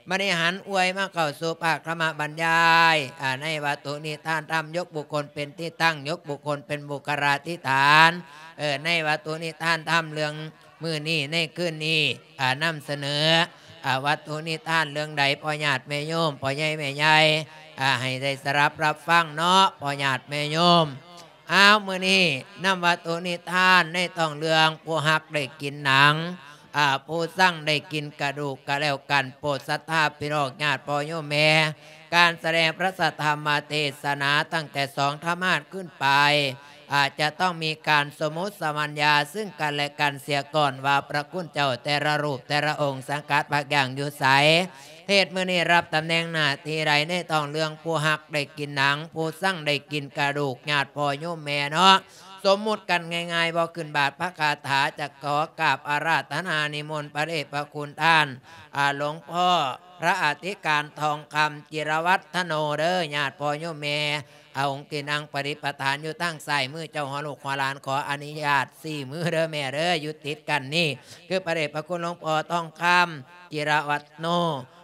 ບັດນີ້ຫັນອວຍມາເຂົ້າສູ່ພາກທຳມະບັນຍາຍ ອາ ໃນວັດຖຸນິທານທຳ ຍົກບຸກຄົນເປັນທີ່ຕັ້ງ ຍົກບຸກຄົນເປັນບຸກຄະລາທິຖານ ເອີ ໃນວັດຖຸນິທານທຳເລື່ອງມື້ນີ້ ໃນຄືນນີ້ ອາ ນຳສະເໜີ ອາ ວັດຖຸນິທານເລື່ອງໃດ ພໍ່ຍາດແມ່ໂຍມ ພໍ່ໃຫຍ່ແມ່ໃຫຍ່ ອາ ໃຫ້ໄດ້ສະດັບຮັບຟັງເນາະ ພໍ່ຍາດແມ່ໂຍມ. ອ້າວ ມື້ນີ້ນຳວັດຖຸນິທານໃນທ້ອງເລື່ອງ ຜູ້ຮັກໄດ້ກິນໜັງ ອາ ຜູ້ຊັງໄດ້ກິນກະດູກ ກະແລ້ວກັນ ໂປດສັດທາພີ່ນ້ອງຍາດພໍ່ໂຍມແມ່ ການສະແດງພະສັດທຳມະເທດສະໜາຕັ້ງແຕ່ສອງທຳມາດຂຶ້ນໄປ ອາ ຈະຕ້ອງມີການສົມມຸດສະບັນຍາຊຶ່ງກັນແລະກັນເສຍກ່ອນວ່າ ພະຄຸນເຈົ້າແຕ່ລະຮູບແຕ່ລະອົງສັງກັດພັກຢ່າງຢູ່ໃສ ເທດມື້ນີ້ຮັບຕຳແໜ່ງໜ້າທີ່ໃດໃນທ້ອງເລື່ອງ ຜູ້ຮັກໄດ້ກິນໜັງ ຜູ້ຊັງໄດ້ກິນກະດູກ ຍາດພໍ່ໂຍມແມ່ເນາະ ສົມມຸດກັນງ່າຍໆ ບໍ່ຂຶ້ນບາດພະຄາຖາ ຈະຂໍກາບອາລາທະນານິມົນພະເດດພະຄຸນທ່ານ ອາ ຫຼວງພໍ່ພະອະທິການທອງຄຳ ຈິລະວັດທະໂນ ເດີ ຍາດພໍ່ໂຍມແມ່ ອາ ອົງທີ່ນັ່ງປະດິດປະຖານຢູ່ທາງຊ້າຍມື ເຈົ້າຫົວລູກຫົວຫຼານ ຂໍອະນຸຍາດຊີ້ມືເດີແມ່ເດີ ຢູ່ຕິດກັນນີ້ ຄືພະເດດພະຄຸນຫຼວງພໍ່ທອງຄຳ ຈິລະວັດໂນ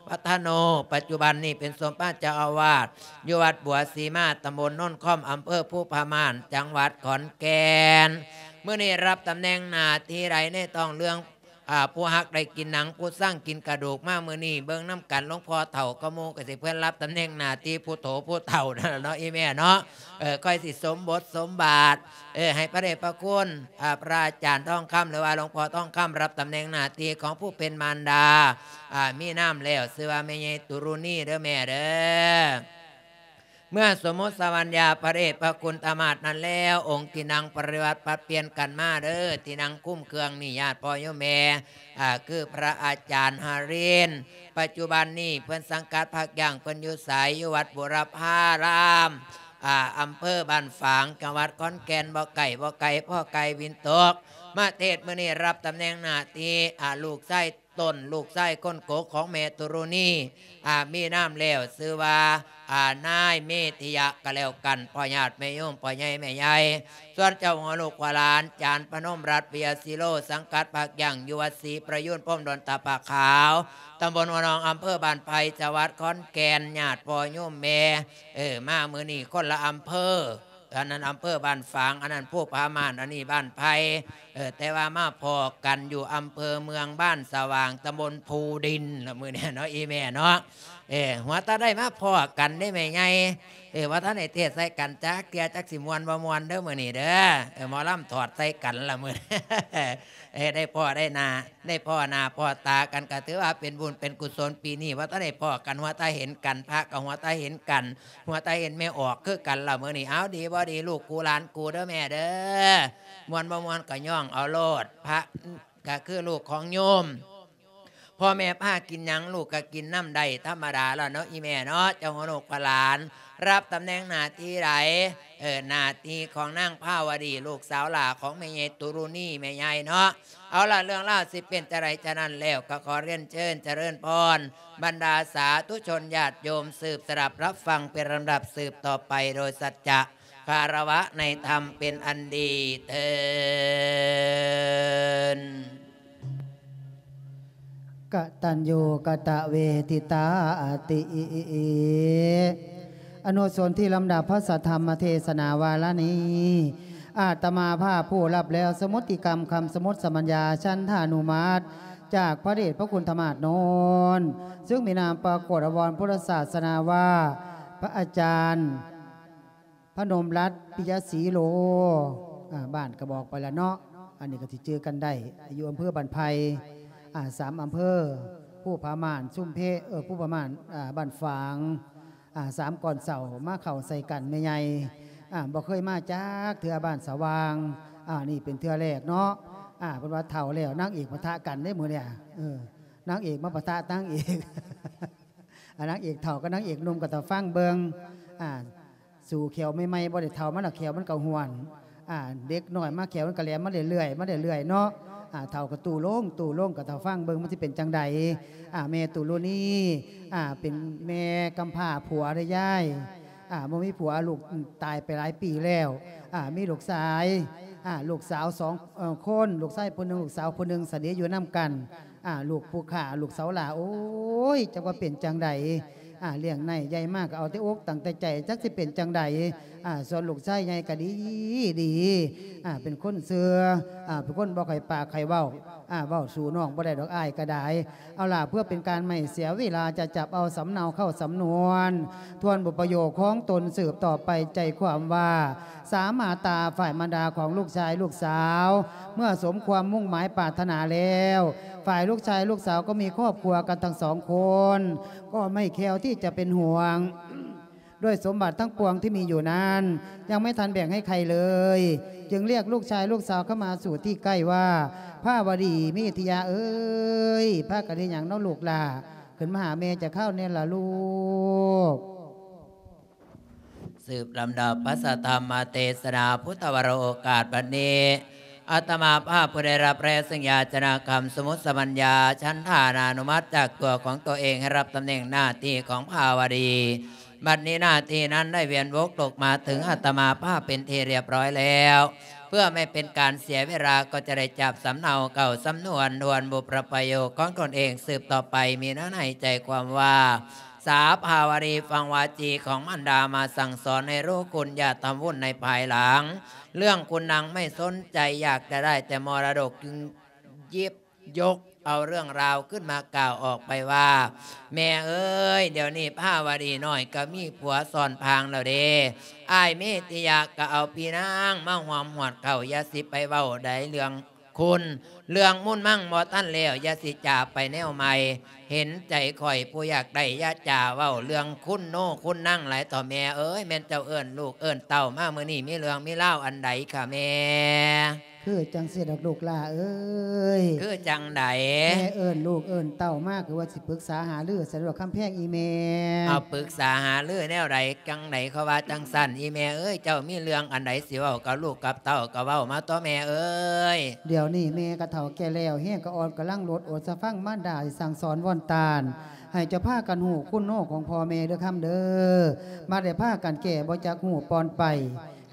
ວັດທະໂນ ປັດຈຸບັນນີ້ເປັນສົມພະເຈົ້າອາວາດ ຢູ່ວັດບົວສີມາ ຕຳບົນໂນນຄອມ ອຳເພີພູຜາມ່ານ ຈັງຫວັດຂອນແກ່ນ ມື້ນີ້ຮັບຕຳແໜ່ງໜ້າທີ່ໃດໃນທ້ອງເລື່ອງ ອາ ຜູ້ຮັກໄດ້ກິນໜັງ ຜູ້ຊັງກິນກະດູກ ມາມື້ນີ້ເບິ່ງນຳກັນ ຫຼວງພໍ່ເຖົ້າກະໝູ່ ກະຊິເພິ່ນຮັບຕຳແໜ່ງໜ້າທີ່ຜູ້ໂຖຜູ້ເຖົ້ານັ້ນລະເນາະ ອີ່ແມ່ເນາະ ເອີ ຄ່ອຍຊິສົມບົດສົມບາດ ເອີ ໃຫ້ພະເດດພະຄຸນ ອາ ພະອາຈານທອງຄຳ ຫຼືວ່າຫຼວງພໍ່ທອງຄຳ ຮັບຕຳແໜ່ງໜ້າທີ່ຂອງຜູ້ເປັນມານດາ ອາ ມີນາມແລ້ວ ຊື່ວ່າແມ່ໃຫຍ່ຕຸລຸນີເດີແມ່ເດີ. ເມື່ອສົມມຸດສະບັນຍາພະເດດພະຄຸນທຳມາດນັ້ນແລ້ວ ອົງທີ່ນັ່ງປະຕິບັດປັບປ່ຽນກັນມາເດີ ທີ່ນັ່ງຄຸມເຄື່ອງນີ້ຍາດພໍ່ໂຍມແມ່ ອາ ຄືພະອາຈານຫະລິນ ປັດຈຸບັນນີ້ເພິ່ນສັງກັດພັກຢ່າງເພິ່ນຢູ່ໃສ ຢູ່ວັດບຸລະພາລາມ ອາ ອຳເພີບ້ານຝາງ ຈັງຫວັດຂອນແກ່ນ ບໍ່ໃກ້ບໍ່ໄກ ພໍໃກ້ວິນຕົກ ມາເທດມື້ນີ້ ຮັບຕຳແໜ່ງໜ້າທີ່ ອາ ລູກຊາຍ ຕົ້ນ ລູກຊາຍຄົນໂກຂອງແມ່ຕຸລຸນີ ອາ ມີນາມແລ້ວ ຊື່ວ່າ ອາ ນາຍເມທິຍະ ກະແລ້ວກັນ ພໍ່ຍາດແມ່ໂຍມ ພໍ່ໃຫຍ່ແມ່ໃຫຍ່ ສ່ວນເຈົ້າຫົວລູກຫົວຫຼານ ຈານພະນົມລັດ ວິຍະສີໂລ ສັງກັດພັກຢ່າງຢູ່ວັດສີປະຍູນ ພົມດົນຕະປາຂາວ ຕຳບົນຫົວໜອງ ອຳເພີບ້ານໄຜ່ ຈັງຫວັດຂອນແກ່ນ ຍາດພໍ່ໂຍມແມ່ ເອີ ມາມື້ນີ້ຄົນລະອຳເພີ ອັນນັ້ນອຳເພີບ້ານຝາງ ອັນນັ້ນພູຜາມ່ານ ອັນນີ້ບ້ານໄຜ່ ເອີ ແຕ່ວ່າມາພໍ້ກັນຢູ່ອຳເພີເມືອງບ້ານສະຫວ່າງ ຕຳບົນພູດິນລະມື້ນີ້ເນາະ ອີ່ແມ່ເນາະ ເອີ ຫົວຕາໄດ້ມາພໍ້ກັນເດ້ແມ່ໃຫຍ່ ເອີ ບໍ່ທັນໄດ້ເທດໃສ່ກັນຈັກເທື່ອ ຈັກຊິມ່ວນບໍ່ມ່ວນເດີມື້ນີ້ເດີ ເອີ ໝໍລຳຖອດໃສ່ກັນລະມື້ ເອີ ໄດ້ພໍ້ໄດ້ໜ້າ ໄດ້ພໍ້ໜ້າພໍ້ຕາກັນ ກະຖືວ່າເປັນບຸນເປັນກຸສົນ ປີນີ້ບໍ່ທັນໄດ້ພໍ້ກັນ ຫົວຕາເຫັນກັນ ພະກະຫົວຕາເຫັນກັນ ຫົວຕາເຫັນແມ່ອອກຄືກັນລະມື້ນີ້ ເອົາ ດີບໍ່ດີ ລູກກູຫຼານກູເດີແມ່ເດີ ມ່ວນບໍ່ມ່ວນກະຍ້ອງເອົາໂລດ ພະກະຄືລູກຂອງໂຍມ ພໍ່ແມ່ພາກິນຫຍັງ ລູກກະກິນນຳໄດ້ ທຳມະດາລະເນາະ ອີ່ແມ່ເນາະ ເຈົ້າຫົວລູກພະຫຼານ ຮັບຕຳແໜ່ງໜ້າທີ່ໃດ ເອີ ໜ້າທີ່ຂອງນາງພາວະດີ ລູກສາວຫຼ້າຂອງແມ່ໃຫຍ່ຕຸລຸນີ ແມ່ໃຫຍ່ເນາະ ເອົາລະ ເລື່ອງລາວຊິເປັນຈັ່ງໃດ ຈະນັ້ນແລ້ວ ກໍຂໍຮຽນເຊີນຈະເລີນພອນ ບັນດາສາທຸຊົນຍາດໂຍມ ສືບສະດັບຮັບຟັງເປັນລຳດັບສືບຕໍ່ໄປ ໂດຍສັດຈະຄາລະວະໃນທຳເປັນອັນດີເທີ້ນ. ກະຕັນຍູກະຕະເວທິຕາ ອາຕິ ອະນຸສົນທິລຳດັບພະສັດທຳມະເທສະໜາວາລະນີ້ ອາດຕະມາພາບຜູ້ຮັບແລ້ວສະມຸດຕິກຳຄຳສະມຸດສະບັນຍາ ສັນທານຸມັດ ຈາກພະເດດພະຄຸນທະມາດໂນນ ເຊິ່ງມີນາມປາກົດອາວອນພຸດທະສາສະໜາວ່າ ພະອາຈານ ພະນົມລັດ ປິຍະສີໂລ ອາ ບ້ານກະບອກໄປລະເນາະ ອັນນີ້ກະຊິຈື່ກັນໄດ້ ຢູ່ອຳເພີບ້ານໄຜ່ ອາ ສາມອຳເພີ ພູຜາມ່ານ ຊຸມເພ ເອີ ພູຜາມ່ານ ອາ ບ້ານຝາງ ອາ ສາມກ່ອນເຊົ້າ ມາເຂົ້າໃສ່ກັນແມ່ໃຫຍ່ ອາ ບໍ່ເຄີຍມາຈັກເທື່ອບ້ານສະຫວ່າງ ອາ ນີ້ເປັນເທື່ອແລກເນາະ ອາ ເພິ່ນວ່າເຖົ້າແລ້ວ ນາງເອກປະທະກັນເດ້ມື້ນີ້ ເອີ ນາງເອກມາປະທະນາງເອກ ອາ ນາງເອກເຖົ້າກັບນາງເອກໜຸ່ມກໍຖ້າຟັງເບິ່ງ ອາ ສູ່ແຂ້ວໃໝ່ໆ ບໍ່ໄດ້ເຖົ້າມາແລ້ວແຂ້ວມັນກໍຫ້ວນ ອາ ເດັກນ້ອຍມາແຂ້ວມັນກໍແຫຼມມາເລື້ອຍໆ ມາເລື້ອຍໆ ເນາະ ອາ ເຖົ້າກໍຕູ້ລົງ ຕູ້ລົງ ກໍຖ້າຟັງເບິ່ງມັນຊິເປັນຈັ່ງໃດ ອາ ແມ່ຕຸລຸນີ ອາ ເປັນແມ່ກຳພ້າ ຜົວໄດ້ຍາຍ ອາ ບໍ່ມີຜົວ ລູກຕາຍໄປຫຼາຍປີແລ້ວ ອາ ມີລູກຊາຍ ອາ ລູກສາວສອງ ເອີ ຄົນ ລູກຊາຍຜູ້ໜຶ່ງ ລູກສາວຜູ້ໜຶ່ງ ສະເໜີຢູ່ນຳກັນ ອ່າ ລູກຜູ້ຂ້າ ລູກສາວຫຼ້າ ໂອ້ຍ ຈັກວ່າເປັນຈັ່ງໃດ ອ່າ ລ້ຽງໃນໃຫຍ່ມາກໍເອົາແຕ່ອົກຕັ້ງແຕ່ໃຈ ຈັກຊິເປັນຈັ່ງໃດ ອ່າ ສ່ວນລູກຊາຍໃຫຍ່ກໍດີ ດີ ອ່າ ເປັນຄົນເຊື່ອ ອ່າ ເປັນຄົນບໍ່ຄ່ອຍປາກຄ່ອຍເວົ້າ ອ່າ ເວົ້າສູ້ນ້ອງບໍ່ໄດ້ດອກ ອ້າຍກໍໄດ້. ເອົາລະ ເພື່ອເປັນການໄມ່ເສຍເວລາ ຈະຈັບເອົາສຳເນົາເຂົ້າສຳນວນ ທວນບົດປະໂຫຍກຂອງຕົນສືບຕໍ່ໄປ ໃຈຄວາມວ່າ ສາມາດຕາ ຝ່າຍມາດາຂອງລູກຊາຍລູກສາວ ເມື່ອສົມຄວາມມຸ່ງໝາຍປາດຖະໜາແລ້ວ ຝ່າຍລູກຊາຍລູກສາວກໍມີຄອບຄົວກັນທັງສອງຄົນ ກໍໄມ່ແຄ້ວທີ່ຈະເປັນຫ່ວງ ດ້ວຍສົມບັດທັງປວງທີ່ມີຢູ່ນັ້ນ ຍັງໄມ່ທັນແບ່ງໃຫ້ໃຄເລີຍ ຈຶ່ງລຽກລູກຊາຍລູກສາວເຂົ້າມາສູ່ທີ່ໃກ້ວ່າ ພາວະດີ ເມທິຍາເອີຍ ພາກັນເຮັດຫຍັງເນາະລູກຫຼ້າ? ຂຶ້ນມາຫາແມ່ຈັກຄາວແດ່ລະລູກ. ສືບລຳດັບພະສັດທຳມະເທດສະນາພຸດທະວະໂລກາດບັດນີ້ ອາດຕະມາພາບຜູ້ໄດ້ຮັບແລເຊິ່ງຢາຈະນະຄຳສະໝຸດສະບັນຍາ ສັນທານານຸມັດຈາກຕົວຂອງຕົວເອງ ໃຫ້ຮັບຕຳແໜ່ງໜ້າທີ່ຂອງພາວະດີ. ບັດນີ້ໜ້າທີ່ນັ້ນໄດ້ວຽນວົກຕົກມາເຖິງອາດຕະມາພາບເປັນທີ່ລຽບຮ້ອຍແລ້ວ ເພື່ອໄມ່ເປັນການເສຍເວລາ ກໍຈະໄດ້ຈັບສຳເນົາເຂົ້າສຳນວນ ທວນບົດປະໂຫຍກຂອງຕົນເອງສືບຕໍ່ໄປ ມີເນື້ອໃນໃຈຄວາມວ່າ ສາພາວະດີ ຟັງວາຈີຂອງມານດາມາສັ່ງສອນໃຫ້ຮູ້ຄຸນ ຢ່າທຳວຸ່ນໃນພາຍຫຼັງ ເລື່ອງຄຸນນາງໄມ່ສົນໃຈ ຢາກຈະໄດ້ແຕ່ມໍລະດົກ ຈຶ່ງຫຍິບຍົກເອົາເລື່ອງລາວຂຶ້ນມາກ່າວອອກໄປວ່າ ແມ່ເອີຍ ດຽວນີ້ພາວະດີນ້ອຍກໍມີຜົວຊ້ອນພາງແລ້ວເດ້ ອ້າຍເມທິຍະກໍເອົາພີ່ນາງມາຮ່ວມຮອດເຂົ້າ ຢ່າຊິໄປເວົ້າໃດເລື່ອງ ຄຸນ ເລື່ອງມຸນມັງບໍ່ທັນແລ້ວ ຢ່າຊິຈາໄປແນວໃໝ່ ເຫັນໃຈຂ້ອຍຜູ້ຢາກໄດ້ ຢ່າຈາເວົ້າເລື່ອງຄຸນໂນຄຸນນາງຫຼາຍເຖົ້າແມ່ເອີຍ ແມ່ນເຈົ້າເອີ້ນລູກເອີ້ນເຕົ້າມາມື້ນີ້ ມີເລື່ອງມີລາວອັນໃດຄະແມ່? ຄືຈັ່ງຊີ້ດອກລູກຫຼ້າເອີຍ. ຄືຈັ່ງໃດ? ແມ່ເອີ້ນລູກເອີ້ນເຕົ້າມາ ຄືວ່າຊິປຶກສາຫາລື ສະດວກຄຳແພງອີ່ແມ່. ເອົາ ປຶກສາຫາລືແນວໃດ? ຈັ່ງໃດເຂົາວ່າຈັ່ງຊັ້ນ ອີ່ແມ່ເອີຍ ເຈົ້າມີເລື່ອງອັນໃດຊິເວົ້າກັບລູກກັບເຕົ້າກໍເວົ້າມາຕົວະແມ່ເອີຍ. ດຽວນີ້ແມ່ກໍເຖົ້າແກ່ແລ້ວ ແຮງກໍອ່ອນ ກຳລັງໂລດໂອດສະຟັງມານດາສັ່ງສອນວອນຕານ ໃຫ້ເຈົ້າພາກັນຮູ້ຄຸນໂນຂອງພໍ່ແມ່ເດີຄຳເດີ ມາໄດ້ພາກັນແກ່ບໍ່ຈັກຮູ້ປ່ອນໄປ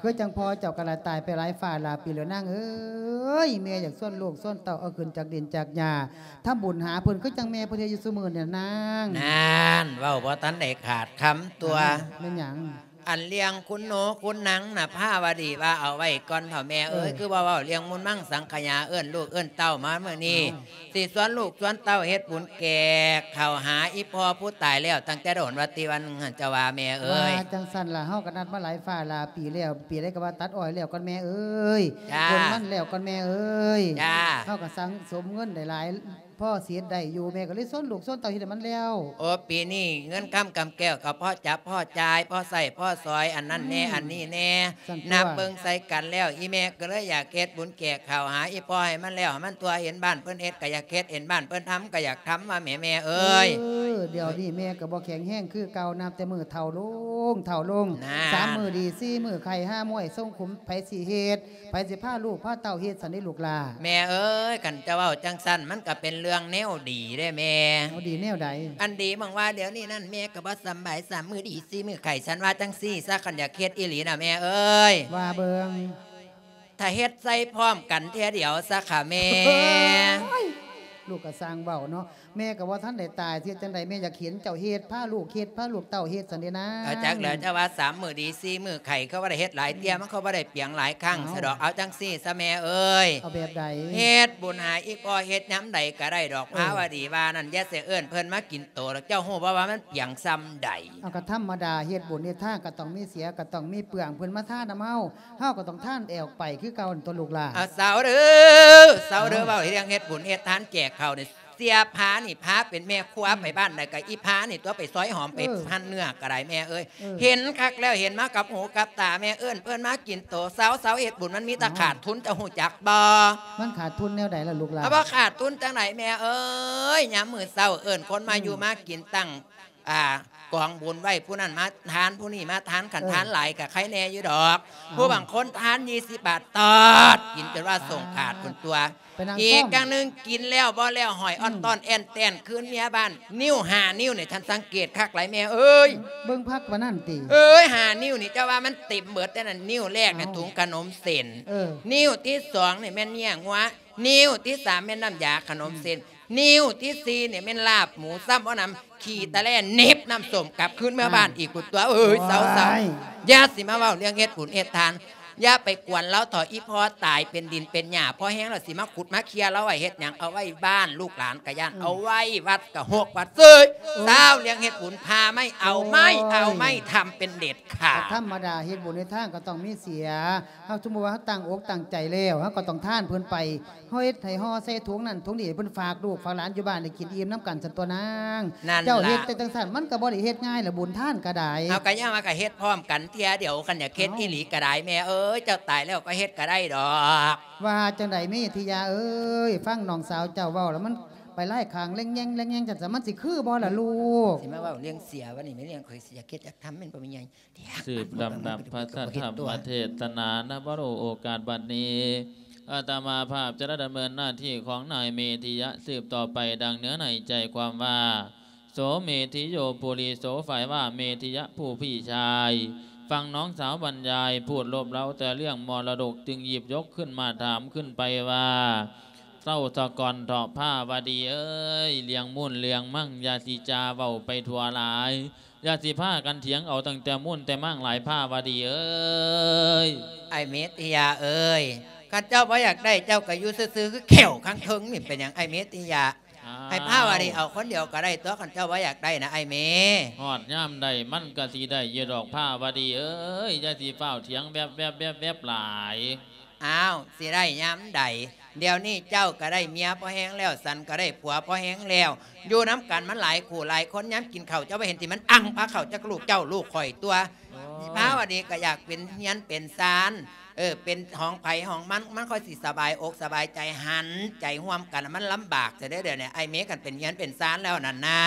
ຄືຈັ່ງພໍ່ເຈົ້າກໍລະຕາຍໄປຫຼາຍຟ້າຫຼາຍປີແລ້ວນາງເອີຍ. ແມ່ຢາກຊວນລູກຊວນເຕົ້າເອົາຂຶ້ນຈາກດິນຈາກຫຍ້າ ທຳບຸນຫາເພິ່ນ ຄືຈັ່ງແມ່ເພິ່ນເຮັດຢູ່ຊຸມື້ນີ້ນາງ. ນັ້ນ ເວົ້າບໍ່ທັນໄດ້ຂາດຄຳຕົວະ. ແມ່ນຫຍັງ? ອັນເລື່ອງຄຸນໂນຄຸນນາງນະ ພາວະດີວ່າເອົາໄວ້ກ່ອນເຖົ້າແມ່ເອີຍ. ເອີ ຄືບໍ່ເວົ້າເລື່ອງມຸນມັງສັງຂະຍາ ເອີ້ນລູກເອີ້ນເຕົ້າມາມື້ນີ້. ເອົ້າ ຊິຊວນລູກຊວນເຕົ້າເຮັດບຸນແກກເຂົ້າຫາອີ່ພໍ່ຜູ້ຕາຍແລ້ວຕັ້ງແຕ່ໂດນ ວ່າຕິວັນຫັ້ນ ເຈົ້າວ່າແມ່ເອີຍ. ວ່າຈັ່ງຊັ້ນລະ ເຮົາກໍນັດມາຫຼາຍຟ້າຫຼາຍປີແລ້ວ ປີໃດກໍວ່າຕັດອ້ອຍແລ້ວກ່ອນແມ່ເອີຍ. ຈ້າ ໂກນມັນແລ້ວກ່ອນແມ່ເອີຍ. ຈ້າ ເຮົາກໍສັ່ງສົມເງິນໄດ້ຫຼາຍ ພໍຊິເຮັດໄດ້ຢູ່ ແມ່ກໍເລີຍຊວນລູກຊວນເຕົ້າເຮັດໃຫ້ມັນແລ້ວ. ໂອ້ ປີນີ້ເງິນຄຳກຳແກ້ວກໍພໍຈັບພໍຈ່າຍ ພໍໃຊ້ພໍສອຍ ອັນນັ້ນແດ່ ອືມ ອັນນີ້ແດ່. ຊັ້ນຕົວະ ນັບເບິ່ງໃສ່ກັນແລ້ວ ອີ່ແມ່ກໍເລີຍຢາກເຮັດບຸນແກກເຂົ້າຫາອີ່ພໍ່ໃຫ້ມັນແລ້ວໃຫ້ມັນທົ່ວ ເຫັນບ້ານເພິ່ນເຮັດກໍຢາກເຮັດ ເຫັນບ້ານເພິ່ນທຳກໍຢາກທຳວ່າແມ່ ແມ່ເອີຍ. ເອີ ດຽວນີ້ແມ່ກໍບໍ່ແຂງແຮງຄືເກົ່າ ນັບແຕ່ມື້ເຖົ້າລົງເຖົ້າລົງ. ນັ້ນ ສາມມື້ດີ ສີ່ມື້ໄຂ້ ຫາມວຍຊົງຂຸມ ໃຜຊິເຮັດ ໃຜຊິພາລູກພາເຕົ້າເຮັດຊັ້ນເດລູກຫຼ້າ? ແມ່ເອີຍ ຄັນຈະເວົ້າຈັ່ງຊັ້ນ ມັນກໍເປັນເລື່ອງແນວດີເດ້ແມ່. ເອົາ ດີແນວໃດ? ອັນດີໝັງວ່າດຽວນີ້ນັ້ນ ແມ່ກໍບໍ່ສຳບາຍ ສາມມື້ດີ ສີ່ມື້ໄຂ້ ສັນວ່າຈັ່ງຊີ້ຊະ ຄັນຢາກເຮັດອີ່ຫຼີນະແມ່ເອີຍ. ວ່າເບິ່ງ. ຖ້າເຮັດໃສ່ພ້ອມກັນເທື່ອດຽວຊະຄະແມ່. ໂອ້ຍ ລູກກໍຊ່າງເວົ້າເນາະ. ແມ່ກໍບໍ່ທັນໄດ້ຕາຍ ຊິເຮັດຈັ່ງໃດ ແມ່ຢາກເຫັນເຈົ້າເຮັດ ພາລູກເຮັດ ພາລູກເຕົ້າເຮັດຊັ້ນເດນາງ. ເອົາ ຈັກແລ້ວ ເຈົ້າວ່າສາມມື້ດີ ສີ່ມື້ໄຂ້ ເຂົາບໍ່ໄດ້ເຮັດຫຼາຍເທື່ອ ອືມ ມັນກໍບໍ່ໄດ້ປຽງຫຼາຍຄັ້ງ ເອົ້າ ສະດອກ. ເອົາຈັ່ງຊີ້ຊະແມ່ເອີຍ. ເອົາແບບໃດ? ເຮັດບຸນໃຫ້ອີ່ພໍ່ເຮັດຍາມໃດກໍໄດ້ດອກ. ເອີ ພາວະດີວ່ານັ້ນ ຢ່າຊິເອີ້ນເພິ່ນມາກິນໂຕດອກ. ເຈົ້າຮູ້ບໍ່ວ່າມັນປຽງສ່ຳໃດ? ເອົາ ກໍທຳມະດາ ເຮັດບຸນເຮັດທານກໍຕ້ອງມີເສຍ ກໍຕ້ອງມີເປືອງ ເພິ່ນມາທານນຳເຮົາ ເຮົາກໍຕ້ອງທານແອກໄປຄືເກົ່າຫັ້ນຕົວະລູກຫຼ້າ. ເອົາ ເຊົາເດີ ເຊົາເດີ. ເອົ້າ ເວົ້າເລື່ອງເຮັດບຸນເຮັດທານແຈກເຂົ້ານີ້ ເສຍພານີ້ ພາເປັນແມ່ຄົວ ອືມ ໄປບ້ານໃດກໍອີພານີ້ຕົວະ ໄປຊອຍຫອມ ໄປ ເອີ ພັນເນື້ອກໍໄດ້ແມ່ເອີຍ. ເອີ ເຫັນຄັກແລ້ວ ເຫັນມາກັບຫູກັບຕາແມ່ ເອີ້ນເພິ່ນມາກິນໂຕ ເຊົາ ເຊົາເຮັດບຸນ ມັນມີແຕ່ ເອົ້າ ຂາດທຶນ ເຈົ້າຮູ້ຈັກບໍ່? ມັນຂາດທຶນແນວໃດລະລູກຫຼ້າ? ເອົາ ບໍ່ຂາດທຶນຈັ່ງໃດແມ່ເອີຍ. ຍາມມື້ເຊົ້າເອີ້ນຄົນມາ ອືມ ຢູ່ມາກິນ ຕັ້ງ ອ່າ ກອງບຸນໄວ້ ຜູ້ນັ້ນມາທານ ຜູ້ນີ້ມາທານ ຄັນ ເອີ ທານຫຼາຍກໍໃຄແດ່ຢູ່ດອກ. ເອົ້າ ຜູ້ບາງຄົນທານ ຊາວບາດ ຕອດ ກິນຈົນວ່າສົ່ງຂາດພຸ້ນຕົວະ. ໄປນັ່ງ ອີກຢ່າງໜຶ່ງ ກິນແລ້ວບໍ່ແລ້ວ ຫ້ອຍ ອືມ ອອດຕ້ອນແອ່ນແຕ່ນ ຄືນເມຍບ້ານ ນິ້ວຫ້ານິ້ວນີ້ ທ່ານສັງເກດຄັກຫຼາຍແມ່ເອີຍ. ເບິ່ງຄັກປານນັ້ນຕິ? ເອີຍ ຫ້ານິ້ວນີ້ ເຈົ້າວ່າມັນເຕັມເບິດແຕ່ນັ້ນ. ນິ້ວແລກນີ້ ເອົ້າ ຖົງຂະໜົມເສັ້ນ. ເອີ ນິ້ວທີສອງນີ້ແມ່ນເຍຍງົວ. ນິ້ວທີສາມແມ່ນນ້ຳຢາຂະໜົມເສັ້ນ. ອືມ ນິ້ວທີສີ່ນີ້ແມ່ນລາບໝູຊ້ຳບໍ່ນຳ ຂີ່ຕະແລ່ເໜັບນ້ຳສົ້ມກັບຄືນເມືອບ້ານອີກພຸ້ນຕົວະເອີຍ. ເຊົາໆ ໂອ້ຍ ຢ່າຊິມາເວົ້າເລື່ອງເຮັດບຸນເຮັດທານ ຢ່າໄປກວນລາວເຖາະ ອີ່ພໍ່ຕາຍເປັນດິນເປັນຫຍ້າພໍແຮງແລ້ວ ຊິມາຂຸດມາເຄຍລາວໄວ້ເຮັດຫຍັງ? ເອົາໄວ້ບ້ານ ລູກຫຼານກະຢ້ານ ເອີ ເອົາໄວ້ວັດກະຮົກວັດເຊີຍ. ໂອ້ຍ ຊາວເລື່ອງເຮັດບຸນ ພາໄມ້ເອົາໄມ້ ໂອ້ຍ ເອົາໄມ້ທຳເປັນເດັດຂາດ. ກໍທຳມະດາ ເຮັດບຸນເຮັດທານກໍຕ້ອງມີເສຍ. ເຮົາສົມມຸດວ່າເຮົາຕັ້ງອົກຕັ້ງໃຈແລ້ວ ເຮົາກໍຕ້ອງທານເພິ່ນໄປ ເຮົາເຮັດໃຫ້ຫໍ່ໃສ່ຖົງນັ້ນຖົງນີ້ ເພິ່ນຝາກລູກຝາກຫຼານຢູ່ບ້ານໄດ້ກິນອີ່ມນຳກັນຊັ້ນຕົວະນາງ. ນັ້ນລະ ເຈົ້າເຮັດແຕ່ຈັ່ງຊັ້ນ ມັນກໍບໍ່ໄດ້ເຮັດງ່າຍລະ ບຸນທານກໍໄດ້. ເຮົາກໍຍັງວ່າກໍເຮັດພ້ອມກັນເທື່ອດຽວ ຄັນຢາກເຮັດອີ່ຫຼີກໍໄດ້ແມ່ເອີຍ. ເຈົ້າຕາຍແລ້ວກໍເຮັດກໍໄດ້ດອກ. ວ່າຈັ່ງໃດເມທິຍາເອີຍ ຟັງນ້ອງສາວເຈົ້າເວົ້າແລ້ວ ມັນໄປຫຼາຍຂ້າງແລ່ງແຍງແລ່ງແຍງ ຈັ່ງຊັ້ນມັນຊິຄືບໍ່ລະລູກ? ຊິມາເວົ້າເລື່ອງເສຍ ວັນນີ້ແມ່ນເລື່ອງຂ້ອຍຊິຢາກເຮັດຢາກທຳແມ່ນບໍ່ແມ່ໃຫຍ່? ສືບລຳດັບພະທຳມະເທດສະໜານະ ນະ ໂອກາດບັດນີ້ ອາດຕະມາພາບຈະໄດ້ດຳເນີນໜ້າທີ່ຂອງນາຍເມທິຍະສືບຕໍ່ໄປ ດັ່ງເນື້ອໃນໃຈຄວາມວ່າ ໂສເມທິໂຍ ປຸລິໂສ ຝ່າຍວ່າເມທິຍະຜູ້ພີ່ຊາຍ ຟັງນ້ອງສາວບັນຍາຍ ພູດລົບເລົ່າແຕ່ເລື່ອງມໍລະດົກ ຈຶ່ງຫຍິບຍົກຂຶ້ນມາຖາມຂຶ້ນໄປວ່າ ເຊົາສາກ່ອນເຖາະພາວະດີເອີຍ ເລື່ອງມູນເລື່ອງມັງ ຢ່າຊິຈາເວົ້າໄປທົ່ວຫຼາຍ ຢ່າຊິພາກັນຖຽງເອົາຕັ້ງແຕ່ມູນແຕ່ມັງຫຼາຍ ພາວະດີເອີຍ. ອ້າຍເມຕິຍາເອີຍ ຄັນເຈົ້າບໍ່ຢາກໄດ້ ເຈົ້າກໍຢູ່ຊື່ໆ ຄືແຂ້ວຂ້າງເທິງນີ້ ເປັນຫຍັງອ້າຍເມຕິຍາ? ອ້າວ ໃຫ້ພາວະດີເອົາຄົນດຽວກໍໄດ້ຕົວະ ຄັນເຈົ້າບໍ່ຢາກໄດ້ນະອ້າຍເມ. ຮອດຍາມໃດມັນກໍຊິໄດ້ຢູ່ດອກ ພາວະດີເອີຍ ຢ່າຊິຟ້າວຖຽງແວບໆໆໆຫຼາຍ. ອ້າວ ຊິໄດ້ຍາມໃດ? ດຽວນີ້ເຈົ້າກໍໄດ້ເມຍພໍແຮງແລ້ວ ສັນກໍໄດ້ຜົວພໍແຮງແລ້ວ ຢູ່ນຳກັນມັນຫຼາຍຄູ່ຫຼາຍຄົນ ຍາມກິນເຂົ້າເຈົ້າບໍ່ເຫັນທີ່ມັນອັ່ງພາເຂົ້າຈັກລູກເຈົ້າລູກຂ້ອຍຕົວະ. ໂອ້ຍ ພາວະດີກໍຢາກເປັນເຮືອນເປັນຊານ ເອີ ເປັນຂອງໃຜຂອງມັນ ມັນຄ່ອຍຊິສະບາຍອົກສະບາຍໃຈ ຫັນໃຈຮ່ວມກັນ ມັນລຳບາກແທ້ເດີ ດຽວນີ້ອ້າຍເມ ຄັນເປັນເຮືອນເປັນຊານແລ້ວນັ້ນນາ.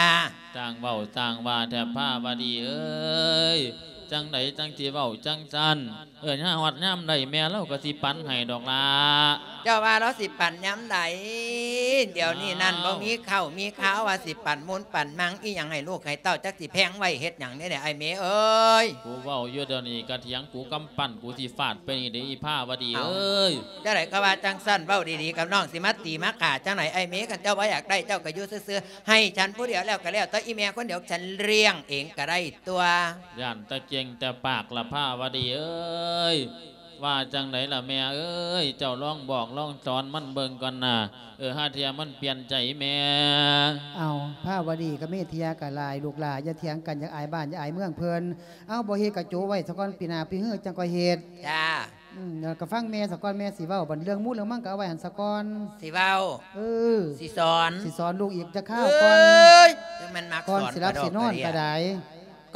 ຊ່າງເວົ້າຊ່າງວ່າແທ້ພາວະດີເອີຍ ຈັ່ງໃດຈັ່ງຊິເວົ້າຈັ່ງຊັ້ນ? ເອີ ຍາມຮອດຍາມໃດແມ່ລາວກໍຊິປັນໃຫ້ດອກລະ. ເຈົ້າວ່າລາວຊິປັນຍາມໃດ? ດຽວນີ້ນັ້ນ ອ້າວ ບໍ່ມີເຂົ້າມີຄາວ ວ່າຊິປັນມູນປັນມັງອີ່ຫຍັງໃຫ້ລູກໃຫ້ເຕົ້າ ຈັກຊິແພງໄວ້ເຮັດຫຍັງເດ ອ້າຍເມເອີຍ. ກູເວົ້າຢູ່ດຽວນີ້ກະຖຽງກູກຳປັ້ນ ກູຊິຟາດໄປນີ້ເດ ອີພາວະດີເອີຍ. ຈັ່ງໃດກໍວ່າຈັ່ງຊັ້ນ ເວົ້າດີໆກັບນ້ອງ ຊິມາຕີມາຂ້າຈັ່ງໃດອ້າຍເມ? ຄັນເຈົ້າບໍ່ຢາກໄດ້ ເຈົ້າກໍຢູ່ຊື່ໆ ໃຫ້ສັນຜູ້ດຽວແລ້ວກໍແລ້ວ ແຕ່ອີແມ່ຄົນດຽວສັນລ້ຽງເອງກໍໄດ້ຕົວະ. ຢ້ານແຕ່ເກັ່ງແຕ່ປາກລະພາວະດີເອີຍ. ວ່າຈັ່ງໃດລະແມ່ເອີຍ ເຈົ້າລອງບອກລອງສອນມັນເບິ່ງກ່ອນນາ. ເອີ ຫາເທື່ອມັນປ່ຽນໃຈແມ່. ເອົ້າ ພາວະດີກັບເມທິຍາກໍຫຼາຍ ລູກຫຼ້າຢ່າຖຽງກັນ ຢ່າອາຍບ້ານຢ່າອາຍເມືອງເພິ່ນ. ເອົ້າ ບໍ່ເຮັດກໍໂຈະໄວ້ສາກ່ອນ ປີໜ້າປີຮືຈັ່ງຄ່ອຍເຮັດ. ຈ້າ. ອືມ ແລ້ວກໍຟັງແມ່ສາກ່ອນ ແມ່ຊິເວົ້າ. ບັດເລື່ອງໝູ່ເລື່ອງມັງກໍເອົາໄວ້ຫັ້ນສາກ່ອນ. ຊິເວົ້າ. ເອີ ຊິສອນ. ຊິສອນລູກອີກຈັກຄາວກ່ອນ. ເອີຍ ຈັ່ງແມ່ນມັກສອນ ກ່ອນຊິຫຼັບຊິນອນກໍໄດ້.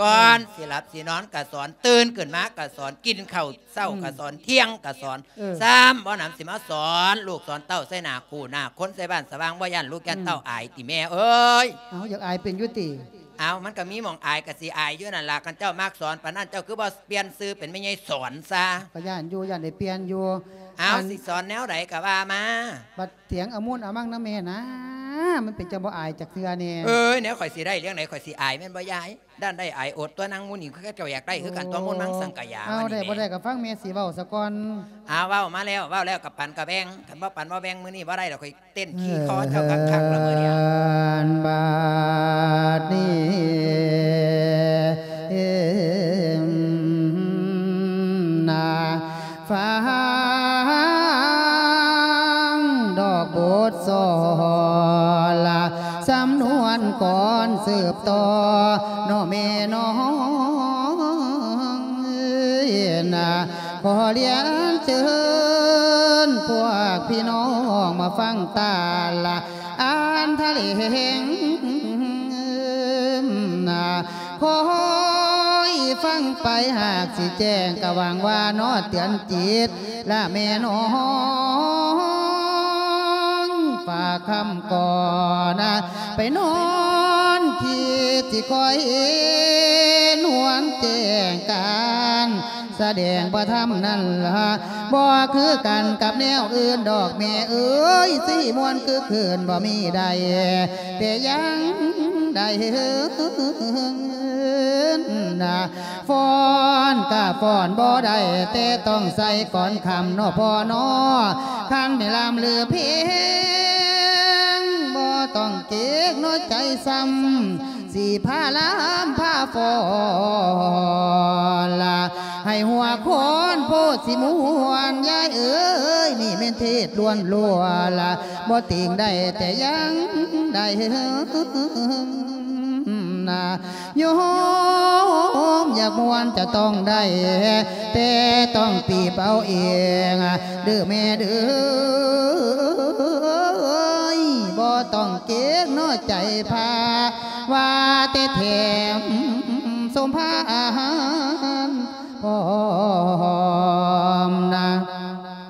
ກ່ອນ ອືມ ຊິຫຼັບຊິນອນກໍສອນ ຕື່ນຂຶ້ນມາກໍສອນ ກິນເຂົ້າເຊົ້າກໍສອນ ອືມ ທ່ຽງກໍສອນ. ເອີ ຊ້ຳບໍ່ນຳ ຊິມາສອນລູກສອນເຕົ້າໃສ່ໜ້າຄູ່ໜ້າຄົນ ໃສ່ບ້ານສະຫວ່າງ ບໍ່ຢ້ານລູກຢ້ານເຕົ້າ ອືມ ອາຍຕິແມ່ເອີຍ? ເອົ້າ ຢາກອາຍເປັນຢູ່ຕິ? ເອົ້າ ມັນກໍມີໝ່ອງອາຍ ກໍຊິອາຍຢູ່ນັ້ນລະ. ຄັນເຈົ້າມັກສອນປານນັ້ນ ເຈົ້າຄືບໍ່ປ່ຽນຊື່ເປັນແມ່ໃຫຍ່ສອນຊະ? ກໍຢ້ານຢູ່ ຢ້ານໄດ້ປ່ຽນຢູ່. ເອົ້າ ອັນ ຊິສອນແນວໃດກໍວ່າມາ. ບັດຖຽງເອົາມູນເອົາມັງນຳແມ່ນາ ມັນເປັນຈັ່ງບໍ່ອາຍຈັກເທື່ອແດ່? ເອີຍ ແນວຂ້ອຍຊິໄດ້ເລື່ອງໃດ ຂ້ອຍຊິອາຍແມ່ນບໍ່ຍາຍ? ດ້ານໄດ້ອາຍອົດຕົວະ ນາງໝູນີ້ ເຂົາເຈົ້າຢາກໄດ້ຄືກັນຕົວະ ໂອ້ ມົນມັງສັງກະຢາ. ເອົາ ໄດ້ບໍ່ໄດ້ກໍຟັງແມ່ຊິເວົ້າສາກ່ອນ. ເອົາ ເວົ້າມາແລ້ວ ເວົ້າແລ້ວກໍປັນກໍແບ່ງ ຄັນບໍ່ປັນບໍ່ແບ່ງ ມື້ນີ້ບໍ່ໄດ້ດອກ ຂ້ອຍເຕັ້ນຂີ່ຄໍເຈົ້າຄັກໆລະມື້ນີ້. ເອີ ບາດນີ້ ນາ ຟັງດອກບົດສອນລະ ສຳນວນກ່ອນສືບຕໍ່ເນາະແມ່ນ້ອງເອີຍນາ. ຂໍລຽນເຊີນພວກພີ່ນ້ອງມາຟັງຕາລະ ອ່ານທະເລງນາ ຄອຍຟັງໄປຫາກຊິແຈ້ງ ກະຫວັງວ່າເນາະເຕືອນຈິດລະແມ່ນ້ອງ ຝາກຄຳກ່ອນນາ ໄປນອນຄິດຊິຄ່ອຍເຫັນຫວນແຈ້ງການ ສະແດງພະທຳນັ້ນລະ ບໍ່ຄືກັນກັບແນວອື່ນດອກແມ່ເອີຍ ຊິມ່ວນຄຶກຄື້ນບໍ່ມີໃດ ແຕ່ຢ່າງໃດເຮີນນາ ຟ້ອນກະຟ້ອນບໍ່ໄດ້ ແຕ່ຕ້ອງໃສ່ກ່ອນຄ່ຳເນາະພໍ່ເນາະ ຄັນແມ່ນລ່ຳລືເພງບໍ່ ຕ້ອງເກງນ້ອຍໃຈຊ້ຳ ຊິພາລຳພາຟ້ອນລະ ໃຫ້ຫົວຄອນໂພດຊິມ່ວນ ຍາຍເອີຍ ນີ້ແມ່ນເທດລ້ວນໆລະ ບໍ່ຕິງໄດ້ແຕ່ຍັງໄດ້ນະ ໂຍມຢາກມ່ວນຈະຕ້ອງໄດ້ ແຕ່ຕ້ອງປີບເອົາເອງ ເດີແມ່ເດີ ບໍ່ຕ້ອງເກງນ້ອຍໃຈພາ ວ່າແຕ່ແຖມສົມພານພ້ອມນະ.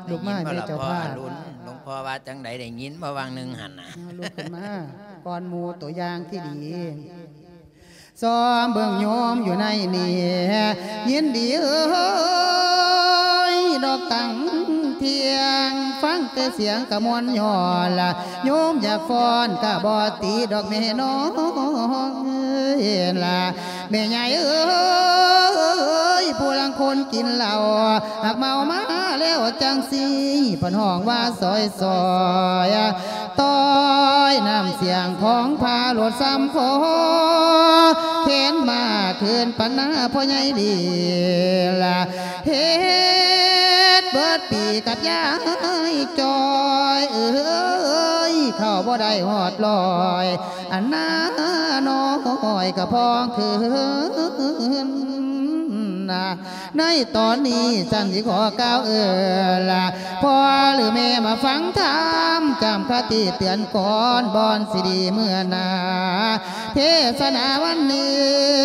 ລຸກມາແມ່ເຈົ້າພາບ ໄດ້ຍິນບໍ່ລະພໍ່ອະລຸນ ຫຼວງພໍ່ວ່າຈັ່ງໃດ ໄດ້ຍິນບໍ່ຫວ່າງໜຶ່ງຫັ້ນນະ? ເອົາ ລຸກຂຶ້ນມາ ກ່ອນໝູ່ ຕົວຢ່າງທີ່ດີ. ຊອມເບິ່ງໂຍມຢູ່ໃນນີ້ ຍິນດີເອີຍ ດອກຕັ້ງທ່ຽງ ຟັງແຕ່ສຽງກະມ່ວນຍ້ອນລະ ໂຍມຢາກຟ້ອນກະບໍ່ຕິດອກແມ່ນ້ອງເອີຍລະ ແມ່ຍາຍເອີຍ ຜູ້ລາງຄົນກິນເຫຼົ້າ ຫາກເມົາມາແລ້ວຈັ່ງຊີ້ ເພິ່ນຮ້ອງວ່າຊອຍໆ ຕ້ອຍນ້ຳສຽງຂອງພາໂລດຊ້ຳພໍ ແຂນມາຄືນປັນໜ້າພໍ່ໃຫຍ່ດີລະ ເຮັດເບິດປີກັບຍາຍຈອຍເອີຍ ເຂົ້າບໍ່ໄດ້ຮອດຮ້ອຍ ອັນໜ້ານ້ອຍກະພອງຄືນນະ. ໃນຕອນນີ້ສັນຊິຂໍກ່າວເອີລະ ພໍ່ຫຼືແມ່ມາຟັງທຳ ຈຳຄະຕິເຕືອນກ່ອນ ບ່ອນຊິດີເມື່ອໜ້າ ເທດສະໜາວັນໜຶ່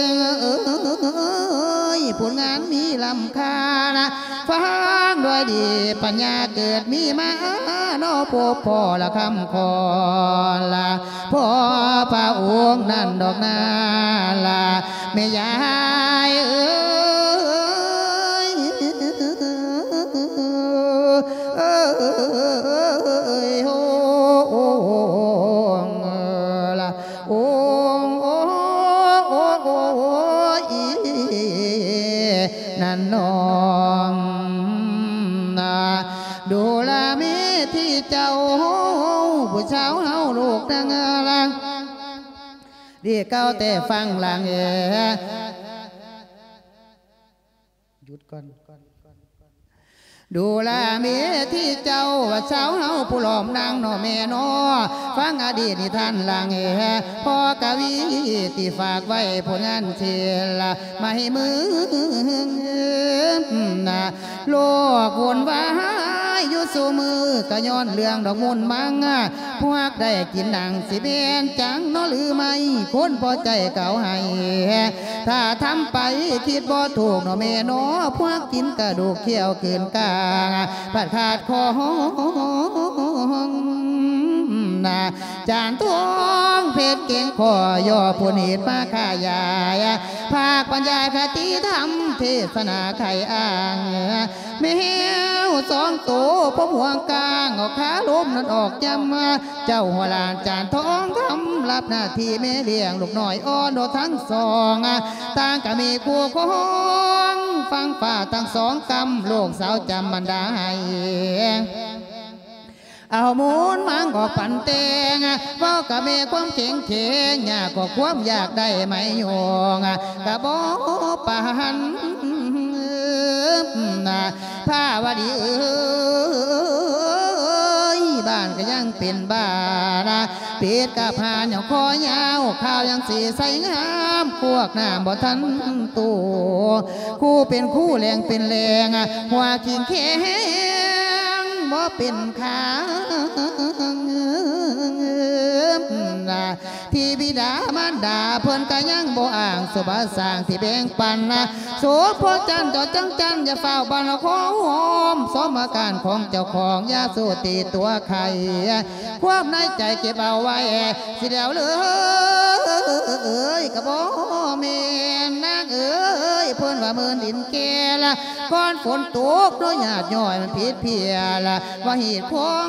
ງເອີຍ ຜົນງານມີລ້ຳຄ່ານະ ຟັງດ້ວຍດີປັນຍາເກີດມີມາ ເນາະ ພົບພໍ້ລະຄຳຂອນລະ ພໍ່ພະອົງນັ້ນດອກນາລະ ແມ່ຍາຍເອີຍ ໂອງລະ ໂອງ ໂອງ ໂອງ ໂອງ ໂອງ ອີ ນັ້ນນ້ອງນະ ດູລະເມທິເຈົ້າ ຜູ້ສາວເຮົາລູກນາງລະ ດີເກົ່າແຕ່ຟັງລາງເອ ຢຸດກ່ອນ ດູລະເມທິເຈົ້າ ວ່າສາວເຮົາຜູ້ລ້ອມນາງເນາະແມ່ເນາະ ຟັງອະດີດນິທານລາງເອ ພໍ່ກະວີທີ່ຝາກໄວ້ຜົນງານສິລະ ມາໃຫ້ມຶງນະ ໂລກວຸ່ນວາຍຢູ່ຊຸມື້ ກະຍ້ອນເລື່ອງດອກມູນມັງ ຜູ້ຮັກໄດ້ກິນໜັງ ຊິແມ່ນຈັງເນາະຫຼືໄມ່ ຄົນພໍໃຈເຂົາໃຫ້ ຖ້າທຳໄປຄິດບໍ່ຖືກເນາະແມ່ເນາະ ພວກກິນກະດູກຂ້ຽວກືນກາງ ພັດຂາດຂອງນະ ຈານທອງເພັດເກັ່ງຂໍຍໍຜົນເຫດມາຂະຫຍາຍ ພາກບັນຍາຍຄະຕິທຳ ເທດສະໜາໄຂອ້າງ ແມວສອງໂຕ ພົມຫົວກາງ ອອກຄາລົມນັ້ນອອກຍາມ ເຈົ້າຫົວຫຼານຈານທອງຄຳ ຮັບໜ້າທີ່ແມ່ລ້ຽງລູກນ້ອຍອ່ອນໂດດທັງສອງ ຕ່າງກະມີຄູ່ຄອງ ຝັ່ງຟ້າທັງສອງກຳ ລູກສາວຈຳບັນດາໃຫ້ ເອົາມູນມັງອອກປັນແຕ່ງ ເວົ້າກະແມ່ຄວາມເຄັ່ງເຂງ ຍາກກໍຄວາມຢາກໄດ້ໄໝຍອງ ກະບໍ່ປານ ພາວະດີເອີຍ ບ້ານກະຍັງເປັນບ້ານ ປິດກະພານຍັງຄໍຍາວ ຂາວຍັງສີໃສງາມ ພວກນ້ຳບໍ່ທັນໂຕ ຄູເປັນຄູແຫຼງເປັນແຫຼງ ຫົວຂີງແຂງບໍ່ເປັນຂາງ ທີ່ບິດາມານດາເພິ່ນກະຍັງບໍ່ອ້າງ ສົມບັດສ້າງທີ່ແບ່ງປັນ ສົມໂພດຈັນເຈົ້າຈັງຈັນ ຢ່າຟ້າວບັນລະຂໍຫອມ ສົມອາການຂອງເຈົ້າຂອງ ຢ່າສູ້ຕີຕົວໄຂ່ ຄວາມໃນໃຈເກັບເອົາໄວ້ ຊິແລ້ວເລີຍ ກະບໍ່ແມ່ນນາງເອີຍ ເພິ່ນວ່າເມີນດິນແກ່ລະ ກ່ອນຝົນຕົກເນາະ ຍາດຍ້ອຍມັນຜິດເພຍລະ ວ່າຮີດຄອງ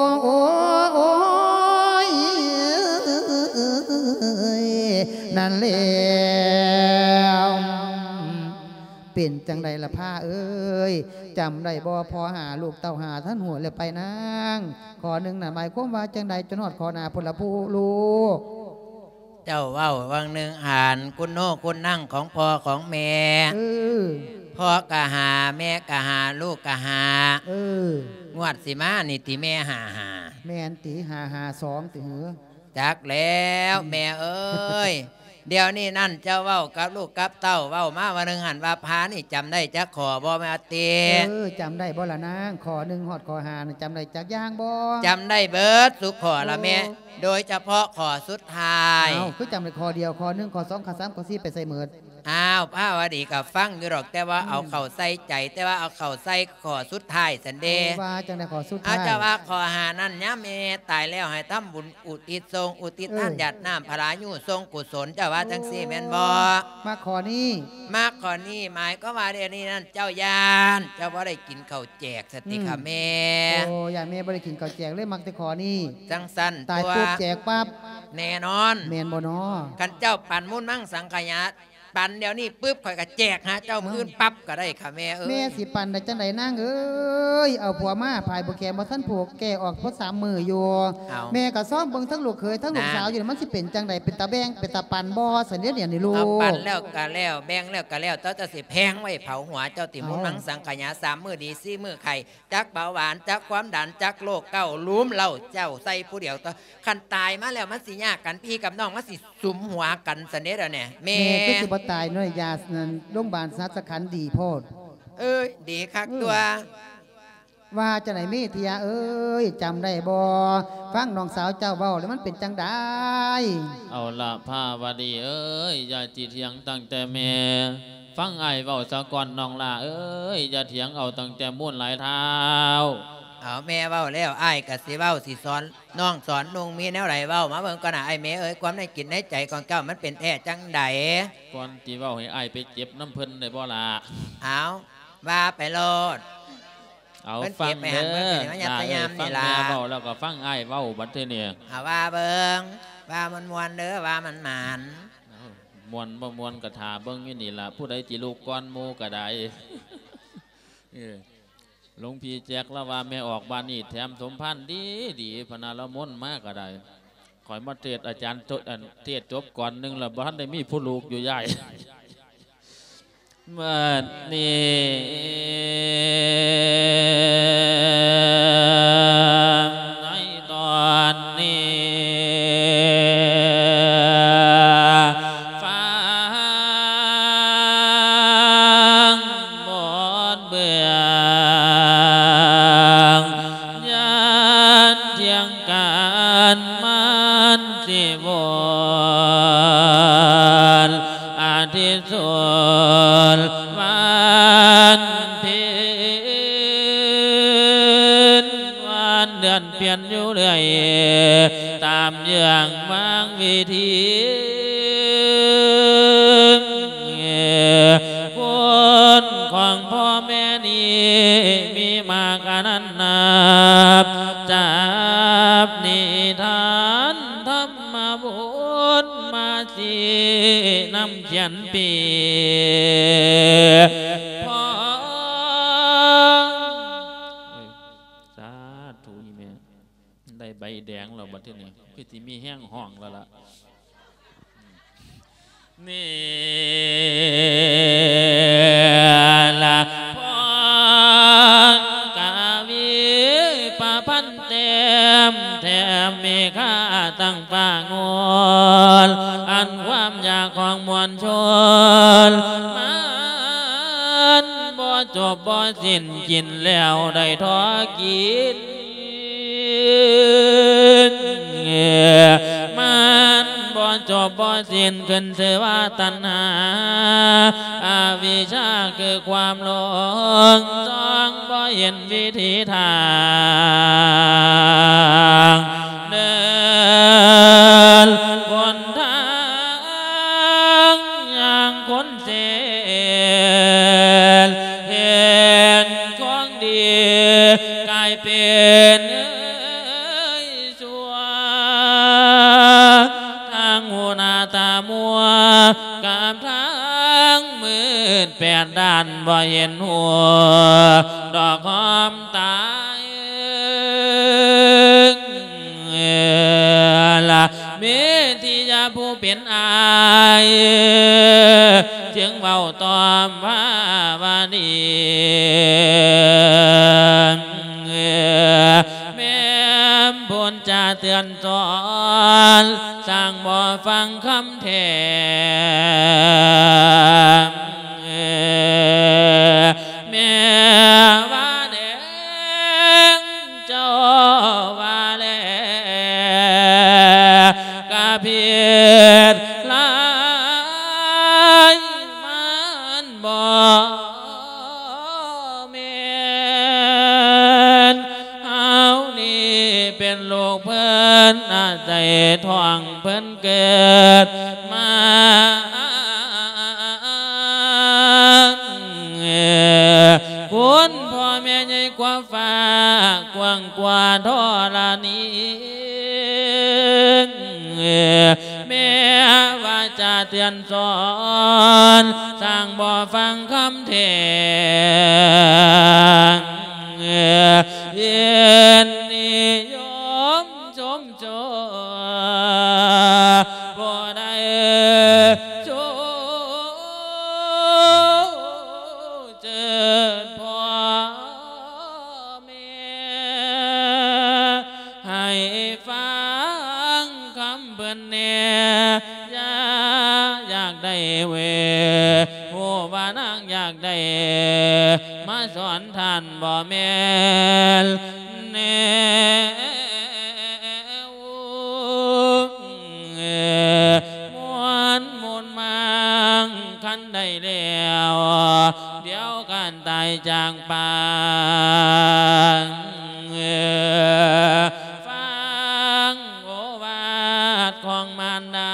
ໂອ້ຍ ນັ້ນແລ້ວ ເປັນຈັ່ງໃດລະພາເອີຍ ຈຳໄດ້ບໍ່ ພໍ່ຫາລູກເຕົ້າຫາທັນຫົວແລ້ວໄປນາງ ຂໍ້ໜຶ່ງນັ້ນໝາຍຄວາມວ່າຈັ່ງໃດ ຈົນຮອດຂໍ້ໜ້າພຸ້ນລະຜູ້ລູກ. ເຈົ້າເວົ້າຫວ່າງໜຶ່ງຫັ້ນ ຄຸນໂນຄຸນນັງຂອງພໍ່ຂອງແມ່ ເອີ ພໍ່ກະຫາ ແມ່ກະຫາ ລູກກະຫາ ເອີ ງວດຊິມານີ້ຕິແມ່ຫ້າຫ້າ ແມ່ນຕິ ຫ້າຫ້າສອງ ຕິເຫີ? ຈັກແລ້ວ ອືມ ແມ່ເອີຍ ດຽວນີ້ນັ້ນເຈົ້າເວົ້າກັບລູກກັບເຕົ້າ ເວົ້າມາວ່າໜຶ່ງຫັ້ນວ່າພານີ້ຈຳໄດ້ຈັກຂໍ້ບໍ່ແມ່ຕິ? ເອີ ຈຳໄດ້ບໍ່ລະນາງ? ຂໍ້ໜຶ່ງຮອດຂໍ້ຫ້ານັ້ນ ຈຳໄດ້ຈັກຢ່າງບໍ່? ຈຳໄດ້ເບິດທຸກຂໍ້ລະແມ່ ໂອ້ ໂດຍສະເພາະຂໍ້ສຸດທ້າຍ. ອ້າວ ຄືຈຳໄດ້ຂໍ້ດຽວ ຂໍ້ໜຶ່ງ ຂໍ້ສອງ ຂໍ້ສາມ ຂໍ້ສີ່ ໄປໃສເໝິດ? ອ້າວ ພາວະດີກໍຟັງຢູ່ດອກ ແຕ່ວ່າ ອືມ ເອົາເຂົ້າໃສ່ໃຈ ແຕ່ວ່າເອົາເຂົ້າໃສ່ຂໍ້ສຸດທ້າຍຊັ້ນເດ້. ເອີ ວ່າຈັ່ງໃດຂໍ້ສຸດທ້າຍ? ເອົາ ເຈົ້າວ່າຂໍ້ຫ້ານັ້ນ ຍາມແມ່ຕາຍແລ້ວໃຫ້ທຳບຸນ ອຸທິດ ສົ່ງອຸທິດ ເອີ ທານຢາດນ້ຳພະລາຍຸ ສົ່ງກຸສົນ ເຈົ້າວ່າຈັ່ງຊີ້ແມ່ນບໍ່? ມາຂໍ້ນີ້ ມາຂໍ້ນີ້ ໝາຍຄວາມວ່າດຽວນີ້ນັ້ນເຈົ້າຢ້ານ ເຈົ້າບໍ່ໄດ້ກິນເຂົ້າແຈກຊັ້ນຕິ ອືມ ຄະແມ່? ໂອ້ ຢ້ານແມ່ບໍ່ໄດ້ກິນເຂົ້າແຈກ ເລີຍມັກແຕ່ຂໍ້ນີ້ ຈັ່ງຊັ້ນ ຕາຍປຸບແຈກປັບ ແນ່ນອນ ແມ່ນບໍ່ນໍ? ຄັນເຈົ້າປັນມູນມັງສັງຂະຍາ ປັນດຽວນີ້ປຶບ ຂ້ອຍກໍແຈກຫາເຈົ້າມື້ອື່ນປັບກໍໄດ້ຄ່ະແມ່ເອີຍ. ແມ່ຊິປັນໄດ້ຈັ່ງໃດນາງເອີຍ ເອົາຜົວມາ ພາຍບໍ່ແຂນບໍ່ທັນຜູກ ແກ້ອອກພໍສາມມື້ຢູ່. ເອົາ ແມ່ກໍຊອມເບິ່ງທັງລູກເຂີຍທັງລູກສາວຢູ່ນີ້ ມັນຊິເປັນຈັ່ງໃດ ເປັນຕາແບ່ງເປັນຕາປັນບໍ່ຊັ້ນເດ ດຽວນີ້ລູກ? ເອົາ ປັນແລ້ວກໍແລ້ວ ແບ່ງແລ້ວກໍແລ້ວ ເຈົ້າ ເຈົ້າຊິແພງໄວ້ເຜົາຫົວເຈົ້າຕິ ເອົາ ມູນມັງສັງຂະຍາ ສາມມື້ດີ ສີ່ມື້ໄຂ້ ຈັກເບົາຫວານ ຈັກຄວາມດັນ ຈັກໂລກເກົ້າ ລຸມເລົ້າເຈົ້າໃສ່ຜູ້ດຽວເນາະ. ຄັນຕາຍມາແລ້ວມັນຊິຍາກກັນ ພີ່ກັບນ້ອງມັນຊິສຸມຫົວກັນຊັ້ນເດດຽວນີ້ແມ່. ແມ່ຄືຊິບໍ່ຕາຍເນາະ ຢາໂຮງບານສະຫັດສະຂັນດີໂພດ. ເອີຍ ດີຄັກ ເອີ ຕົວະ. ວ່າຈັ່ງໃດເມເທຍເອີຍ ຈຳໄດ້ບໍ່? ຟັງນ້ອງສາວເຈົ້າເວົ້າແລ້ວມັນເປັນຈັ່ງໃດ? ເອົາລະພາວະດີເອີຍ ຢ່າຊິຖຽງຕັ້ງແຕ່ແມ່ ຟັງອ້າຍເວົ້າສາກ່ອນນ້ອງຫຼ້າເອີຍ ຢ່າຖຽງເອົາຕັ້ງແຕ່ມູນຫຼາຍທ້າວ. ເອົາ ແມ່ເວົ້າແລ້ວ ອ້າຍກໍຊິເວົ້າ ຊິສອນນ້ອງສອນນຸ່ງ ມີແນວໃດເວົ້າມາເບິ່ງກ່ອນນະ ອ້າຍແມ່ເອີຍ. ຄວາມໃນຈິດໃນໃຈຂອງເຈົ້າມັນເປັນແທ້ຈັ່ງໃດ? ກ່ອນຊິເວົ້າໃຫ້ອ້າຍໄປເຈັບນຳເພິ່ນໄດ້ບໍ່ລະ? ເອົາ ວ່າໄປໂລດ. ເອົາ ເພິ່ນເກັບໄວ້ຫັ້ນ ເພິ່ນກໍຊິມາຍັດໃສ່ຍາມນີ້ລະ. ຟັງເດີຟັງແມ່ເວົ້າແລ້ວກໍຟັງອ້າຍເວົ້າບັດທີນີ້. ເອົາ ວ່າເບິ່ງ ວ່າມ່ວນໆເດີ ວ່າໝານໆ. ເອົ້າ ມ່ວນບໍ່ມ່ວນກໍຖ້າເບິ່ງຢູ່ນີ້ລະ ຜູ້ໃດຊິລຸກກ່ອນໝູ່ກໍໄດ້. ເອີ ຫຼວງພີ່ແຈັກລາວວ່າແມ່ອອກບ້ານນີ້ແຖມສົມພານດີໆ ພະນະ ລາວມົນມາກໍໄດ້. ຂ້ອຍມາເທດ ອາຈານ ອັນ ເທດຈົບກ່ອນໜຶ່ງແລ້ວ ບໍ່ທັນໄດ້ມີຜູ້ລູກຢູ່ ຍາຍ. ບັດນີ້ ທີ່ວົນອາທິດສົນວັນເພັນ ວັນເດືອນປ່ຽນຢູ່ເລື້ອຍ ຕາມເຍືອງມາງວິທີ ຄຸນຂອງພໍ່ແມ່ນີ້ມີມາກອະນັນນັບ ຈັບນິທານທຳມະບົດມາຊີ້ນຳຂຽນປີ ສາທຸ ອີ່ແມ່ ໄດ້ໃບແດງແລ້ວບັດທີນີ້ ຄືຊິມີແຮງຮ້ອງແລ້ວລະ ນີ້ລະ ພອນກະວີປະພັນແຕ້ມ ແຖມມີຄ່າຕັ້ງຟ້າງົນ ອັນຄວາມຢາກຂອງມວນຊົນ ມັນບໍ່ຈົບບໍ່ສິ້ນ ກິນແລ້ວໄດ້ທໍ່ກິນ ມັນບໍ່ຈົບບໍ່ສິ້ນ ຂຶ້ນຊື່ວ່າຕັນຫາ ອະວິຊາຄືຄວາມຫຼົງ ຈອງບໍ່ເຫັນວິທີທາງ ເດີນຫົນທາງຢ່າງຄົນເສນ ເຫັນຂອງດີກາຍເປັນເອີຍຊົ່ວ ທາງຫູໜ້າຕາມົວ ກັບທາງມືດແປດດ້ານ ບໍ່ເຫັນຫົວດອກຫອມຕາຍ ລະເມທິຍາຜູ້ເປັນອ້າຍ ຈຶ່ງເວົ້າຕອບວ່າ ວ່ານີ້ ແມ່ນບຸນຈາເຕືອນສອນ ຊ່າງບໍ່ຟັງຄຳແຖມ ແມ່ວ່າແດງ ເຈົ້າວ່າແລ ກະຜິດຫຼາຍ ມັນບໍ່ແມ່ນ ເຮົານີ້ເປັນລູກເພິ່ນ ອາໄສທ້ອງເພິ່ນເກີດມາ ຄຸນພໍ່ແມ່ໃຫຍ່ກວ່າຟ້າ ກວ້າງກວ່າທໍລະນີ ແມ່ວາຈາເຕືອນສອນ ຊ່າງບໍ່ຟັງຄຳແຖມ ເຫັນນິຍົມຊົມ ໂຈ ບໍ່ໄດ້ໂຈເຈີດພໍ່ແມ່ ໃຫ້ຟັງຄຳເພິ່ນແດ່ ຢ່າຢາກໄດ້ເວ ຮູ້ວ່ານາງຢາກໄດ້ ມາສອນທ່ານບໍ່ແມ່ນແນວ ມ່ວນມູນມັງຄັນໄດ້ແລ້ວ ດຽວການຕາຍຈາກປາງ ຟັງໂອວາດຂອງມານດາ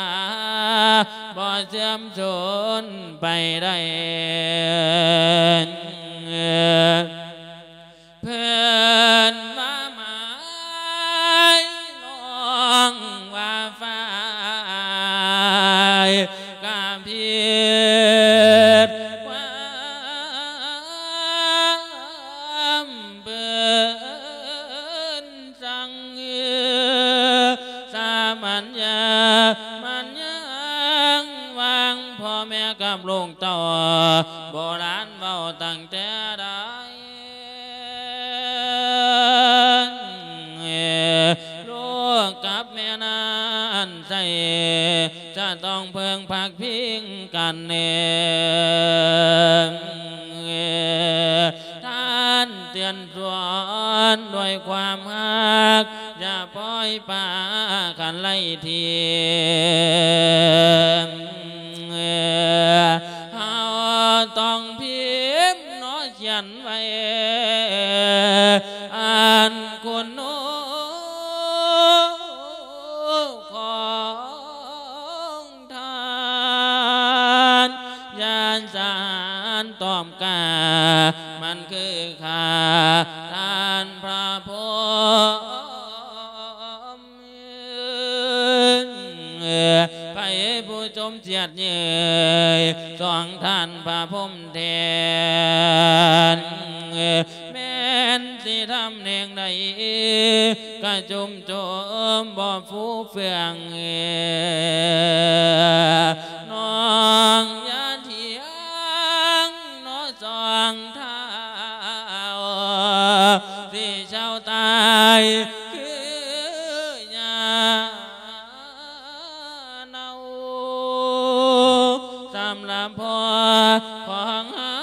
ບໍ່ເສື່ອມສູນໄປໄດ້ ເພິ່ນວ່າໝາຍ ນ້ອງວ່າຝ້າຍ ກະຜິດຄວາມເພິ່ນ ສັງ ສາມັນຍາ ມັນຍັງວາງ ພໍ່ແມ່ກັບລູກເຕົ້າ ໂບລານເວົ້າຕັ້ງແຕ່ໃດ ລູກກັບແມ່ນັ້ນໃສ ຈະຕ້ອງເພິ່ງພັກພິງກັນແນ່ ທ່ານເຕືອນສອນດ້ວຍຄວາມຮັກ ຢ່າປ່ອຍ ປາຄັນໄລ່ທີ ເຮົາຕ້ອງພິມເນາະ ຂຽນໄວ້ ອັນຄຸນໜູຂອງທ່ານ ຢ້ານສານຕອບກາ ມັນຄືຂ້າທ່ານພະພົມ ໃຜຜູ້ຊົມສຽດເຍີຍ ສອງທ່ານພະພົມແທນ ແມ່ນຊິທຳແນງໃດ ກະຈຸ່ມໂຈມບໍ່ຟູເຟືອງ ນ້ອງຢ່າຖຽງເນາະສອງທ້າວ ຊິເຊົາຕາຍຄືຫຍ້າເນົ່າ. ສຳລັບພໍ່ຂອງເຮົ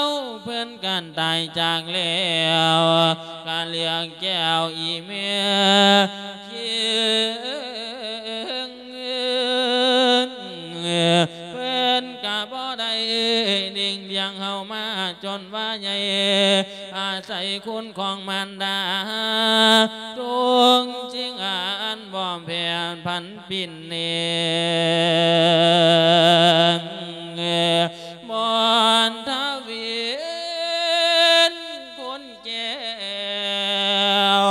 າ ເພິ່ນກັນຕາຍຈາກແລ້ວ ກະເລືອກແກ້ວອີ່ແມ່ຄຽງ ເພິ່ນກະບໍ່ໄດ້ລ້ຽງເຮົາມາຈົນວ່າໃຫຍ່ ອາໄສຄຸນຂອງມານດາ ທຸງຈິງອັນບໍ່ແຜ່ນຜັນປິ່ນເນ ມອນທະວິນຄົນແກ້ວ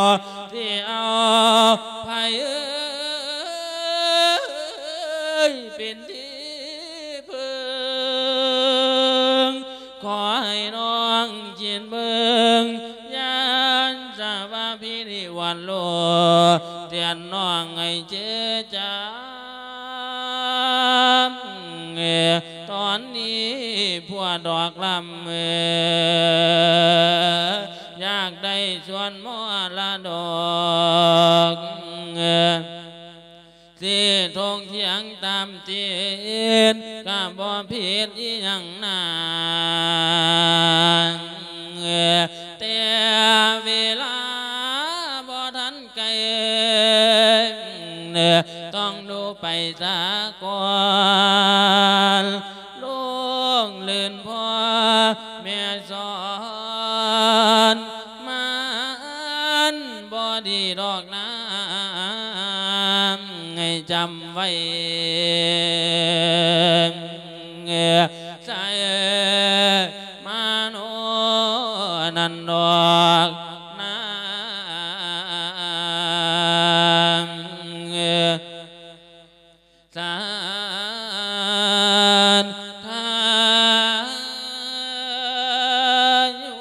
ຊິເອົາໃຜເອີຍ ເປັນທີ່ເພິ່ງ ຂໍໃຫ້ນ້ອງຄິດເບິ່ງ ຢ້ານສະວ່າພີ່ນີ້ຫວັ່ນໂລ ຕຽນນ້ອງໃຫ້ເຈຈາມ ຕອນນີ້ພວກດອກລຳ ຢາກໄດ້ສ່ວນມໍລະດົກ ຊິຖົງຖຽງຕາມຕິດ ກະບໍ່ຜິດອີ່ຫຍັງນາ ແຕ່ເວລາບໍ່ທັນໄກ ຕ້ອງດູໄປສາກ່ອນ ລູກລື່ນພໍ່ແມ່ສອນ ມັນບໍ່ດີດອກນາ ໃຫ້ຈຳໄວ້ ໃສ່ມາໂນນັ້ນດອກນາ ສາທາຍຸ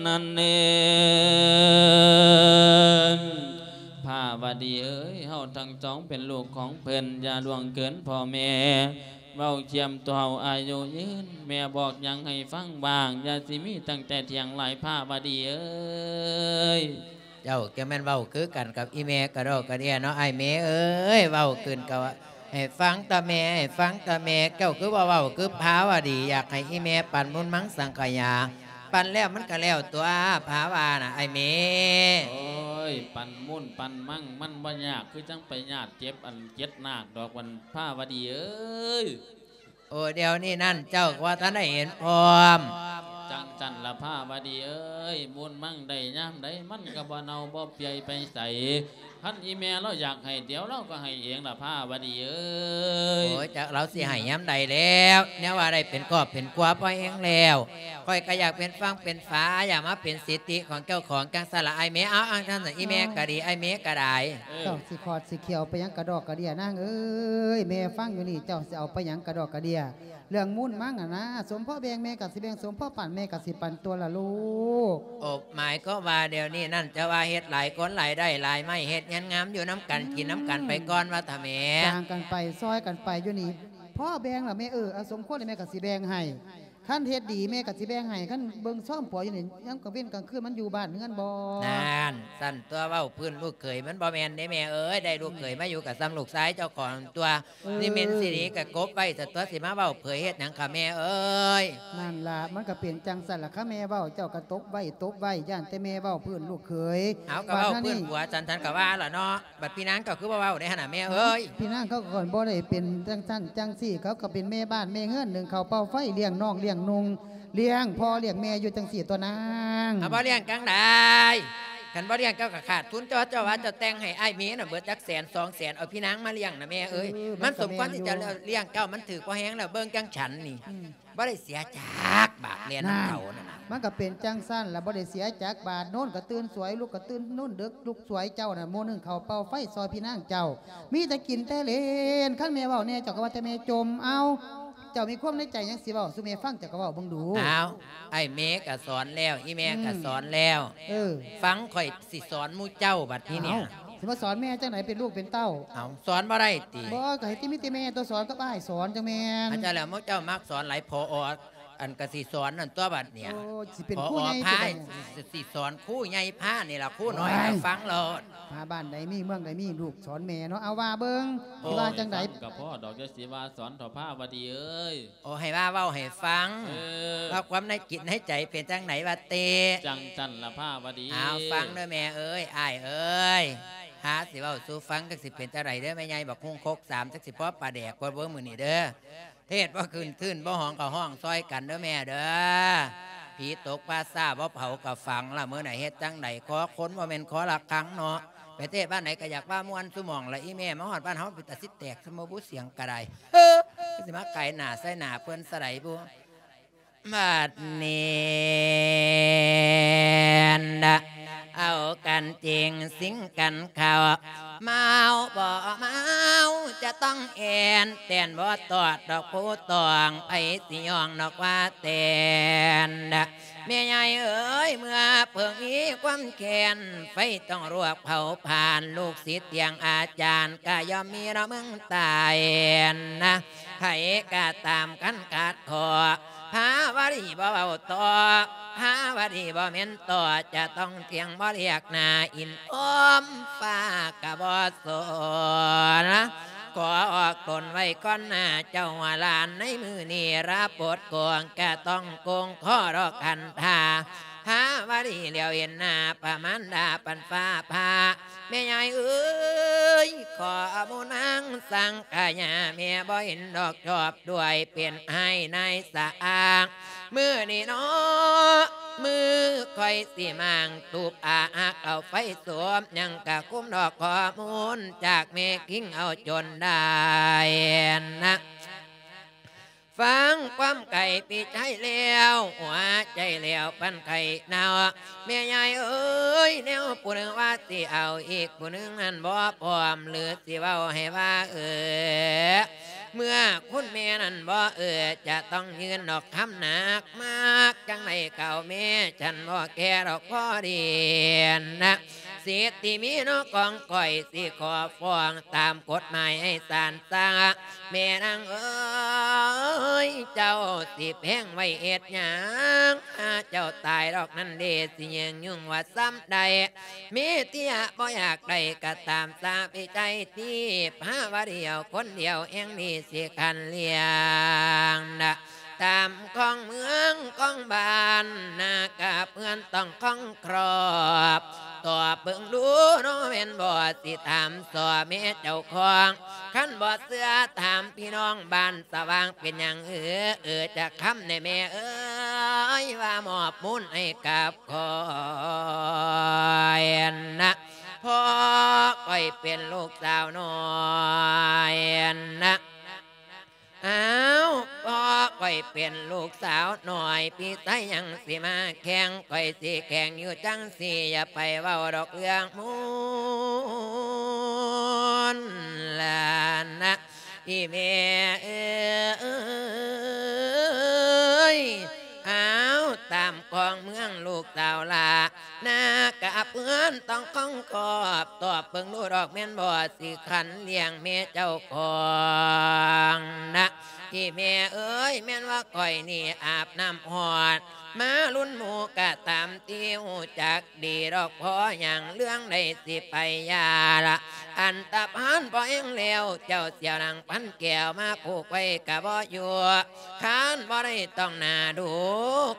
ນັ້ນເອີ ພາວະດີເອີຍ ເຮົາທັງສອງເປັນລູກຂອງເພິ່ນ ຢ່າລ່ວງເກີນພໍ່ແມ່ ເວົ້າຄຽມຕົວເຮົາອາຍຸຍືນ ແມ່ບອກຫຍັງໃຫ້ຟັງບ້າງ ຢ່າຊິມີຕັ້ງແຕ່ຖຽງຫຼາຍ ພາວະດີເອີຍ. ເຈົ້າຈະແມ່ນເວົ້າຄືກັນກັບອີ່ແມ່ກະດອກກະເດຍເນາະ ອ້າຍແມ່ເອີຍ ເວົ້າຂຶ້ນກະໃຫ້ຟັງຕະແມ່ ໃຫ້ຟັງຕະແມ່ ເຈົ້າຄືບໍ່ເວົ້າຄືພາວະດີ ຢາກໃຫ້ອີ່ແມ່ປັນບຸນມັງສັງຂະຍາ ປັນແລ້ວມັນກະແລ້ວຕົວະ ພາວະນະ ອ້າຍແມ່. ໂອ້ຍ ປັນມຸ້ນປັນມັງມັນບໍ່ຍາກ ຄືຈັ່ງໄປຍາດເຈັບອັນເຈັດນາກດອກ ວັນພາວະດີເອີຍ. ໂອ້ ດຽວນີ້ນັ້ນເຈົ້າກະວ່າທັນໄດ້ເຫັນພ້ອມ. ຈັ່ງຊັ້ນລະພາວະດີເອີຍ ບຸນມັງໄດ້ຍາມໃດ ມັນກະບໍ່ເນົ່າບໍ່ເປື່ອຍໄປໃສ. ຄັນອີ່ແມ່ລາວຢາກໃຫ້ ດຽວລາວກະໃຫ້ເອງລະພາວະດີເອີຍ. ໂອ້ຍ ຈັກລາວຊິໃຫ້ຍາມໃດແລ້ວ ແນວວ່າໄດ້ເປັນຄອບເປັນຄົວພໍແຮງແລ້ວ ຂ້ອຍກະຢາກເປັນຝັ່ງເປັນຝາ ຢາກມາເປັນສິດທິຂອງເຈົ້າຂອງ ຈັ່ງຊັ້ນລະອ້າຍແມ່. ເອົາ ອັງຊັ້ນ ອີ່ແມ່ກະດີ ອ້າຍແມ່ກະໄດ້. ເອີ ເຈົ້າຊິຂອດຊິຂຽວໄປຫຍັງກະດອກກະເດຍ ນາງເອີຍ ແມ່ຟັງຢູ່ນີ້ ເຈົ້າຊິເອົາໄປຫຍັງກະດອກກະເດຍ ເລື່ອງມູນມັງຫັ້ນນາ ສົມພໍແບ່ງແມ່ກະຊິແບ່ງ ສົມພໍປັນແມ່ກະຊິປັນຕົວະລະລູກ. ໂອ ໝາຍຄວາມວ່າດຽວນີ້ນັ້ນ ຈະວ່າເຮັດຫຼາຍຄົນຫຼາຍໄດ້ຫຼາຍໄມ້ ເຮັດເຮືອນງາມຢູ່ນຳກັນ ອືມ ກິນນຳກັນໄປກ່ອນວ່າທະແມ່. ຈ້າງກັນໄປ ຊ່ອຍກັນໄປຢູ່ນີ້ ພໍແບ່ງລະແມ່ເອີຍ ເອົາ ສົມຄວນລະແມ່ກະຊິແບ່ງໃຫ້. ຄັນເຮັດດີແມ່ກໍຊິແບ່ງໃຫ້ ຄັນເບິ່ງຊອມປົວຢູ່ນີ້ ຍາມກາງເວັນກາງຄືນມັນຢູ່ບ້ານເຮືອນບໍ່? ນັ້ນ ຊັ້ນຕົວະ ເວົ້າພື້ນລູກເຂີຍ ມັນບໍ່ແມ່ນເດ້ແມ່ເອີຍ ໄດ້ລູກເຂີຍມາຢູ່ກໍສ່ຳລູກຊາຍເຈົ້າຂອງຕົວະ ເອີ ນີ້ແມ່ນຊິໜີກໍກົບໄວ້ ແຕ່ຕົວະ ຊິມາເວົ້າເຜີຍເຮັດຫຍັງຄະແມ່ເອີຍ? ນັ້ນລະ ມັນກໍເປັນຈັ່ງຊັ້ນລະ ຄະແມ່ເວົ້າເຈົ້າກໍຕົບໄວ້ ຕົບໄວ້ ຢ້ານແຕ່ແມ່ເວົ້າພື້ນລູກເຂີຍ ເອົາ ກໍເວົ້າພື້ນຜົວ ຊັ້ນ ຊັ້ນກໍວ່າລະເນາະ. ບັດພີ່ນາງເຈົ້າຄືບໍ່ເວົ້າໃດຫັ້ນນະແມ່ເອີຍ? ພີ່ນາງເຂົາກໍບໍ່ໄດ້ເປັນຈັ່ງຊັ້ນຈັ່ງຊີ້ ເຂົາກໍເປັນແມ່ບ້ານແມ່ເຮືອນ ໜຶ້ງເຂົ້າເປົ່າໄຟ ລ້ຽງນ້ອງລ້ຽງນຸ່ງ ລ້ຽງພໍ່ລ້ຽງແມ່ຢູ່ຈັ່ງຊີ້ຕົວະນາງ. ເອົາ ບໍ່ລ້ຽງຈັ່ງໃດ? ຄັນບໍ່ລ້ຽງເຈົ້າກໍຂາດທຶນ ເຈົ້າ ເຈົ້າວ່າເຈົ້າແຕ່ງໃຫ້ອ້າຍເມນະເບິດຈັກແສນສອງແສນ ເອົາພີ່ນາງມາລ້ຽງນະແມ່ເອີຍ. ເອີ ມັນສົມຄວນທີ່ຈະລ້ຽງເຈົ້າ ມັນຖືກພໍແຮງແລ້ວ ເບິ່ງຈັ່ງຊັ້ນນີ້ ອືມ ບໍ່ໄດ້ເສຍຈັກບາດ ແລ່ນນຳເຂົານັ້ນນະ. ມັນກໍເປັນຈັ່ງຊັ້ນລະ ບໍ່ໄດ້ເສຍຈັກບາດ. ໂນນກໍຕື່ນສວຍ ລຸກກໍຕື່ນ ໂນນເດິກລຸກສວຍ ເຈົ້ານະໂມໜຶ້ງເຂົ້າເປົ່າໄຟຊ່ອຍພີ່ນາງເຈົ້າ ມີແຕ່ກິນແຕ່ຫຼິ້ນ. ຄັນແມ່ເວົ້າແດ່ ເຈົ້າກໍວ່າແຕ່ແມ່ຈົ່ມ. ເອົາ ເຈົ້າມີຄວາມໃນໃຈຫຍັງຊິເວົ້າສູ່ແມ່ຟັງ ເຈົ້າກໍເວົ້າເບິ່ງດູ. ເອົາ ອ້າຍເມກໍສອນແລ້ວ ອີ່ແມ່ກໍ ອືມ ສອນແລ້ວ. ເອີ ຟັງຂ້ອຍຊິສອນໝູ່ເຈົ້າບັດທີນີ້. ເອົ້າ ຊິມາສອນແມ່ຈັ່ງໃດ ເປັນລູກເປັນເຕົ້າ? ເອົ້າ ສອນບໍ່ໄດ້ຕິ? ບໍ່ ກໍໃຫ້ຕິມີແຕ່ແມ່ຕົວະສອນກັບອ້າຍສອນຈັ່ງແມ່ນ. ອາຈານແລ້ວ ໝູ່ເຈົ້າມັກສອນຫຼາຍ ພໍ ອັນກະຊິສອນນັ້ນຕົວະບັດນີ້. ໂອ້ ຊິເປັນຄູໃຫຍ່ ພໍ ພາ ຊິໄດ້ ຊິ ຊິສອນຄູໃຫຍ່ພານີ້ລະ ຄູນ້ອຍ ໂອ້ຍ ກໍຟັງໂລດ. ພາບ້ານໃດມີ ເມືອງໃດມີ ລູກສອນແມ່ເນາະ. ເອົາ ວ່າເບິ່ງ ໂອ້ ຊິວ່າຈັ່ງໃດ? ກະພໍດອກ ຢ່າຊິວ່າສອນເຖົ້າພາວະດີເອີຍ. ໂອ້ ໃຫ້ວ່າເວົ້າໃຫ້ຟັງ ເອີ ວ່າຄວາມໃນຈິດໃນໃຈເປັນຈັ່ງໃດວະເຕ. ຈັ່ງຊັ້ນລະພາວະດີ. ເອົາ ຟັງເດີແມ່ເອີຍ ອ້າຍເອີຍ ພາຊິເວົ້າສູ່ຟັງ ຈັກຊິເປັນຈັ່ງໃດເດີແມ່ໃຫຍ່ ບັກຮຸ່ງຄົກສາມ ຈັກຊິພໍປາແດກບໍ່ເບິ່ງມື້ນີ້ເດີ. ເທດບໍ່ຂຶ້ນ ຄື້ນບໍ່ຮ້ອງ ກໍຮ້ອງຊ່ອຍກັນເດີແມ່ເດີ. ຜີຕົກປ່າຊ້າບໍ່ເຜົາກໍຝັງລະ ມື້ໃດເຮັດຈັ່ງໃດ ຂໍຄົນບໍ່ແມ່ນຂໍລະຄັງເນາະ. ໄປເທດບ້ານໃດກໍຢາກວ່າມ່ວນສູ່ໝ່ອງລະ ອີ່ແມ່ ມາຮອດບ້ານເຮົາເປັນຕາຊິແຕກຊະບໍ່ບຸ ສຽງກະໄດ້ ເຮີ ຊິມາໄກໜ້າໃສ່ໜ້າເພິ່ນຊະໃດບຸ. ບັດນີ້ນະ ເອົາກັນຈິງຊິງກັນເຂົ້າ ເມົາບໍ່ເມົາຈະຕ້ອງແອ່ນ ແຕ່ນບໍ່ຕອດດອກຜູ້ຕ້ອງ ໃຜຊິຍ້ອງນອກວ່າແຕ່ນນະ. ແມ່ໃຫຍ່ເອີຍ ເມື່ອເພິ່ງມີຄວາມແຄ້ນ ໄຟຕ້ອງລວກເຜົາຜານ ລູກສິດຕຽງອາຈານ ກະຍ່ອມມີເນາະເມືອງໃຕ້ນະ. ໃຜກະຕາມຄັນຂາດຂໍ້ ພາວະດີບໍ່ເວົ້າຕໍ່ ພາວະດີບໍ່ແມ່ນຕໍ່ ຈະຕ້ອງທ່ຽງບໍ່ລຽກໜ້າ ອິນອ້ອມຟ້າກະບໍ່ສົນ. ຂໍອອກຕົນໄວ້ກ່ອນໜ້າເຈົ້າຫຼານ ໃນມື້ນີ້ລາບົດກວງ ກະຕ້ອງໂກງຂໍດອກຄັນທາ ພາວະດີຫຼຽວເຫັນໜ້າພະມານດາປັນຟ້າຜ່າ ແມ່ຍາຍເອີຍ ຂໍອະໂມນາງສັງຂະຍາ ແມ່ບໍ່ເຫັນດອກຊອບດ້ວຍ ເປັນອ້າຍນາຍສະອາງ ມື້ນີ້ເນາະ ມື້ຂ້ອຍຊິມາງ ຕູບອາຮັກເອົາໄຟສວມ ຍັງກະຄຸມດອກຂໍ້ມູນ ຈາກແມ່ຄິງເອົາຈົນໄດ້ນະ. ຟັງຄວາມໄກ່ປີໃຈແລ້ວ ຫົວໃຈແລ້ວປັນໄຂ່ເນົ່າ ແມ່ຍາຍເອີຍ ແນວຜູ້ໜຶ່ງວ່າຊິເອົາ ອີກຜູ້ໜຶ່ງນັ້ນບໍ່ພ້ອມ ຫຼືຊິເວົ້າໃຫ້ວ່າເອີ ເມື່ອຄຸນແມ່ນັ້ນບໍ່ເອີ ຈະຕ້ອງຍື່ນດອກຄຳໜັກ ມັກຈັ່ງໃດກໍເອົາແມ່ ສັນບໍ່ແຄດອກພໍດີນະ. ສິດທີ່ມີເນາະຂອງຂ້ອຍ ຊິຂໍຟ້ອງຕາມກົດໝາຍໃຫ້ສານສັ່ງ ແມ່ນາງເອີຍ ເຈົ້າຊິແພງໄວ້ເຮັດຫຍັງ ຫາເຈົ້າຕາຍດອກນັ້ນເດ ຊິຍືງຍຸ່ງວ່າສ່ຳໃດ ມີເທຍບໍ່ຢາກໄດ້ກໍຕາມສາພິໄຈ ທີ່ພາວະດຽວຄົນດຽວແຫ່ງນີ້ຊິຄັນລ້ຽງນະ. ຕາມຂອງເມືອງຂອງບ້ານນາກະເພື່ອນຕ້ອງຄອງຄອບ ຕອບເບິ່ງດູເນາະແມ່ນບໍ່ ຊິຖາມສໍ້ແມ່ເຈົ້າຂອງ ຄັນບໍ່ເຊື່ອຖາມພີ່ນ້ອງບ້ານສະຫວ່າງ ເປັນຫຍັງເອີ ເອີ ຈັກຄຳແດ່ແມ່ເອີຍ ວ່າມອບມູນໃຫ້ກັບຂ້อยนะ เพราะข้อยเป็นลูกสาวน้อยนะ อ้าว เพราะข้อยเป็นลูกสาวน้อย พี่ชายยังสิมาแข่ง ข้อยสิแข่งอยู่จั่งซี้ อย่าไปเว้าดอกเรื่องมูนล่ะนะ อีแม่เอ๋ย อ้าว ตามของเมืองลูกสาวหล้า ນາກະເພື່ອນຕ້ອງຄອງຄອບ ຕອບເບິ່ງດູດອກແມ່ນບໍ່ ຊິຂັນລ້ຽງແມ່ເຈົ້າຂອງນະ. ອີ່ແມ່ເອີຍ ແມ່ນວ່າຂ້ອຍນີ້ອາບນ້ຳຮອດ ມາລຸນໝູ່ກະຕາມທີ່ຮູ້ຈັກດີດອກ ພໍຫຍັງເລື່ອງໃດຊິໄປຢ່າລະ ອັນຕະພານພໍແຮງແລ້ວ ເຈົ້າຊິເອົານາງພັນແກ້ວມາຜູກໄວ້ກະບໍ່ຢູ່ ຄັນບໍ່ໄດ້ຕ້ອງໜ້າດູ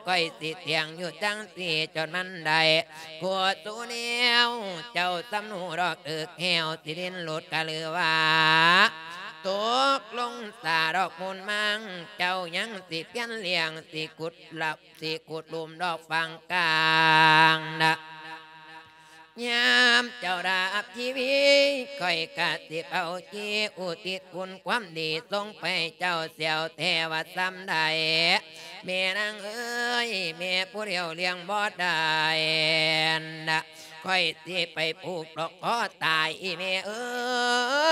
ຂ້ອຍຊິຖຽງຢູ່ຈັ່ງຊີ້ ຈົນມັນໄດ້ຜົວສູແນວ ເຈົ້າສຳຮູ້ດອກເອິກແຫ້ວ ຊິດິ້ນຫຼຸດກະຫຼືວ່າຕົກລົງສາດອກມູນມັງ ເຈົ້າຍັງຊິປ່ຽນລ້ຽງ ຊິຂຸດລະ ຊິຂຸດຫຼຸມດອກຝັງກາງນະ. ຍາມເຈົ້າດັບຊີວິດ ຂ້ອຍກະຊິເອົາຈີອຸທິດຄຸນຄວາມດີ ສົ່ງໄປເຈົ້າແຊວແທ້ວ່າສ່ຳໃດ. ແມ່ນາງເອີຍ ແມ່ຜູ້ດຽວລ້ຽງບໍ່ໄດ້ນະ ຂ້ອຍຊິໄປຜູກດອກຄໍຕາຍ ອີ່ແມ່ເອີ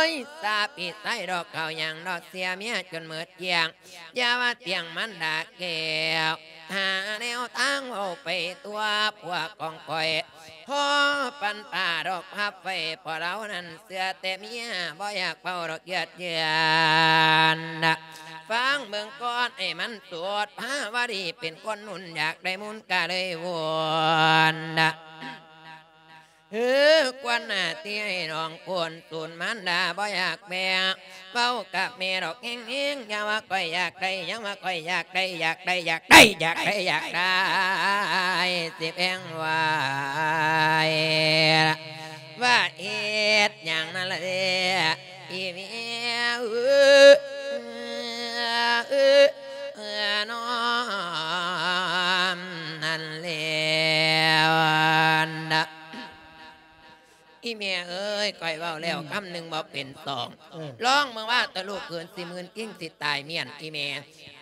ຍ ສາປີໄຊດອກເຂົ້າຫຍັງດອກ ເສຍເມຍຈົນໝົດກ້ຽງ ຢ່າວ່າຕຽງມັນດາແກ້ວ ຫາແນວທາງເວົ້າໄປຕົວະພວກຂອງຂ້ອຍ ພໍປັນປາດອກພັບໄວ້ ເພາະລາວນັ້ນເຊື່ອແຕ່ເມຍ ບໍ່ຢາກເວົ້າດອກເຍືອດເຍືອນນະ. ຟັງເບິ່ງກ່ອນໃຫ້ມັນສຸດ ພາວະດີເປັນຄົນໜູນ ຢາກໄດ້ມູນກະເລີຍວົນນະ. ເອີ ຄວນໜ້າທີ່ໃຫ້ນ້ອງໂພນສູນ ມານດາບໍ່ຢາກແບ່ງ ເວົ້າກັບແມ່ດອກແຮງໆ ຢ່າວ່າຂ້ອຍຢາກໄດ້ ຢ່າວ່າຂ້ອຍຢາກໄດ້ ຢາກໄດ້ ຢາກໄດ້ ຢາກໄດ້ ຢາກໄດ້ ຊິແບ່ງໄວ້ ວ່າເຮັດຫຍັງນັ້ນລະເດ້ ອີແມ່ເອີຍ ເອີ ເອີ ນ້ອມ ຫັ້ນແລ້ວນະ. ອີແມ່ເອີຍ ຂ້ອຍເວົ້າແລ້ວ ອືມ ຄຳໜຶ່ງບໍ່ເປັນສອງ ເອີ ລອງເບິ່ງວ່າ ຕະລູກເຂີນຊິມື່ນກິ້ງ ຊິຕາຍມ້ຽນ ອີແມ່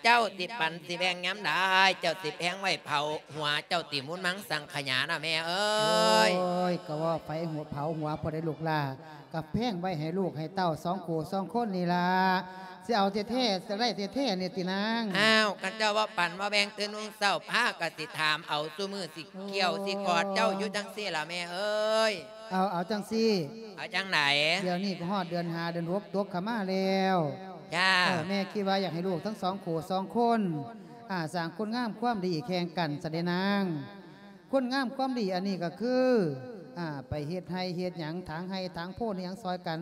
ເຈົ້າຊິປັນຊິແບ່ງຍາມໃດ ເຈົ້າຊິແພງໄວ້ເຜົາຫົວເຈົ້າຕິ ມູນມັງສັງຂະຫຍານະແມ່ເອີຍ. ໂອ້ຍ ກໍວ່າໄຟຫົວເຜົາຫົວພໍໄດ້ລູກຫຼ້າ ກໍແພງໄວ້ໃຫ້ລູກໃຫ້ເຕົ້າສອງຄູ່ສອງຄົນນີ້ລະ ຊິເອົາແທ້ໆ ຊິໄດ້ແທ້ໆນີ້ຕິນາງ. ອ້າວ ຄັນເຈົ້າບໍ່ປັນບໍ່ແບ່ງ ຕື່ນຮຸ່ງເຊົ້າພາກໍຊິຖາມເອົາ ຊຸມື້ຊິກ່ຽວຊິກອດເຈົ້າຢູ່ຈັ່ງຊີ້ລະແມ່ເອີຍ. ເອົາ ເອົາຈັ່ງຊີ້ ເອົາຈັ່ງໃດ? ດຽວນີ້ກໍຮອດເດືອນຫ້າເດືອນຫົກຕົກເຂົ້າມາແລ້ວ. ຈ້າ ເອີ ແມ່ຄິດວ່າຢາກໃຫ້ລູກທັງສອງຄູ່ສອງຄົນ ອ່າ ສ້າງຄຸນງາມຄວາມດີແຂ່ງກັນຊະເດນາງ. ຄຸນງາມຄວາມດີອັນນີ້ກໍຄື ອ່າ ໄປເຮັດໄຮ່ເຮັດຫຍັງ ຖາງໄຮ່ຖາງໂພນຫຍັງຊ່ອຍກັນ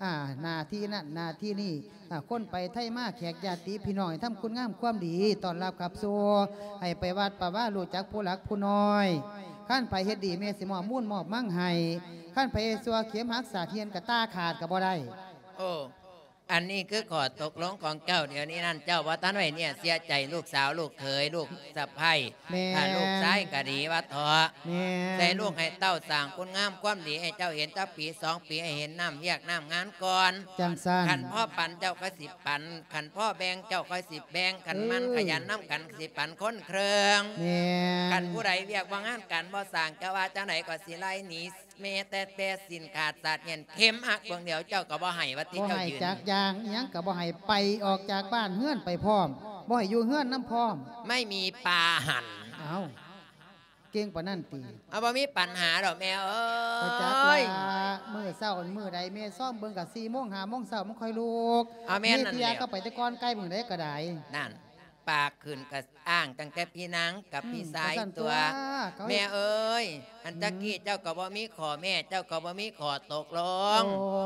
ອ່າ ໜ້າທີ່ນັ້ນໜ້າທີ່ນີ້ ອ່າ ຄົນໄປໄທມາ ແຂກຍາດຕິພີ່ນ້ອງ ໃຫ້ທຳຄຸນງາມຄວາມດີຕ້ອນຮັບຂັບສູ່ ໃຫ້ໄປວັດປະວາ ຮູ້ຈັກຜູ້ຫຼັກຜູ້ນ້ອຍ. ຄັນໃຜເຮັດດີ ແມ່ຊິມອບມູນມອບມັງໃຫ້ ຄັນໃຜເຮັດຊົ່ວ ເຂັມຫັກສາກຮຽນກະຕາຂາດກະບໍ່ໄດ້. ໂອ້ ອັນນີ້ຄືຂໍ້ຕົກລົງຂອງເຈົ້າ ດຽວນີ້ນັ້ນເຈົ້າບໍ່ທັນໄວ້ເນຍເສຍໃຈ ລູກສາວລູກເຂີຍ ລູກສະໃພ້ ແມ່ນ ຖ້າລູກຊາຍກໍດີວ່າເຖາະ ແມ່ນ ໃຫ້ລູກໃຫ້ເຕົ້າສ້າງຄຸນງາມຄວາມດີໃຫ້ເຈົ້າເຫັນຈັກປີສອງປີ ໃຫ້ເຫັນນ້ຳວຽກນ້ຳງານກ່ອນ ຈັ່ງຊັ້ນ ຄັນພໍປັນເຈົ້າກໍຊິປັນ ຄັນພໍແບ່ງເຈົ້າກໍຊິແບ່ງ ຄັນໝັ່ນ ເອີ ຂະຫຍັນນຳກັນຊິປັນຄົນເຄິ່ງ ແມ່ນ ຄັນຜູ້ໃດວຽກວຽກງານການບໍ່ສ້າງ ເຈົ້າວ່າຈັ່ງໃດກໍຊິໄລ່ໜີ ແມ້ແຕ່ແຕ່ສິ້ນຂາດສາດແໜ້ນ ເຂັມຫັກເບື້ອງດຽວເຈົ້າກໍບໍ່ໃຫ້ ວ່າຕິ ບໍ່ໃຫ້ ເຈົ້າຢືນ ຈັກຢ່າງ ອີ່ຫຍັງກໍບໍ່ໃຫ້ ໄປອອກຈາກບ້ານເຮືອນໄປພ້ອມ ບໍ່ໃຫ້ຢູ່ເຮືອນນຳພ້ອມ ໄມ່ມີປາຫັນ. ເອົ້າ ເກັ່ງປານນັ້ນຕິ? ເອົາ ບໍ່ມີປັນຫາດອກແມ່ເອີຍ ບໍ່ຈັກລະ ມື້ເຊົ້າມື້ໃດແມ່ຊອມເບິ່ງກະສີ່ໂມງຫ້າໂມງເຊົ້າມັນຄ່ອຍລຸກ ເອົາ ແມ່ນນັ້ນແຫຼະ ມີເທື່ອກໍໄປແຕ່ກ່ອນໄກມື້ໃດກໍໄດ້ ນັ້ນ ປາກຂຶ້ນກະອ້າງຕັ້ງແຕ່ພີ່ນາງກັບ ອືມ ພີ່ຊາຍ ກະຊັ້ນຕົວະ ຕົວະ ເຂົາ ແມ່ເອີຍ ອັນ ອືມ ຈັກກີ້ເຈົ້າກໍບໍ່ມີຂໍ້ແມ່ ເຈົ້າກໍບໍ່ມີຂໍ້ຕົກລົງ ໂອ້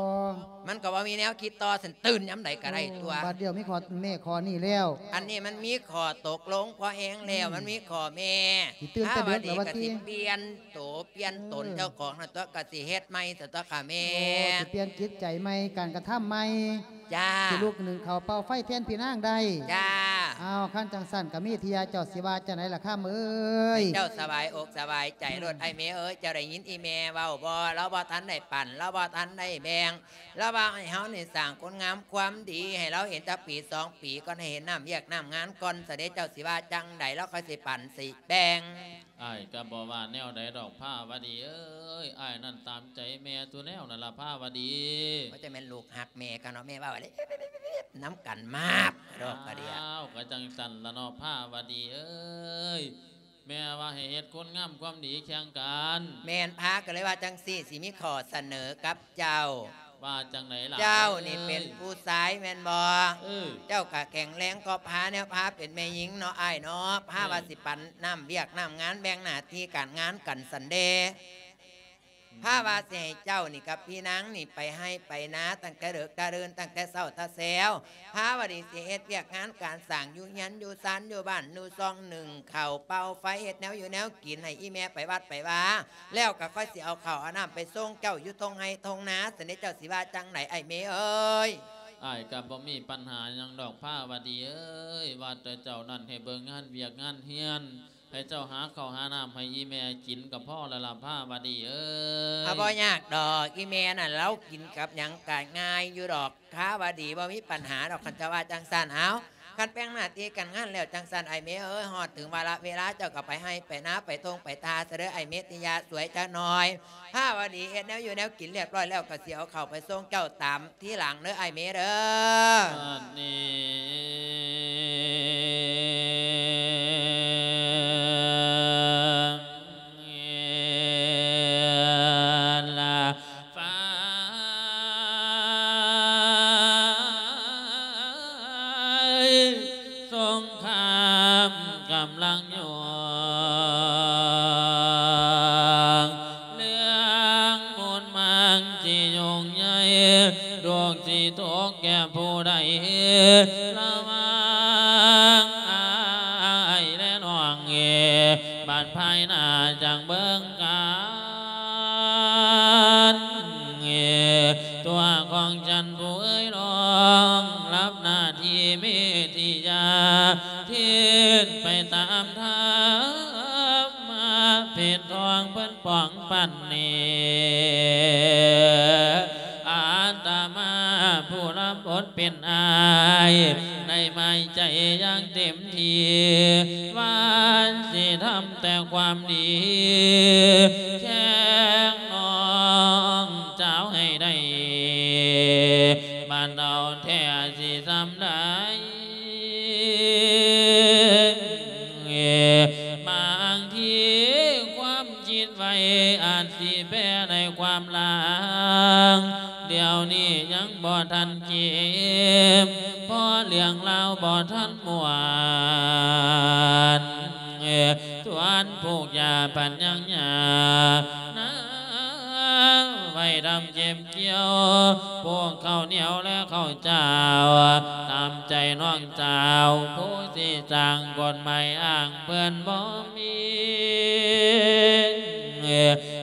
ມັນກໍບໍ່ມີແນວຄິດຕໍ່ ຊັ້ນຕື່ນຍາມໃດກໍໄດ້ຕົວະ ອືມ ບາດດຽວມີຂໍ້ແມ່ຂໍ້ນີ້ແລ້ວ ອັນນີ້ມັນມີຂໍ້ຕົກລົງພໍແຮງແລ້ວ ອືມ ມັນມີຂໍ້ແມ່ ຊິຕື່ນແຕ່ເດິກແລ້ວວ່າຕິ ພາວະດີກໍຊິປ່ຽນໂຕປ່ຽນຕົນ ເອີ ເຈົ້າຂອງນັ້ນຕົວະ ກໍຊິເຮັດໃໝ່ຊັ້ນຕົວະຄ່ະແມ່ ໂອ້ ຊິປ່ຽນຈິດໃຈໃໝ່ ການກະທຳໃໝ່ ຈ້າ ຊິລຸກໜຶ້ງເຂົ້າເປົ່າໄຟແທນພີ່ນາງໄດ້ ຈ້າ ອ້າວ ຄັນຈັ່ງຊັ້ນກໍມີເທື່ອ ເຈົ້າຊິວ່າຈັ່ງໃດລະຄຳເອີຍ ໃຫ້ເຈົ້າສະບາຍອົກສະບາຍໃຈໂລດ ອືມ ອ້າຍແມ່ເອີຍ ເຈົ້າໄດ້ຍິນອີ່ແມ່ເວົ້າບໍ່? ລາວບໍ່ທັນໄດ້ປັນ ລາວບໍ່ທັນໄດ້ແບ່ງ ລາວວ່າໃຫ້ເຮົານີ້ສ້າງຄຸນງາມຄວາມດີ ໃຫ້ລາວເຫັນຈັກປີສອງປີກ່ອນ ໃຫ້ເຫັນນ້ຳວຽກນ້ຳງານກ່ອນຊະເດ ເຈົ້າຊິວ່າຈັ່ງໃດ ລາວຄ່ອຍຊິປັນຊິແບ່ງ. ອ້າຍກໍບໍ່ວ່າແນວໃດດອກພາວະດີເອີຍ ອ້າຍນັ້ນຕາມໃຈແມ່ທຸແນວນັ້ນລະພາວະດີ ວ່າຈະແມ່ນລູກຮັກແມ່ກັນເນາະ ແມ່ເວົ້າເດ້ ນຳກັນມາບດອກກະເດຍ ອ້າວ ກໍຈັ່ງຊັ້ນລະເນາະພາວະດີເອີຍ ແມ່ວ່າໃຫ້ເຮັດຄຸນງາມຄວາມດີແຂ່ງກັນ. ແມ່ນ ພາກໍເລີຍວ່າຈັ່ງຊີ້ ຊິມີຂໍ້ສະເໜີກັບເຈົ້າ. ວ່າຈັ່ງໃດລະ? ເຈົ້ານີ້ເປັນຜູ້ຊາຍແມ່ນບໍ່? ເອີ ເຈົ້າກໍແຂງແຮງກວ່າພາ ແນວພາເປັນແມ່ຍິງເນາະອ້າຍເນາະ. ພາ ເອີ ວ່າຊິປັນໜ້າວຽກໜ້າວງານ ແບ່ງໜ້າທີ່ການງານກັນຊັ້ນເດ. ພາວ່າຊິໃຫ້ເຈົ້ານີ້ກັບພີ່ນາງນີ້ໄປໄຮ່ໄປນາຕັ້ງແຕ່ເດິກແຕ່ເດີນ ຕັ້ງແຕ່ເຊົ້າແຕ່ແຊວ. ພາວ່າດີຊິເຮັດວຽກງານການສ້າງ ຢູ່ເຮືອນຢູ່ຊານ ຢູ່ບ້ານຢູ່ຊ່ອງ ໜຶ້ງເຂົ້າເປົ່າໄຟ ເຮັດແນວຢູ່ແນວກິນ ໃຫ້ອີ່ແມ່ໄປວັດໄປວາ ແລ້ວກໍຄ່ອຍຊິເອົາເຂົ້າເອົານ້ຳໄປສົ່ງເຈົ້າຢູ່ທົ່ງໄຮ່ທົ່ງນາ. ຊັ້ນເດ ເຈົ້າຊິວ່າຈັ່ງໃດອ້າຍເມເອີຍ? ອ້າຍກໍບໍ່ມີປັນຫາຫຍັງດອກພາວ່າດີເອີຍ ວ່າແຕ່ເຈົ້ານັ້ນໃຫ້ເບິ່ງງານວຽກງານເຮືອນ ໃຫ້ເຈົ້າຫາເຂົ້າຫານ້ຳໃຫ້ອີ່ແມ່ກິນກໍພໍແລ້ວລະພາວ່າດີເອີຍ. ອາ ບໍ່ຍາກດອກ ອີ່ແມ່ນັ້ນລາວກິນກັບຫຍັງກໍງ່າຍຢູ່ດອກ ພາວ່າດີ ບໍ່ມີປັນຫາດອກ ຄັນເຈົ້າວ່າຈັ່ງຊັ້ນ. ເອົາ ຄັນແບ່ງໜ້າທີ່ການງານແລ້ວຈັ່ງຊັ້ນ ອ້າຍເມເອີຍ ຮອດເຖິງວາລະເວລາເຈົ້າກໍໄປໄຮ່ໄປນາ ໄປທົ່ງໄປທ່າຊະເດີ ອ້າຍເມຕິຍາ ສວຍຈັກໜ່ອຍ. ພາວ່າດີ ເຮັດແນວຢູ່ແນວກິນລຽບຮ້ອຍແລ້ວ ກໍຊິເອົາເຂົ້າໄປສົ່ງເຈົ້າຕາມ ທີຫຼັງເດີອ້າຍເມເດີ. ບັດນີ້ລະໄຟສົງຄາມກຳລັງ ຍ້ອງເລື່ອງມຸນມັງຊິຫຍຸ້ງໃຫຍ່ ທຸກຊິຕົກແກ່ຜູ້ໃດ ລະຫວ່າງອ້າຍແລະນ້ອງເອ ບັດພາຍໜ້າຈັ່ງເບິ່ງກັນ ຕົວຂອງ ຈັນຜູ້ເອີຍ ລອງຮັບໜ້າທີ່ເມທິຍາ ເຮັດໄປຕາມທຳມະເພັດທອງເພິ່ນປ້ອງປັນນີ້ ອາດຕະມາຜູ້ຮັບບົດເປັນອ້າຍ ໃນໄມ້ໃຈຢ່າງເຕັມທີ່ ວ່າຊິທຳແຕ່ຄວາມດີ ແຂ່ງນ້ອງສາວໃຫ້ໄດ້ ບາດເອົາແທ້ຊິສ່ຳໃດ ບາງທີຄວາມຄິດໄວອາດຊິແປໃນຄວາມລາງ ດຽວນີ້ຍັງບໍ່ທັນເຈັບ ເພາະເລື່ອງລາວບໍ່ທັນມ່ວນ ສ່ວນປູກຢາພັນຍັງຫຍ້ານາ ໄວ້ດຳເກັບກ່ຽວ ປູກເຂົ້າໜຽວແລະເຂົ້າເຈົ້າ ຕາມໃຈນ້ອງສາວ ຜູ້ຊິສ້າງກົດໝາຍອ້າງເພິ່ນບໍ່ມີ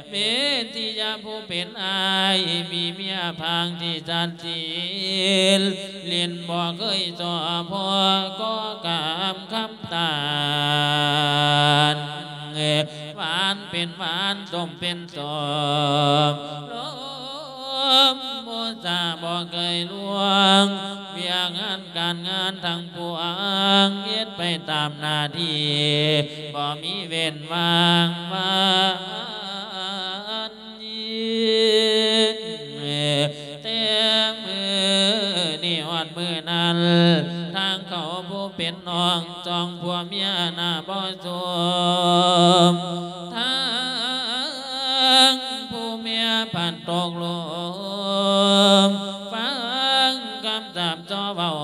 ເມທິຍາຜູ້ເປັນອ້າຍ ມີເມຍພາງທີ່ຊັດຊີນ ຫຼິ້ນບໍ່ເຄີຍສໍ້ພໍ ກໍກາມຄຳຕານ ຫວານເປັນຫວານ ສົ້ມເປັນສົ້ມ ລົມໂມຊາບໍ່ເຄີຍລວງ ວຽກງານການງານທັງປວງ ເຮັດໄປຕາມໜ້າທີ່ ບໍ່ມີເວັ້ນວ່າງວັນ ແຕ່ມື້ນີ້ຮອດມື້ນັ້ນ ທາງເຂົາຜູ້ເປັນນ້ອງ ສອງຜົວເມຍໜ້າບໍ່ສົມ ທາງຜູ້ເມຍພັນຕົກລົມ ຟັງຄຳສາບ ຈໍເວົ້າ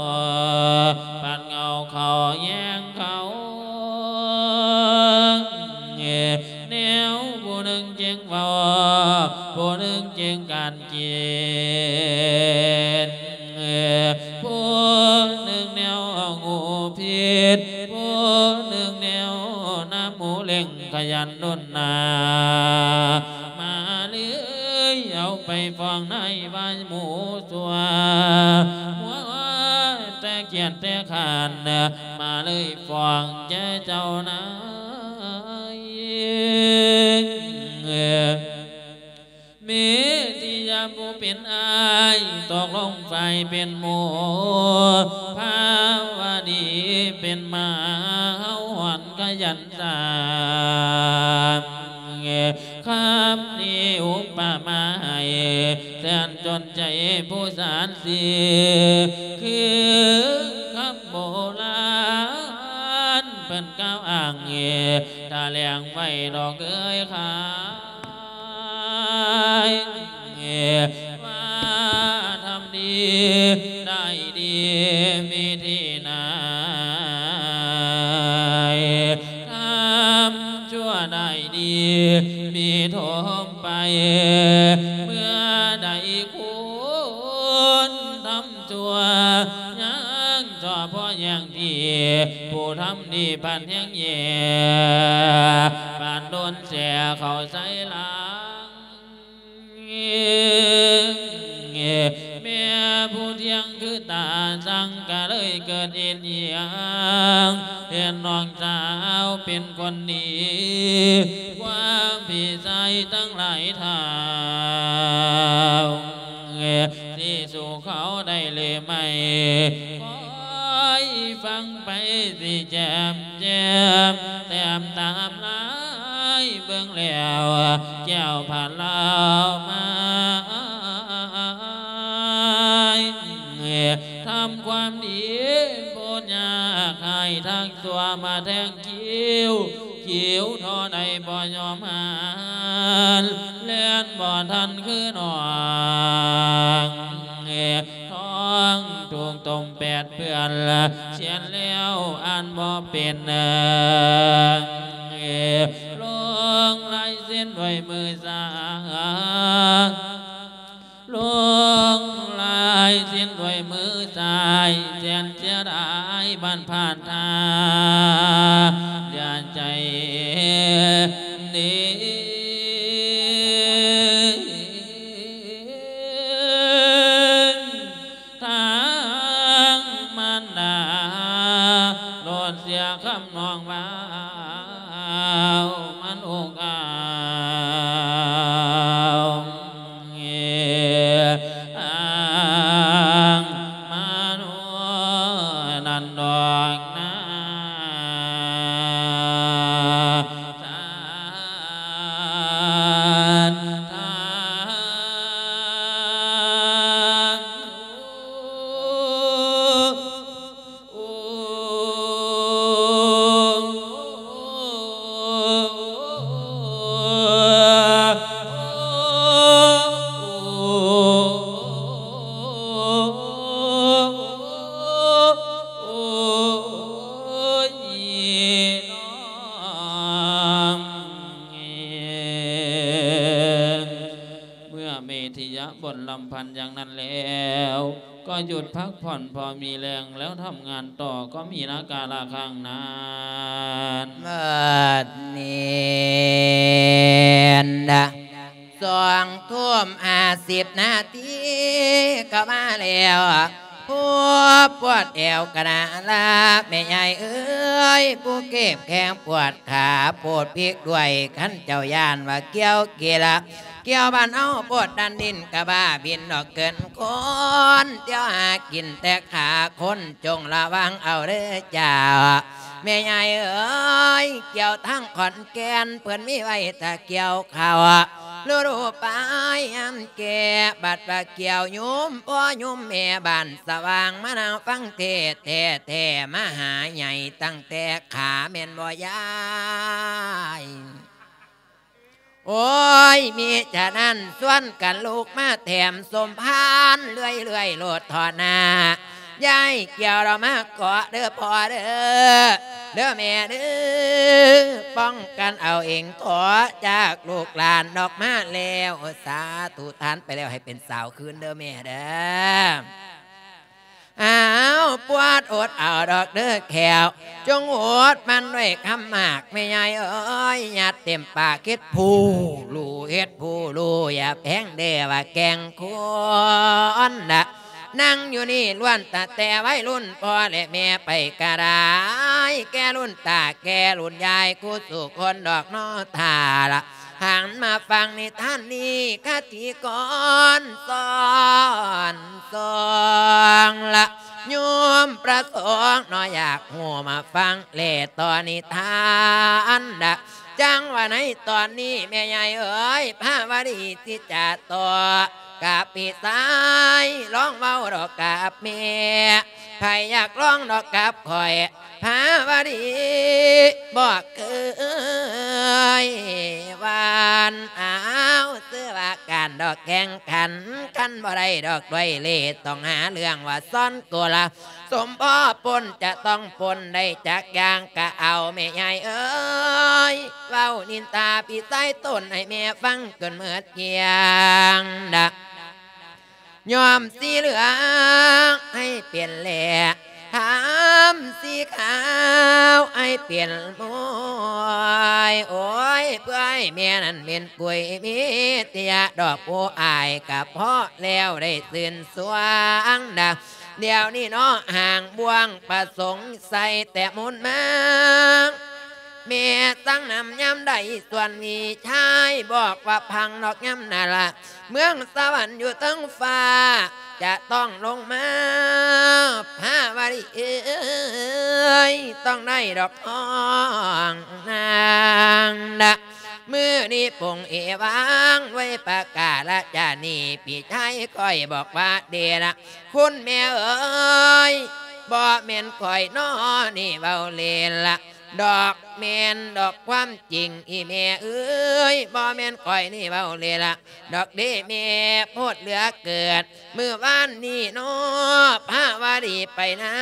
ພັດເຫງົາເຂົ້າແຍງເຂົາ ແນວຜູ້ໜຶ່ງຈຶ່ງເວົ້າ ຜູ້ໜຶ່ງຈຶ່ງການກິນ ຜູ້ໜຶ່ງແນວຫູຜິດ ຜູ້ໜຶ່ງແນວໜ້າໝູເລັ່ງ ຂະຫຍັນດົນໜ້າ ມາເລີຍເອົາໄປຟ້ອງນາຍວ່າໝູຊົ່ວ ມົວແຕ່ກຽດແຕ່ຄ້ານ ມາເລີຍຟ້ອງແກ່ເຈົ້ານາຍ ເມທິຍາຜູ້ເປັນອ້າຍ ຕົກລົງຝ່າຍເປັນໝູ່ ພາວະດີເປັນໝາ ເຫົ່າຫອນຂະຫຍັນສ້າງ ຄຳນີ້ອຸປະມາໃຫ້ແສນຈົນໃຈຜູ້ສານສີ ຄືຄຳໂບລານ ນກ່າວອ້າງ ຖະແຫຼງໄວ້ດອກເອີຍຂ້າ ວ່າທຳດີໄດ້ດີມີທີ່ໄໜ ທຳຊົ່ວໄດ້ດີມີຖົມໄປ ເມື່ອໃດຄົນທຳ ຊົ່ວຍັງຊໍ້ພໍແຍ່ງທີ່ ຜູ້ທຳດີປານແຮງແຍ່ ປານໂດນແຊ່ເຂົ້າໃສ່ຫຼັງ ແມ່ຜູ້ທ່ຽງຄືຕາສັງ ກະເລີຍເກີດເອັນອີ່ຫຍັງ ເຫັນນ້ອງສາວເປັນຄົນດີ ກວ່າພີ່ຊາຍທັງຫຼາຍເທົ່າ ຊິສູ້ເຂົາໄດ້ຫຼືໄໝ ຄອຍຟັງໄປຊິແຈ່ມແຈ່ມ ແຕ້ມຕາມລາຍເບິ່ງແລ້ວ ແກ້ວພາລາວມາ ທຳຄວາມດີບໍ່ຍາກ ໃຫ້ທັກຊົ່ວມາແທງ ຄິວ ຄິວທໍ່ໃດບໍ່ຍອມຫັນ ແລ່ນບໍ່ທັນຄືນ້ອງ ທ້ອງຖືກຕົ້ມແປດເປື້ອນ ຂຽນແລ້ວອ່ານບໍ່ເປັນ ລົງລາຍເຊັນດ້ວຍມືຊ້າຍ ລົງລາຍເຊັນດ້ວຍມືຊ້າຍ ແສນເສຍດາຍບ້ານຜ່ານທາ ຢ່າໃຈດີ ທາງມານດາ ໂລດເສຍຄຳນ້ອງວ່າ ເອົາມັນອົກເອົາ ເອີ ອ້າງມາໂນນັ້ນດອກນາ ສານທາງ ເມື່ອເມທິຍະບ່ອນລຳພັນຢ່າງນັ້ນແລ້ວ ກໍຢຸດພັກຜ່ອນພໍມີແຮງ ແລ້ວທຳງານຕໍ່ ກໍມີນາກາລະຄັ້ງນັ້ນ. ບັດນີ້ນະ ສອງທຸ່ມຫ້າສິບນາທີກໍມາແລ້ວ ຜູ້ປວດແອວກະນະລະ ແມ່ຍາຍເອີຍ ຜູ້ເຈັບແຂ້ງປວດຂາ ໂປດພິກດ້ວຍ ຄັນເຈົ້າຢ້ານວ່າກ່ຽວກີລະ ກ່ຽວບ້ານເຮົາໂພດດັນດິນກະບ້າບິນອອກເກີນຄົນ ດຽວຫາກິນແຕ່ຂາຄົນ ຈົ່ງລະວັງເອົາເດີເຈົ້າ ແມ່ຍາຍເອີຍ ກ່ຽວທາງຂອນແກ່ນ ເພິ່ນມີໄວ້ຖ້າກ່ຽວເຂົ້າ ລະດູປາຍຍາມແກ່ ບັດວ່າກ່ຽວຍຸ່ມພໍ່ຍຸ່ມແມ່ບ້ານສະຫວ່າງ ມານັ່ງຟັງເທດແທ້ໆ ມາຫາໃຫຍ່ຕັ້ງແຕ່ຂາແມ່ນບໍ່ຍາຍ? ໂອ້ຍ ມິສະນັ້ນ ຊວນກັນລຸກມາແຖມສົມພານເລື້ອຍໆໂລດເທາະນາ ຍາຍກ່ຽວລາວມາເກາະເດີພໍ່ເດີ ເດີແມ່ເດີ ປ້ອງກັນເອົາເອງເທາະ ຈາກລູກຫຼານອອກມາແລ້ວ ສາທຸ ທານໄປແລ້ວໃຫ້ເປັນສາວຄືນເດີແມ່ເດີ. ອ້າວ ປວດອົດເອົາດອກເດີແຂ້ວ ຈົ່ງອົດມັນດ້ວຍຄຳໝາກ ແມ່ຍາຍເອີຍ ຍັດເຕັມປາກ ເຮັດຜູ້ລູເຮັດຜູ້ລູ ຢ່າແພງເດ້ວ່າແກ່ງຄົນນະ ນັ່ງຢູ່ນີ້ລ້ວນຕັ້ງແຕ່ໄວລຸ້ນ ພໍ່ແລະແມ່ໄປກະໄດ້ ແກ່ລຸ້ນຕາແກ່ລຸ້ນຍາຍ ຄູ່ສູ່ຄົນດອກເນາະທ່າລະ ຫັນມາຟັງນິທານນີ້ ຄະຕິກອນສອນສ່ອງລະ ໂຍມພະສົງເນາະ ຢາກຮູ້ມາຟັງແລຕໍ່ນິທານລະ ຈັ່ງວ່າໃນຕອນນີ້ແມ່ຍາຍເອີຍ ພາວະດີຊິຈະຕໍ່ກັບພີ່ຊາຍ ລອງເວົ້າດອກກັບແມ່ ໃຜຢາກລອງດອກກັບຂ້ອຍ ພາວະດີ ບໍ່ເຄີຍຫວັ່ນ. ອ້າວ ຊື່ວ່າການດອກແຂ່ງຂັນ ຄັນບໍ່ໄດ້ດອກດ້ວຍເລ່ ຕ້ອງຫາເລື່ອງວ່າຊ້ອນໂກລາ ສົມພໍປົນຈະຕ້ອງປົນໄດ້ຈັກຢ່າງກະເອົາ ແມ່ໃຫຍ່ເອີຍ ເວົ້ານິນທາພີ່ຊາຍຕົນໃຫ້ແມ່ຟັງຈົນເໝິດກ້ຽງດະ. ຍ້ອມສີເຫຼືອງໃຫ້ເປັນແລ ທຳສີຂາວໃຫ້ເປັນມວຍ. ໂອ້ຍ ເພື່ອໃຫ້ແມ່ນັ້ນເປັນກຸຍມີຕິຍະດອກ ຜູ້ອ້າຍກະພໍແລ້ວໄດ້ຊື່ນຊວງດາ. ດຽວນີ້ເນາະ ຫາງບ່ວງປະສົງໃສ່ແຕ່ມູນມາ ແມ່ສັ່ງນຳຍາມໃດ ສ່ວນພີ່ຊາຍບອກວ່າພັງນອກຍາມນັ້ນລະ ເມືອງສະຫວັນຢູ່ເທິງຟ້າ ຈະຕ້ອງລົງມາ ພາວະດີເອີຍ ຕ້ອງໄດ້ດອກນ້ອງນາງນະ. ມື້ນີ້ປົງເອວາງໄວ້ປະກາລະຈານີ້ ພີ່ຊາຍຂ້ອຍບອກວ່າເດລະ ຄຸນແມ່ເອີຍ ບໍ່ແມ່ນຂ້ອຍນໍນີ້ເວົ້າເລ່ນລະ ດອກແມ່ນດອກຄວາມຈິງ ອີ່ແມ່ເອີຍ ບໍ່ແມ່ນຂ້ອຍນີ້ເວົ້າເລ່ນລະ ດອກເດ້ແມ່ ໂພດເຫຼືອເກີນ. ມື້ວານນີ້ນໍ ພາວະດີໄປນາ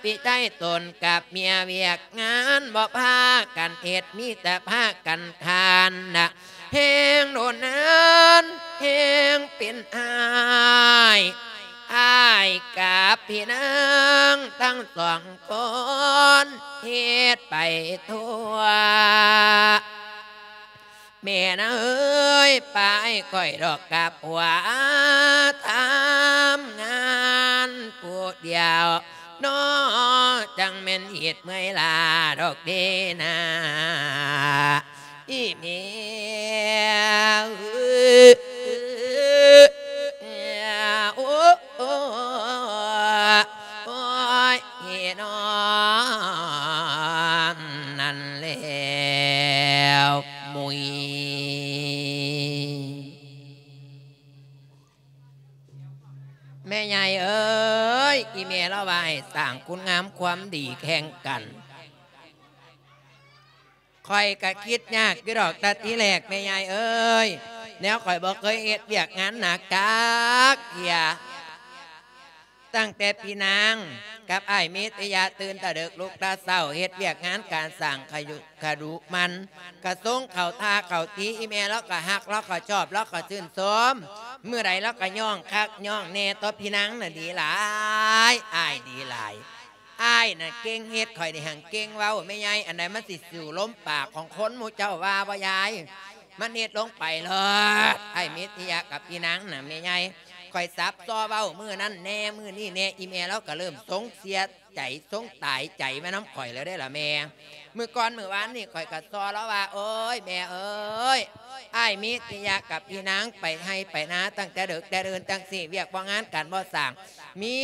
ພີ່ຊາຍຕົນກັບເມຍວຽກງານ ບໍ່ພາກັນເຮັດ ມີແຕ່ພາກັນຄານນະ ແຮງໂດນນານ ແຮງເປັນອ້າຍ ອ້າຍກັບພີ່ນາງທັງສອງຄົນ ເຮັດໄປທົ່ວ. ແມ່ນາເອີຍ ປາໃຫ້ຂ້ອຍດອກກັບຜົວ ທຳງານຜູ້ດຽວນໍ ຈັ່ງແມ່ນເຮັດເມື່ອຍລ້າດອກເດນາ ອີ່ແມ່ເອີຍ ໂອ້ ໂອ້ຍ ໂອ້ຍ ນອນນັ້ນແລ້ວມຸຍ. ແມ່ໃຫຍ່ເອີຍ ອີ່ແມ່ລາວວ່າໃຫ້ສ້າງຄຸນງາມຄວາມດີແຂ່ງກັນ. ຂ້ອຍກະຄິດຍາກຢູ່ດອກ ແຕ່ທີແລກແມ່ໃຫຍ່ເອີຍ ແນວຂ້ອຍບໍ່ເຄີຍເຮັດວຽກງານໜັກຈັກເທື່ອ ຕັ້ງແຕ່ພີ່ນາງກັບອ້າຍມິດຕິຍະ ຕື່ນຕາເດິກລຸກຕາເຊົ້າ ເຮັດວຽກງານການສ້າງຂະຍຸຂະດຸໝັ່ນ ກະຊົງເຂົ້າທ່າເຂົ້າທີ ອີ່ແມ່ລາວກະຮັກ ລາວກະຊອບ ລາວກະຊື່ນຊົມ ມື້ໃດລາວກະຍ້ອງຄັກຍ້ອງແນ່ຕໍ່ພີ່ນາງນະ ດີຫຼາຍ ອ້າຍດີຫຼາຍ. ອ້າຍນະເກັ່ງເຮັດ ຂ້ອຍນີ້ຫັ້ນເກັ່ງເວົ້າ ແມ່ໃຫຍ່ ອັນໃດມັນຊິສູ້ລົມປາກຂອງຄົນ ໝູ່ເຈົ້າວ່າບໍ່ຍາຍ? ມັນເຮັດລົງໄປໂລດ ອ້າຍມິດຕິຍະກັບພີ່ນາງນະ ແມ່ໃຫຍ່ ຂ້ອຍສັບຊໍເວົ້າມື້ນັ້ນແນ່ ມື້ນີ້ແນ່ ອີ່ແມ່ລາວກະເລີ່ມຊົງເສຍໃຈ ຊົງຕາຍໃຈມານຳຂ້ອຍແລ້ວເດ້ລະແມ່. ມື້ກ່ອນມື້ວານນີ້ຂ້ອຍກະຊໍລາວວ່າ ໂອ້ຍ ແມ່ເອີຍ ອ້າຍມິດຕິຍະກັບອີ່ນາງໄປໄຮ່ໄປນາຕັ້ງແຕ່ເດິກແຕ່ເດີນ ຈັ່ງຊີ້ວຽກບໍ່ງານການບໍ່ສ້າງ ມີ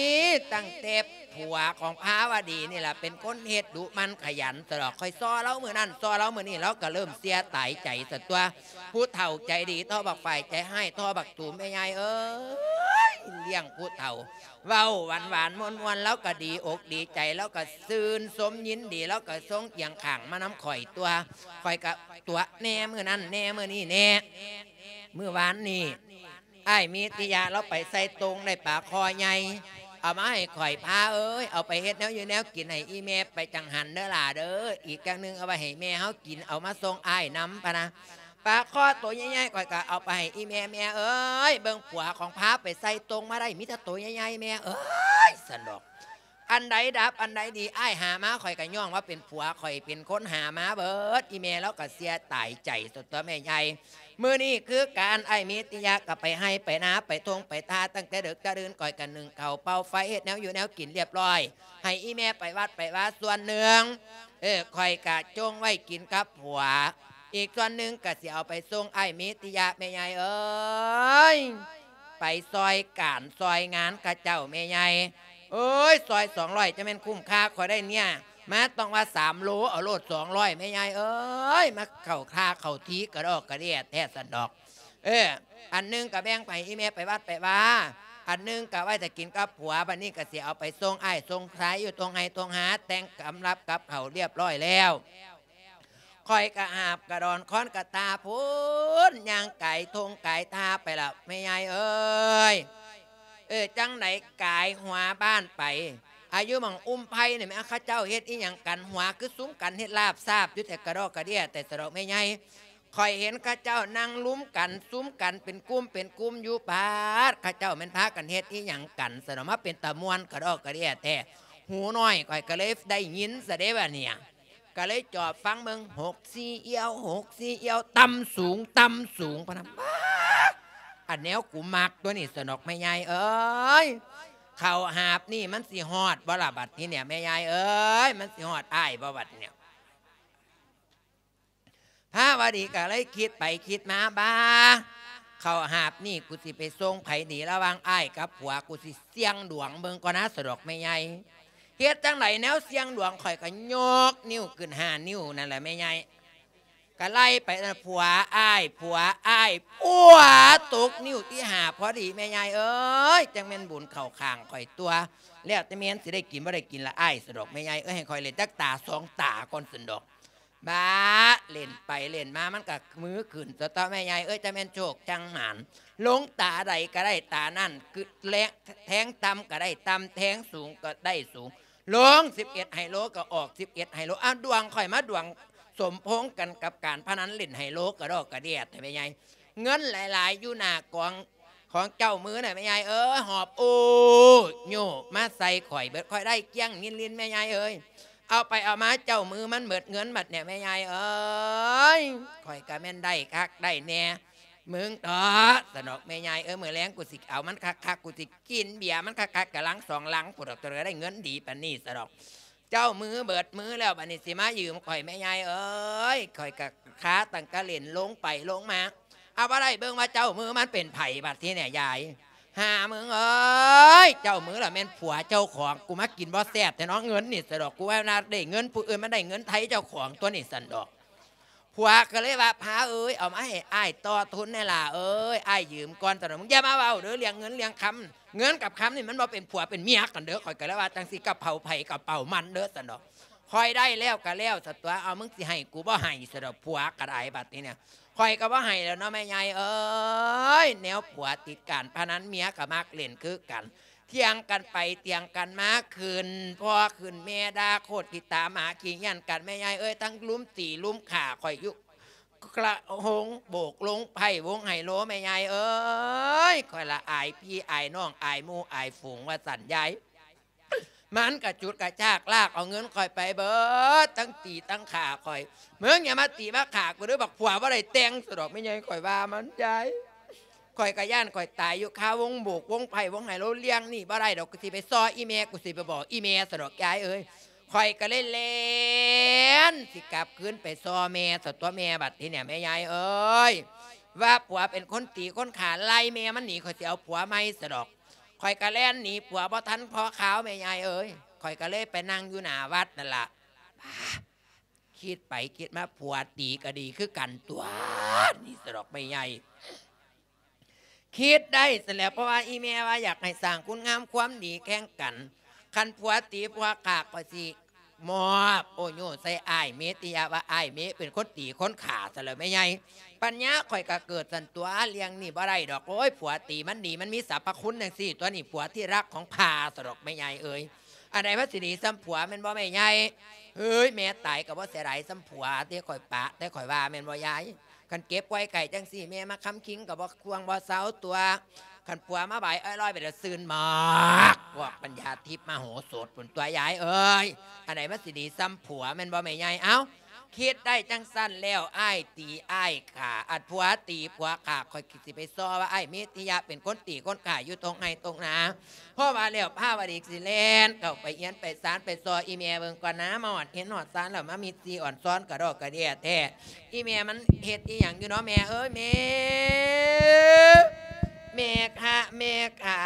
ຕັ້ງແຕ່ຜົວຂອງພາວະດີນີ້ລະເປັນຄົນເຮັດດຸໝັ່ນຂະຫຍັນ ສະດອກ. ຂ້ອຍຊໍລາວມື້ນັ້ນ ຊໍລາວມື້ນີ້ ລາວກະເລີ່ມເສຍຕາຍໃຈຊັ້ນຕົວະ. ຜູ້ເຖົ້າໃຈດີທໍ່ບັກຝ້າຍ ໃຈຮ້າຍທໍ່ບັກຕູມ ແມ່ໃຫຍ່ເອີຍ ລ້ຽງຜູ້ເຖົ້າ ເວົ້າຫວານໆ ມ່ວນໆ ລາວກະດີອົກດີໃຈ ລາວກະຊື່ນຊົມຍິນດີ ລາວກະຊົງຄຽງຂ້າງມານຳຂ້ອຍຕົວະ. ຂ້ອຍກະຕົວະແນ່ມື້ນັ້ນແນ່ ມື້ນີ້ແນ່. ມື້ວານນີ້ ອ້າຍມິດຕິຍະລາວໄປໃສ່ໂຕ່ງໄດ້ປາຄໍໃຫຍ່ ເອົາມາໃຫ້ຂ້ອຍ ພາເອີຍ ເອົາໄປເຮັດແນວຢູ່ແນວກິນໃຫ້ອີ່ແມ່ໄປຈັງຫັນເດີຫຼ້າເດີ ອີກຢ່າງໜຶ່ງເອົາໄວ້ໃຫ້ແມ່ເຮົາກິນ ເອົາມາສົ່ງອ້າຍນຳ ພະນະ. ປາຄໍໂຕໃຫຍ່ໆ ຂ້ອຍກະເອົາໄປໃຫ້ອີ່ແມ່ ແມ່ເອີຍ ເບິ່ງຜົວຂອງພາໄປໃສ່ໂຕ່ງມາໄດ້ ມີແຕ່ໂຕໃຫຍ່ໆ ແມ່ເອີຍ ຊັ້ນດອກ. ອັນໃດດັບອັນໃດດີ ອ້າຍຫາມາ ຂ້ອຍກະຍ້ອງວ່າເປັນຜົວ ຂ້ອຍເປັນຄົນຫາມາເບີດ ອີ່ແມ່ລາວກະເສຍຕາຍໃຈ ຊັ້ນຕົວະແມ່ໃຫຍ່. ມື້ນີ້ຄືກັນ ອ້າຍມິດຕິຍະກະໄປໄຮ່ໄປນາ ໄປທົ່ງໄປທ່າ ຕັ້ງແຕ່ເດິກແຕ່ເດີນ ຂ້ອຍກະໜຶ້ງເຂົ້າເປົ່າໄຟ ເຮັດແນວຢູ່ແນວກິນລຽບຮ້ອຍ ໃຫ້ອີ່ແມ່ໄປວັດໄປວາສ່ວນໜຶ່ງ ເອີ ຂ້ອຍກະຈົ່ງໄວ້ກິນກັບຜົວ ອີກສ່ວນໜຶ່ງກະຊິເອົາໄປສົ່ງອ້າຍມິດຕິຍະ ແມ່ໃຫຍ່ເອີຍ ໄປຊ່ອຍການຊ່ອຍງານເຂົາເຈົ້າ ແມ່ໃຫຍ່ເອີຍ. ຊ່ອຍສອງຮ້ອຍ ຈະແມ່ນຄຸ້ມຄ່າ ຂ້ອຍໄດ້ເນຍມາຕ້ອງວ່າສາມໂລ ເອົາໂລດສອງຮ້ອຍ ແມ່ໃຫຍ່ເອີຍ ມາເຂົ້າທ່າເຂົ້າທີກະດອກກະເດຍແທ້ຊັ້ນດອກ. ເອີ ອັນໜຶ່ງກະແບ່ງໄປໃຫ້ອີ່ແມ່ໄປວັດໄປວາ ອັນໜຶ່ງກໍໄວ້ຖ້າກິນກັບຜົວ ບັດນີ້ກໍຊິເອົາໄປສົ່ງອ້າຍສົ່ງຊາຍຢູ່ທົ່ງໄຮ່ທົ່ງນາ ແຕ່ງກຳລັບກັບເຂົາລຽບຮ້ອຍແລ້ວ. ຂ້ອຍກະຫາບກະດອນຄ້ອນກະຕ່າພຸ້ນ ຍ່າງກາຍທົ່ງກາຍທ່າໄປລະແມ່ໃຫຍ່ເອີຍ. ເອີ ຈັ່ງໃດກາຍຫົວບ້ານໄປ ອາ ຢູ່ໝ່ອງອຸ້ມໄຜ່ນີ້ແມ່ ເຂົາເຈົ້າເຮັດອີ່ຫຍັງກັນ ຫົວຄືຊຸມກັນເຮັດລາບຊາບຢູ່ແທ້ ກະດອກກະເດຍແທ້ ສະດອກແມ່ໃຫຍ່. ຂ້ອຍເຫັນເຂົາເຈົ້ານັ່ງລຸມກັນ ຊຸມກັນເປັນກຸ່ມເປັນກຸ່ມຢູ່ ປາດ ເຂົາເຈົ້າແມ່ນພາກັນເຮັດອີ່ຫຍັງກັນ ສະດອກ ມາເປັນຕາມ່ວນກະດອກກະເດຍແທ້. ຫູນ້ອຍຂ້ອຍກໍເລີຍໄດ້ຍິນຊະເດ້ບາດນີ້ ກໍເລີຍຈອບຟັງເບິ່ງ ຫົກສີ່ອຽວ ຫົກສີ່ອຽວ ຕ່ຳສູງ ຕ່ຳສູງ ພະນະ. ປາດ ອັນແນວກູມັກຕົວນີ້ ສະດອກແມ່ໃຫຍ່ເອີຍ. ເຂົ້າຫາບນີ້ມັນຊິຮອດບໍ່ລະບັດນີ້ແມ່ໃຫຍ່ເອີຍ ມັນຊິຮອດອ້າຍບໍ່ບັດນີ້. ພາວະດີກໍເລີຍຄິດໄປຄິດມາ ບາ ເຂົ້າຫາບນີ້ກູຊິໄປສົ່ງໃຜດີ ລະຫວ່າງອ້າຍກັບຜົວ ກູຊິສ່ຽງດວງເບິ່ງກ່ອນນະ ສະດອກແມ່ໃຫຍ່. ເຮັດຈັ່ງໃດແນວສ່ຽງດວງ ຂ້ອຍກໍຍົກນິ້ວຂຶ້ນຫ້ານິ້ວນັ້ນແຫຼະແມ່ໃຫຍ່ ກໍໄລ່ໄປ ຜົວອ້າຍ ຜົວອ້າຍ ປົວ ຕົກນິ້ວທີຫ້າພໍດີແມ່ໃຫຍ່ເອີຍ. ຈັ່ງແມ່ນບຸນເຂົ້າຂ້າງຂ້ອຍຕົວະ ແລ້ວແຕ່ແມ່ນຊິໄດ້ກິນບໍ່ໄດ້ກິນລະອ້າຍ ສະດອກແມ່ໃຫຍ່ເອີຍ. ໃຫ້ຂ້ອຍເຫຼັ້ນຈັກຕາສອງຕາກ່ອນ ສະດອກ. ບາ ເຫຼັ້ນໄປເຫຼັ້ນມາ ມັນກໍມືຂຶ້ນຕົວະ ແມ່ໃຫຍ່ເອີຍ. ຈະແມ່ນໂຊກຈັງໝານ ລົງຕາໃດກໍໄດ້ຕານັ້ນ ຄືແລງ ແທງຕ່ຳກໍໄດ້ຕ່ຳ ແທງສູງກໍໄດ້ສູງ ລົງສິບເອັດໄຮໂລກໍອອກສິບເອັດໄຮໂລ. ອ້າວ ດວງຂ້ອຍມາດວງສົມພົງກັນກັບການພະນັນເຫຼັ້ນໄຮໂລກະດອກກະເດຍແທ້ແມ່ໃຫຍ່. ເງິນຫຼາຍໆຢູ່ໜ້າກອງຂອງເຈົ້າມືນະແມ່ໃຫຍ່ເອີຍ ຫອບໂອ້ໂຫຍມາໃສ່ຂ້ອຍເບິດ ຂ້ອຍໄດ້ກ້ຽງລິນໆແມ່ໃຫຍ່ເອີຍ. ເອົາໄປເອົາມາເຈົ້າມືມັນເບິດເງິນບັດນີ້ແມ່ໃຫຍ່ເອີຍ. ຂ້ອຍກະແມ່ນໄດ້ຄັກໄດ້ແນ່ ມຶງເຖາະ ສະດອກແມ່ໃຫຍ່ເອີຍ. ມື້ແລງກູຊິເອົາມັນຄັກໆ ກູຊິກິນເບຍມັນຄັກໆ ກະລັງສອງລັງພຸ້ນດອກ ຕົວໃດໄດ້ເງິນດີປານນີ້ ສະດອກ. ເຈົ້າມືເບິດມືແລ້ວ ບາດນີ້ຊິມາຢືມຂ້ອຍແມ່ໃຫຍ່ເອີຍ. ຂ້ອຍກະຄາຕັ້ງແຕ່ເຫຼັ້ນລົງໄປລົງມາ ເອົາບໍ່ໄດ້ເບິ່ງວ່າເຈົ້າມືມັນເປັນໃຜບັດທີນີ້ຍາຍ. ຫາມຶງເອີຍ ເຈົ້າມືລະແມ່ນຜົວເຈົ້າຂອງ ກູມາກິນບໍ່ແຊບແທ້ເນາະ ເງິນນີ້ ສະດອກ. ກູວ່ານະ ໄດ້ເງິນຜູ້ອື່ນ ມັນໄດ້ເງິນໄທເຈົ້າຂອງຕົວະນີ້ ສະດອກ. ຜົວກໍເລີຍວ່າ ພາເອີຍ ເອົາມາໃຫ້ອ້າຍຕໍ່ທຶນແດ່ຫຼ້າເອີຍ ອ້າຍຢືມກ່ອນ ສະດອກ. ມຶງຢ່າມາເວົ້າເດີ ເລື່ອງເງິນເລື່ອງຄຳ ເງິນກັບຄຳນີ້ມັນບໍ່ເປັນຜົວເປັນເມຍກັນເດີ. ຂ້ອຍກໍເລີຍວ່າຈັ່ງຊີ້ ກະເປົາໃຜກະເປົາມັນເດີ ສະດອກ. ຂ້ອຍໄດ້ແລ້ວກໍແລ້ວຊະຕົວະ ເອົາ ມຶງຊິໃຫ້ກູບໍ່ໃຫ້ ສະດອກ. ຜົວກໍໄດ້ບັດນີ້ນະ ຂ້ອຍກໍບໍ່ໃຫ້ແລ້ວເນາະແມ່ໃຫຍ່ເອີຍ. ແນວຜົວຕິດການພະນັນ ເມຍກໍມັກເຫຼັ້ນຄືກັນ ຖຽງກັນໄປຖຽງກັນມາ ຂຶ້ນພໍ່ຂຶ້ນແມ່ ດ່າໂຄດຂີ້ຕາໝາ ຂີ້ຫຍັນກັນແມ່ໃຫຍ່ເອີຍ. ທັງລຸມຕີລຸມຂ້າຂ້ອຍຢູ່ ກະໂຮງໂບກໂຮງໄພ້ໂຮງໄຮໂລແມ່ໃຫຍ່ເອີຍ. ຂ້ອຍລະອາຍພີ່ອາຍນ້ອງ ອາຍໝູ່ອາຍຝູງວ່າຊັ້ນຍາຍ. ມັນກະຊຸດກະຊາກລາກເອົາເງິນຂ້ອຍໄປເບິດ ທັງຕີທັງຂ້າຂ້ອຍ. ມຶງຢ່າມາຕີມາຂ້າກູເດີ ບັກຜົວບໍ່ໄດ້ແຕ່ງ ສະດອກແມ່ໃຫຍ່ ຂ້ອຍວ່າມັນຍາຍ. ຂ້ອຍກະຢ້ານຂ້ອຍຕາຍຢູ່ຄາວົງໂບກວົງໄພ້ວົງໄຮໂລ. ເລື່ອງນີ້ບໍ່ໄດ້ດອກ ກູຊິໄປຊໍ່ອີ່ແມ່ ກູຊິໄປບອກອີ່ແມ່ ສະດອກຍາຍເອີຍ. ຂ້ອຍກໍເລີຍແລ່ນຊິກັບຄືນໄປຊໍ່ແມ່ ສະຕົວະແມ່. ບັດທີນີ້ແມ່ຍາຍເອີຍ ວ່າຜົວເປັນຄົນຕີຄົນຂ້າ ໄລ່ແມ່ມັນໜີ ຂ້ອຍຊິເອົາຜົວໃໝ່ ສະດອກ. ຂ້ອຍກໍແລ່ນໜີຜົວບໍ່ທັນພໍຄາວ ແມ່ຍາຍເອີຍ. ຂ້ອຍກໍເລີຍໄປນັ່ງຢູ່ໜ້າວັດນັ້ນລະ. ຄິດໄປຄິດມາ ຜົວຕີກໍດີຄືກັນຕົວະນີ້ ສະດອກແມ່ຍາຍ. ຄິດໄດ້ຊັ້ນແຫຼະ ເພາະວ່າອີ່ແມ່ວ່າຢາກໃຫ້ສ້າງຄຸນງາມຄວາມດີແຂ່ງກັນ. ຄັນຜົວຕີຜົວຂ້າ ຂ້ອຍຊິມອບໂອໂຍໃສ່ອ້າຍເມຕິຍະ ວ່າອ້າຍເມເປັນຄົນຕີຄົນຂ້າຊັ້ນແຫຼະແມ່ໃຫຍ່. ປັນຍາຂ້ອຍກໍເກີດຊັ້ນຕົວະ ເລື່ອງນີ້ບໍ່ໄດ້ດອກ. ໂອ້ຍ ຜົວຕີມັນດີ ມັນມີສັບພະຄຸນຈັ່ງຊີ້ຕົວະນີ້ ຜົວທີ່ລັກຂອງຂ້າ ສະດອກແມ່ໃຫຍ່ເອີຍ. ອັນໃດມັນຊິດີສ່ຳຜົວແມ່ນບໍ່ແມ່ໃຫຍ່? ເອີຍ ແມ່ຕາຍກໍບໍ່ເສຍດາຍສ່ຳຜົວເດ້ ຂ້ອຍປະ ແຕ່ຂ້ອຍວ່າແມ່ນບໍ່ຍາຍ? ຄັນເກັບໄວ້ໃກ້ຈັ່ງຊີ້ ແມ່ມາຄຳຄິງກໍບໍ່ຄວງບໍ່ເຊົາຕົວະ. ຄັນຜົວມາບາຍອ້ອຍລອຍໄປແລ້ວ ຊື່ນໝາກ ພວກປັນຍາທິບມະໂຫສົດພຸ້ນຕົວະຍາຍເອີຍ. ອັນໃດມັນຊິດີສ່ຳຜົວແມ່ນບໍ່ແມ່ໃຫຍ່? ເອົ້າ ຄິດໄດ້ຈັ່ງຊັ້ນແລ້ວ ອ້າຍຕີອ້າຍຂ້າ ອັນຜົວຕີຜົວຂ້າ ຂ້ອຍ ຊິໄປຊໍ່ວ່າອ້າຍເມຕິຍະເປັນຄົນຕີຄົນຂ້າຢູ່ຕົງໄຮ່ຕົງນາ. ພໍວ່າແລ້ວພາວະດີຊິແລ່ນເຂົ້າໄປເຮືອນໄປຊານ ໄປຊໍ່ອີ່ແມ່ເບິ່ງກ່ອນນາ. ມາຮອດເຮືອນຮອດຊານແລ້ວ ມາມິດຊີອ່ອນຊອນກະດອກກະເດຍແທ້. ອີ່ແມ່ມັນເຮັດອີ່ຫຍັງຢູ່ເນາະແມ່ເອີຍ ແມ່ ແມ່ຄະ ແມ່ຂາ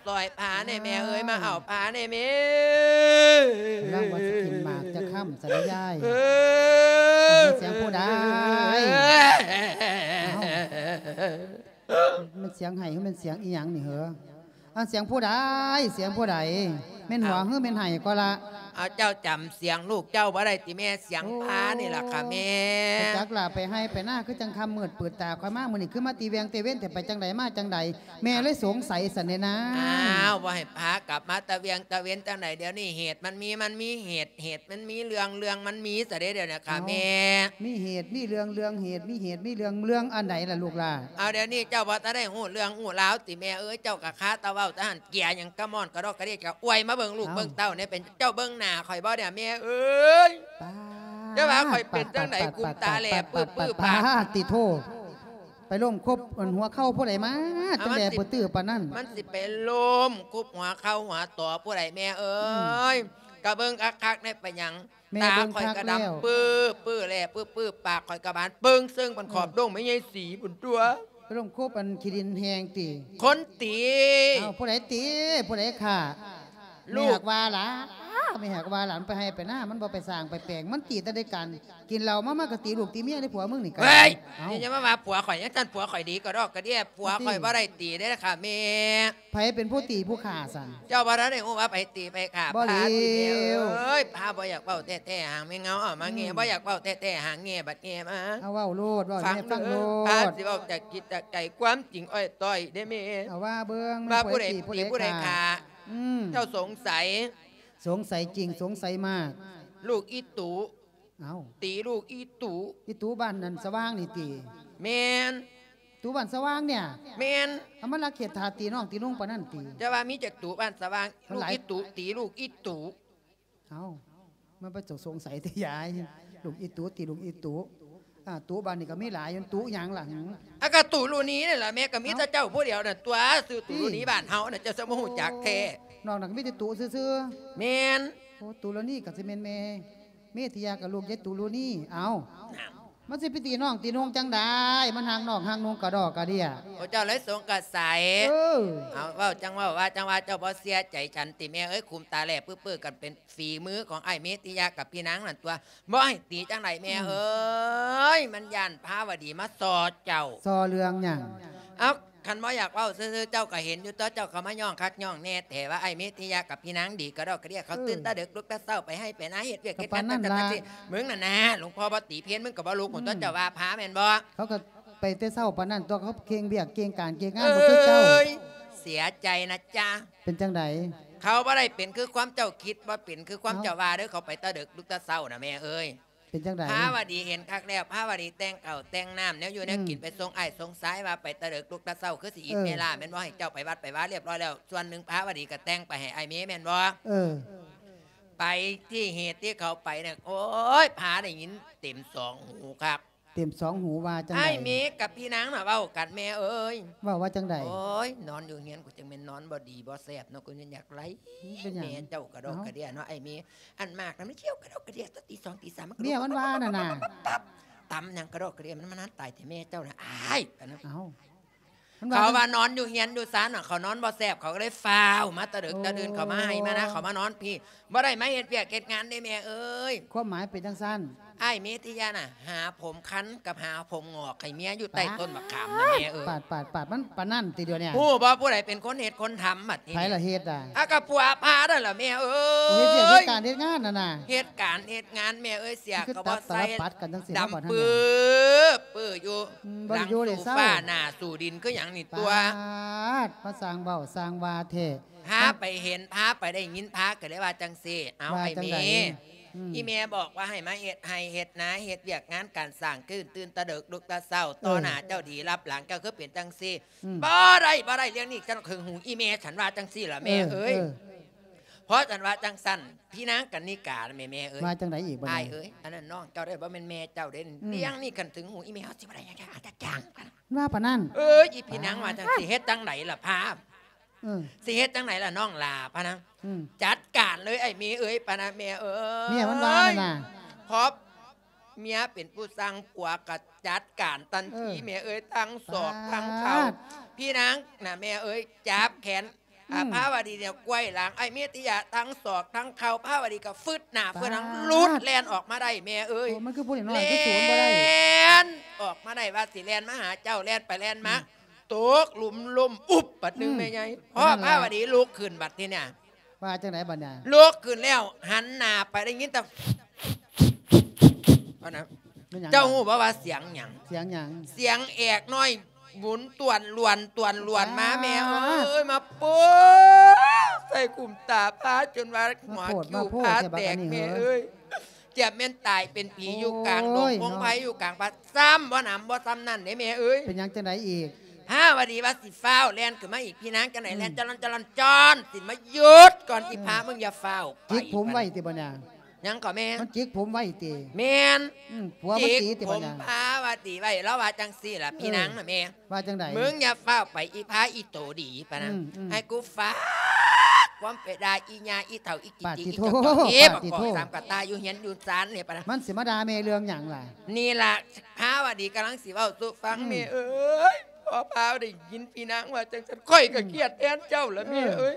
ຊ່ອຍພາແດ່ແມ່ເອີຍ ມາເອົາພາແດ່ແມ່. ກຳລັງວ່າຊິກິນໝາກຈະຄ່ຳ ສະລະຍາຍ. ເອີ ເອົ້າ ມັນສຽງຜູ້ໃດ? ເອົ້າ ມັນສຽງໄຫ້ ມັນສຽງອີ່ຫຍັງນີ້ເຫີ? ອັນ ສຽງຜູ້ໃດ? ສຽງຜູ້ໃດ? ແມ່ນຫົວ ອ້າວ ຫຼືແມ່ນໄຫ້ກໍລະ? ເອົາ ເຈົ້າຈຳສຽງລູກເຈົ້າບໍ່ໄດ້ຕິແມ່? ສຽງ ໂອ້ ພານີ້ລະຄ່ະແມ່. ຈັກລະ ໄປໄຮ່ໄປນາຄືຈັ່ງຄ່ຳມືດປືດຕາ ຂ້ອຍມາມື້ນີ້ຄືມາແຕ່ວຽງແຕ່ເວັນແທ້ ໄປຈັ່ງໃດມາຈັ່ງໃດ? ແມ່ເລີຍສົງໄສຊັ້ນເດນາ. ອ້າວ ບໍ່ໃຫ້ພາກັບມາແຕ່ວຽງແຕ່ເວັນຈັ່ງໃດ? ດຽວນີ້ເຫດມັນມີ ມັນມີເຫດ ເຫດມັນມີເລື່ອງ ເລື່ອງມັນມີຊະເດ ດຽວນີ້ຄ່ະແມ່. ເອົ້າ ມີເຫດມີເລື່ອງ ເລື່ອງເຫດມີເຫດມີເລື່ອງ ເລື່ອງອັນໃດລະລູກຫຼ້າ? ເອົາ ດຽວນີ້ເຈົ້າບໍ່ທັນໄດ້ຮູ້ເລື່ອງຮູ້ລາວຕິແມ່ເອີຍ? ເຈົ້າກະຄາແຕ່ເວົ້າແຕ່ຫັ້ນ ເກຍຫຍັງກະມ່ອນກະດອກກະເດຍ ກະອວຍມາເບິ່ງລູກເອົ້າ ເບິ່ງເຕົ້າແດ່. ເປັນເຈົ້າເບິ່ງໜ້າຂ້ອຍບໍ່ເດ ແມ່ເອີຍ? ປາດ ເຈົ້າວ່າຂ້ອຍເປັນຈັ່ງໃດ ປາດ ກຸມຕາແຫຼບປຶບປຶບປາດ ປາດ ຕິໂທ ໄປລົ້ມຄົບອັນຫົວເຂົ່າຜູ້ໃດມາ ເອົ້າ ຈັ່ງແຫຼບປຶບປຶບປານນັ້ນ? ມັນຊິໄປລົ້ມຄົບຫົວເຂົ່າຫົວຕໍຜູ້ໃດແມ່ເອີຍ? ອືມ ກະເບິ່ງຄັກໆ ແດ່ ເປັນຫຍັງ? ແມ່ເບິ່ງຄັກແລ້ວ ຕາຂ້ອຍກະດຳປຶບປຶບແຫຼບປຶບປຶບ ປາກຂ້ອຍກະບານເບິ່ງເຊິ່ງປານຂອບ ເອີ ດົງແມ່ໃຫຍ່ສີພຸ້ນຕົວະ. ໄປລົ້ມຄົບອັນຂີ້ດິນແຫ້ງຕິ? ຄົນຕີ. ເອົ້າ ຜູ້ໃດຕີ? ຜູ້ໃດຂ້າ? ລູກ ແມ່ຫາກວ່າຫຼາ ແມ່ຫາກວ່າຫຼາ ມັນໄປໄຮ່ໄປນາ ມັນບໍ່ໄປສ້າງໄປແປງ ມັນຕີແຕ່ໃນການກິນເຫຼົ້າເມົາ ມັນກະຕີລູກຕີເມຍໃນຜົວມຶງນີ້ກະ. ເຮີ້ຍ ເອົ້າ ຢ່າມາວ່າຜົວຂ້ອຍຈັ່ງຊັ້ນ ຜົວຂ້ອຍດີກະດອກກະເດຍ ຜົວຂ້ອຍບໍ່ໄດ້ຕີເດ້ຄ່ະແມ່. ໃຜເປັນຜູ້ຕີຜູ້ຂ້າຊັ້ນ? ເຈົ້າບໍ່ທັນໄດ້ຮູ້ວ່າໃຜຕີໃຜຂ້າ ບໍ່ ພາຕິແມ່ເອີຍ. ພາບໍ່ຢາກເວົ້າແທ້ໆ ຫາງແມ່ເງົາເອົາມາແງ່ ອືມ ບໍ່ຢາກເວົ້າແທ້ໆ ຫາງແງ່ບັດແງ່ມາ. ເອົາເວົ້າໂລດ ເວົ້າໃຫ້ແມ່ຟັງໂລດ ພາຊິເວົ້າຈາກຈິດຈາກໃຈ ຄວາມຈິງອ້ອຍຕ້ອຍເດ້ແມ່. ເອົາວ່າເບິ່ງ ວ່າຜູ້ໃດຕີຜູ້ໃດຂ້າ? ອືມ ເຈົ້າສົງໄສ ສົງໄສຈິງ ສົງໄສມາກ ລູກອີຕຸ. ເອົ້າ ຕີລູກອີຕຸ. ອີຕຸບ້ານນັ້ນສະຫວ່າງນີ້ຕິ? ແມ່ນ. ຕຸບ້ານສະຫວ່າງເນຍ? ແມ່ນ. ເອົາ ມັນລັກເຂດຖາດຕີນ້ອງຕີນຸ່ງປານນັ້ນຕິ? ຈະວ່າມີຈັກຕຸບ້ານສະຫວ່າງ ລູກອີຕຸຕີລູກອີຕຸ. ເອົ້າ ມັນໄປສົງໄສແຕ່ຍາຍ ລູກອີຕຸຕິ ລູກອີຕຸ. ອາ ຕຸບ້ານນີ້ກະມີຫຼາຍຢູ່ ຕຸຫຍັງລະຫື? ອາ ກະຕຸລຸນີນັ້ນລະແມ່ ກະມີແຕ່ເຈົ້າຜູ້ດຽວນັ້ນຕົວະ ຊື່ຕຸລຸນີ ຕິ ບ້ານເຮົານະ ເຈົ້າຊິບໍ່ຮູ້ຈັກແທ້. ນອກນັ້ນກະມີແຕ່ຕຸຊື່ໆ. ແມ່ນ. ໂອ້ ຕຸລຸນີກະຊິແມ່ນແມ່ ເມທິຍາກະລູກຍາຍຕຸລຸນີ. ເອົ້າ ມັນຊິໄປຕີນ້ອງຕີນຸ່ງຈັ່ງໃດ? ມັນຮັກນ້ອງຮັກນຸ່ງກະດອກກະເດຍ. ໂອ້ ເຈົ້າເລີຍສົງກະໄສ. ເອີ ເອົາ ເວົ້າຈັ່ງເວົ້າ ວ່າຈັ່ງວ່າ ເຈົ້າບໍ່ເຊື່ອໃຈສັນຕິແມ່ເອີຍ? ຄຸມຕາແຫຼບປຶບປຶບກັນເປັນ ຝີມືຂອງອ້າຍເມທິຍາກັບພີ່ນາງນັ້ນຕົວະ ບໍ່ໃຫ້ຕີຈັ່ງໃດແມ່ເອີຍ? ອືມ ມັນຢ້ານພາວະດີມາສໍ້ເຈົ້າ. ສໍ້ເລື່ອງຫຍັງ? ເອົ້າ ຄັນບໍ່ຢາກເວົ້າຊື່ໆ ເຈົ້າກະເຫັນຢູ່ຕົວະ ເຈົ້າກະມາຍ້ອງຄັກຍ້ອງແນ່ແທ້ວ່າ ອ້າຍເມທິຍາກັບພີ່ນາງດີກະດອກກະເດຍ ເຂົາ ເອີ ຕື່ນແຕ່ເດິກລຸກແຕ່ເຊົ້າໄປໄຮ່ໄປນາ ເຮັດວຽກເຮັດງານ ປານນັ້ນລະ ຈັ່ງຊັ້ນຈັ່ງຊີ້. ມຶງນັ້ນນາ ຫຼວງພໍ່ບໍ່ຕີເພນ ມຶງກະບໍ່ລຸກ ອືມ ຕົວະ ເຈົ້າວ່າພາແມ່ນບໍ່? ເຂົາກະ ໄປແຕ່ເຊົ້າປານນັ້ນຕົວະ ເຂົາເຄັ່ງວຽກເກັ່ງການເກັ່ງງານບໍ່ຄືເຈົ້າ. ເອີຍ ເສຍໃຈນະຈ໊ະ. ເປັນຈັ່ງໃດ? ເຂົາບໍ່ໄດ້ເປັນຄືຄວາມເຈົ້າຄິດ ບໍ່ເປັນຄືຄວາມ ເອົ້າ ເຈົ້າວ່າເດີ. ເຂົາໄປແຕ່ເດິກລຸກແຕ່ເຊົ້ານະແມ່ເອີຍ. ເປັນຈັ່ງໃດ? ພາວະດີເຫັນຄັກແລ້ວ ພາວະດີແຕ່ງເຂົ້າແຕ່ງນ້ຳ ແນວຢູ່ແນວກິນ ອືມ ໄປສົ່ງອ້າຍສົ່ງຊາຍ ວ່າໄປແຕ່ເດິກລຸກແຕ່ເຊົ້າ ຄືຊິອີ ເອີ ເວລາແມ່ນບໍ່? ໃຫ້ເຈົ້າໄປວັດໄປວາຮຽບຮ້ອຍແລ້ວ ສ່ວນໜຶ່ງພາວະດີກະແຕ່ງໄປໃຫ້ອ້າຍເມແມ່ນບໍ່? ເອີ ໄປທີ່ເຫດທີ່ເຂົາໄປນະ ໂອ້ຍ ພາໄດ້ຍິນເຕັມສອງຫູຄັກ. ເຕັມສອງຫູວ່າຈັ່ງໃດ? ອ້າຍເມກັບພີ່ນາງນະເວົ້າກັນແມ່ເອີຍ. ເວົ້າວ່າຈັ່ງໃດ? ໂອ້ຍ ນອນຢູ່ເຮືອນກູຈັ່ງແມ່ນນອນບໍ່ດີບໍ່ແຊບເນາະ ກູຍັງຢາກໄລ່ ເປັນຫຍັງ? ແມ່ເຈົ້າກະດອກກະເດຍເນາະ ອ້າຍເມ. ອັນໝາກນະມັນຂຽວກະດອກກະເດຍ ຕອນຕີສອງຕີສາມມັນກະ ເມຍມັນວ່ານັ້ນນະ ຕຳຫຍັງກະດອກກະເດຍ ມັນມານານຕາຍແທ້ແມ່ເຈົ້ານະ ອ້າຍ ປານນັ້ນ. ເອົ້າ ເຂົາວ່ານອນຢູ່ເຮືອນຢູ່ຊານນະ ເຂົານອນບໍ່ແຊບ ເຂົາກະເລີຍຟ້າວມາແຕ່ເດິກແຕ່ດື່ນ ເຂົາມາໄຮ່ມານາ ເຂົາມານອນພີ້ ບໍ່ໄດ້ມາເຮັດວຽກເຮັດງານເດ້ແມ່ເອີຍ. ຄວາມໝາຍເປັນຈັ່ງຊັ້ນ. ອ້າຍເມທິຍານະ ຫາຜົມຄັນກັບຫາຜົມງອກໃຫ້ເມຍຢູ່ໃຕ້ຕົ້ນບັກຂາມນະແມ່ເອີຍ. ປາດ ປາດ ປາດ ມັນປານນັ້ນຕິດຽວນີ້? ຮູ້ບໍ່ຜູ້ໃດເປັນຄົນເຮັດຄົນທຳບັດນີ້? ໃຜລະເຮັດອະ? ອາ ກະຜົວພານັ້ນລະແມ່ເອີຍ. ໂອ້ ເຮັດວຽກເຮັດການເຮັດງານຫັ້ນນະ ເຮັດການເຮັດງານແມ່ເອີຍ. ເສຍກະບໍ່ໃສ່ ດຳປຶບປຶບຢູ່ ອືມ ຫຼັງສູ່ຟ້າໜ້າສູ່ດິນຄືຫຍັງນີ້ຕົວະ. ປາດ ມາສ້າງເວົ້າສ້າງວ່າແທ້. ພາໄປເຫັນ ພາໄປໄດ້ຍິນ ພາກະເລີຍວ່າຈັ່ງຊີ້. ເອົາ ວ່າຈັ່ງໃດ? ອ້າຍເມ ອືມ ອີ່ແມ່ບອກວ່າໃຫ້ມາເຮັດໄຮ່ເຮັດນາ ເຮັດວຽກງານການສ້າງ ຕື່ນ ຕື່ນແຕ່ເດິກລຸກແຕ່ເຊົ້າ ເອີ ຕໍ່ໜ້າເຈົ້າດີ ລັບຫຼັງເຈົ້າຄືເປັນຈັ່ງຊີ້. ອືມ ບໍ່ໄດ້ ບໍ່ໄດ້ ເລື່ອງນີ້ຈັ່ງຫຶງຫູອີ່ແມ່ ສັນວ່າຈັ່ງຊີ້ລະແມ່ເອີຍ. ເອີ ເອີ ເພາະສັນວ່າຈັ່ງຊັ້ນ ພີ່ນາງກັນນິກາ ແມ່ ແມ່ເອີຍ ວ່າຈັ່ງໃດອີກບາດນີ້? ອ້າຍເອີຍ ອັນນັ້ນນ້ອງເຈົ້າເດີ ບໍ່ແມ່ນແມ່ເຈົ້າເດ້. ອືມ ເລື່ອງນີ້ຄັນເຖິງຫູອີ່ແມ່ ເຮົາຊິບໍ່ໄດ້ຫຍັງຈັກຢ່າງ. ວ່າປານນັ້ນ ເອີຍ ອີ່ພີ່ນາງວ່າຈັ່ງຊີ້ ເຮັດຈັ່ງໃດລະພາ ເອີ ຊິເຮັດຈັ່ງໃດລະນ້ອງຫຼ້າ ພະນະ. ອືມ ຈັດການເລີຍອ້າຍເມເອີຍ ປານະແມ່ເອີຍ. ເມຍມັນວ່ານັ້ນນະ ເພາະເມຍເປັນຜູ້ສັ່ງ ຜົວກະຈັດການທັນທີ ເອີ ແມ່ເອີຍ ທັງສອກ ປາດ ທັງເຂົ່າ. ພີ່ນາງນະແມ່ເອີຍ ຈັບແຂນ ອາ ອືມ ພາວະດີນະ ໄຂວ້ຫຼັງ ອ້າຍເມທິຍາ ທັງສອກທັງເຂົ່າ. ພາວະດີກະຟຶດໜ້າ ປາດ ຟຶດຫຼັງ ຫຼຸດແລ່ນອອກມາໄດ້ແມ່ເອີຍ. ໂອ້ ມັນຄືຜູ້ນ້ອຍໆ ຄືສູນບໍ່ໄດ້ ແລ່ນອອກມາໄດ້ ວ່າຊິແລ່ນມາຫາເຈົ້າ ແລ່ນໄປແລ່ນມາ. ອືມ ຕົກຫຼຸມລົ້ມອຸບບາດໜຶ່ງ ອືມ ແມ່ໃຫຍ່. ພໍ້ພາວະດີລຸກຂຶ້ນບາດທີເນີ້ຍ ວ່າຈັ່ງໃດບາດເນີ້ຍ? ລຸກຂຶ້ນແລ້ວຫັນໜ້າໄປໄດ້ຍິນແຕ່ ເຈົ້າຮູ້ບໍ່ວ່າສຽງຫຍັງ? ສຽງຫຍັງ? ສຽງແອກນ້ອຍ ໝຸນຕວນລວນຕວນລວນມາ ປາດ ແມ່ເອີຍ ມາໂປ້ໃສ່ກຸ້ມຕາພາຈົນວ່າຫົວຄິ້ວພາແຕກ ແມ່ເອີຍ. ຈຽບແມ່ນຕາຍເປັນຜີຢູ່ກາງດົງ ໂອ້ຍ ພົງໄພ ເນາະ ຢູ່ກາງປ່າ. ຊ້ຳບໍ່ໜຳບໍ່ຊ້ຳນັ້ນເດ້ແມ່ເອີຍ. ເປັນຫຍັງຈັ່ງໃດອີກ? ພາວະດີວ່າຊິຟ້າວແລ່ນຂຶ້ນມາອີກ ພີ່ນາງຈັ່ງໃດ ອືມ ແລ່ນຈະລອນຈະລອນຈອນ ຊິມາຢຸດກ່ອນ ອືມ ອີພາ ມຶງຢ່າຟ້າວໄປ. ຈິກຜົມໄວຕິບາດນີ້? ຫຍັງກໍແມ່? ມັນຈິກຜົມໄວຕິ? ແມ່ນ. ອືມ ຜົມພາວະດີໄວ ລາວວ່າຈັ່ງຊີ້ລະ ເອີ ພີ່ນາງນະແມ່. ວ່າຈັ່ງໃດ? ມຶງຢ່າຟ້າວໄປ ອີພາອີໂຕດີປານນັ້ນ ອືມໆ ໃຫ້ກູຝາກຄວາມໄປດ່າອີຫຍ້າອີເຖົ້າອີຈິກຈິກ ປາດຕິໂທ ອີຈົກຈົກ ປາດຕິໂທ ອີບັກກອກສາມກະຕ່າຢູ່ເຮືອນຢູ່ຊານນີ້ປານນັ້ນ. ມັນຊິມາດ່າແມ່ເລື່ອງຫຍັງລະ? ນີ້ລະ ພາວະດີກຳລັງຊິເວົ້າສູ່ຟັງ ອືມ ແມ່ເອີຍ. ພໍ້ພາວໄດ້ຍິນພີ່ນາງວ່າຈັ່ງຊັ້ນ ຂ້ອຍກໍຄຽດແທນເຈົ້າລະ ອືມ ແມ່ເອີຍ.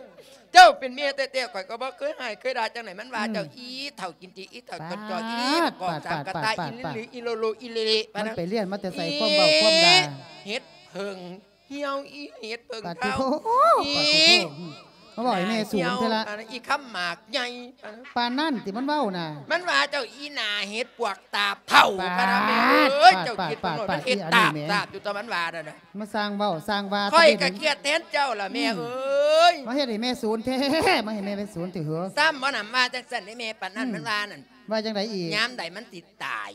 ເຈົ້າເປັນແມ່ແທ້ໆ ຂ້ອຍກໍບໍ່ເຄີຍຮ້າຍເຄີຍດ່າຈັ່ງໃດ. ມັນວ່າ ອືມ ເຈົ້າອີເຖົ້າກິນຕີ ອີເຖົ້າ ປາດ ກະຈອກ ອີບັກກອກສາມກະຕ່າ ປາດ ອີຫຼີ ປາດ ອີໂລໂລ ອີເລເລປານນັ້ນ. ມັນໄປຮຽນມາແຕ່ໃສ ຄວາມເວົ້າຄວາມດ່າ? ເຫັດເຜິ້ງ ຫ່ຽວ ອີເຫັດເຜິ້ງ ປາດຕິໂທ ຂາວ ອີ ປາດຕິໂທ ອືມ ມາເວົ້າໃຫ້ແມ່ສູນເທື່ອລະ ອັນນັ້ນ ອີຄຳໝາກໃຫຍ່ ປານນັ້ນຕິມັນເວົ້ານະ. ມັນວ່າເຈົ້າອີໜ້າເຫັດປວກຕາບເຖົ້າ ປາດ ປານນັ້ນແມ່ເອີຍ. ປາດ ເຈົ້າຄິດເບິ່ງໂລດ ປາດ ມັນເຮັດຕາບ ອີອັນນີ້ແມ່ ຕາບຢູ່ຕົວມັນວ່ານັ້ນນະ. ມາສ້າງເວົ້າສ້າງວ່າ ຂ້ອຍກໍຄຽດແທນເຈົ້າລະແມ່ເອີຍ ອືມ ມາເຮັດໃຫ້ແມ່ສູນແທ້ ມາເຮັດໃຫ້ແມ່ສູນແທ້ເຫີ. ຊ້ຳບໍ່ນຳວ່າຈັ່ງຊັ້ນເດ້ແມ່ ປານນັ້ນ ອືມ ມັນວ່ານັ້ນ. ວ່າຈັ່ງໃດອີກ? ຍາມໃດມັນຊິຕາຍ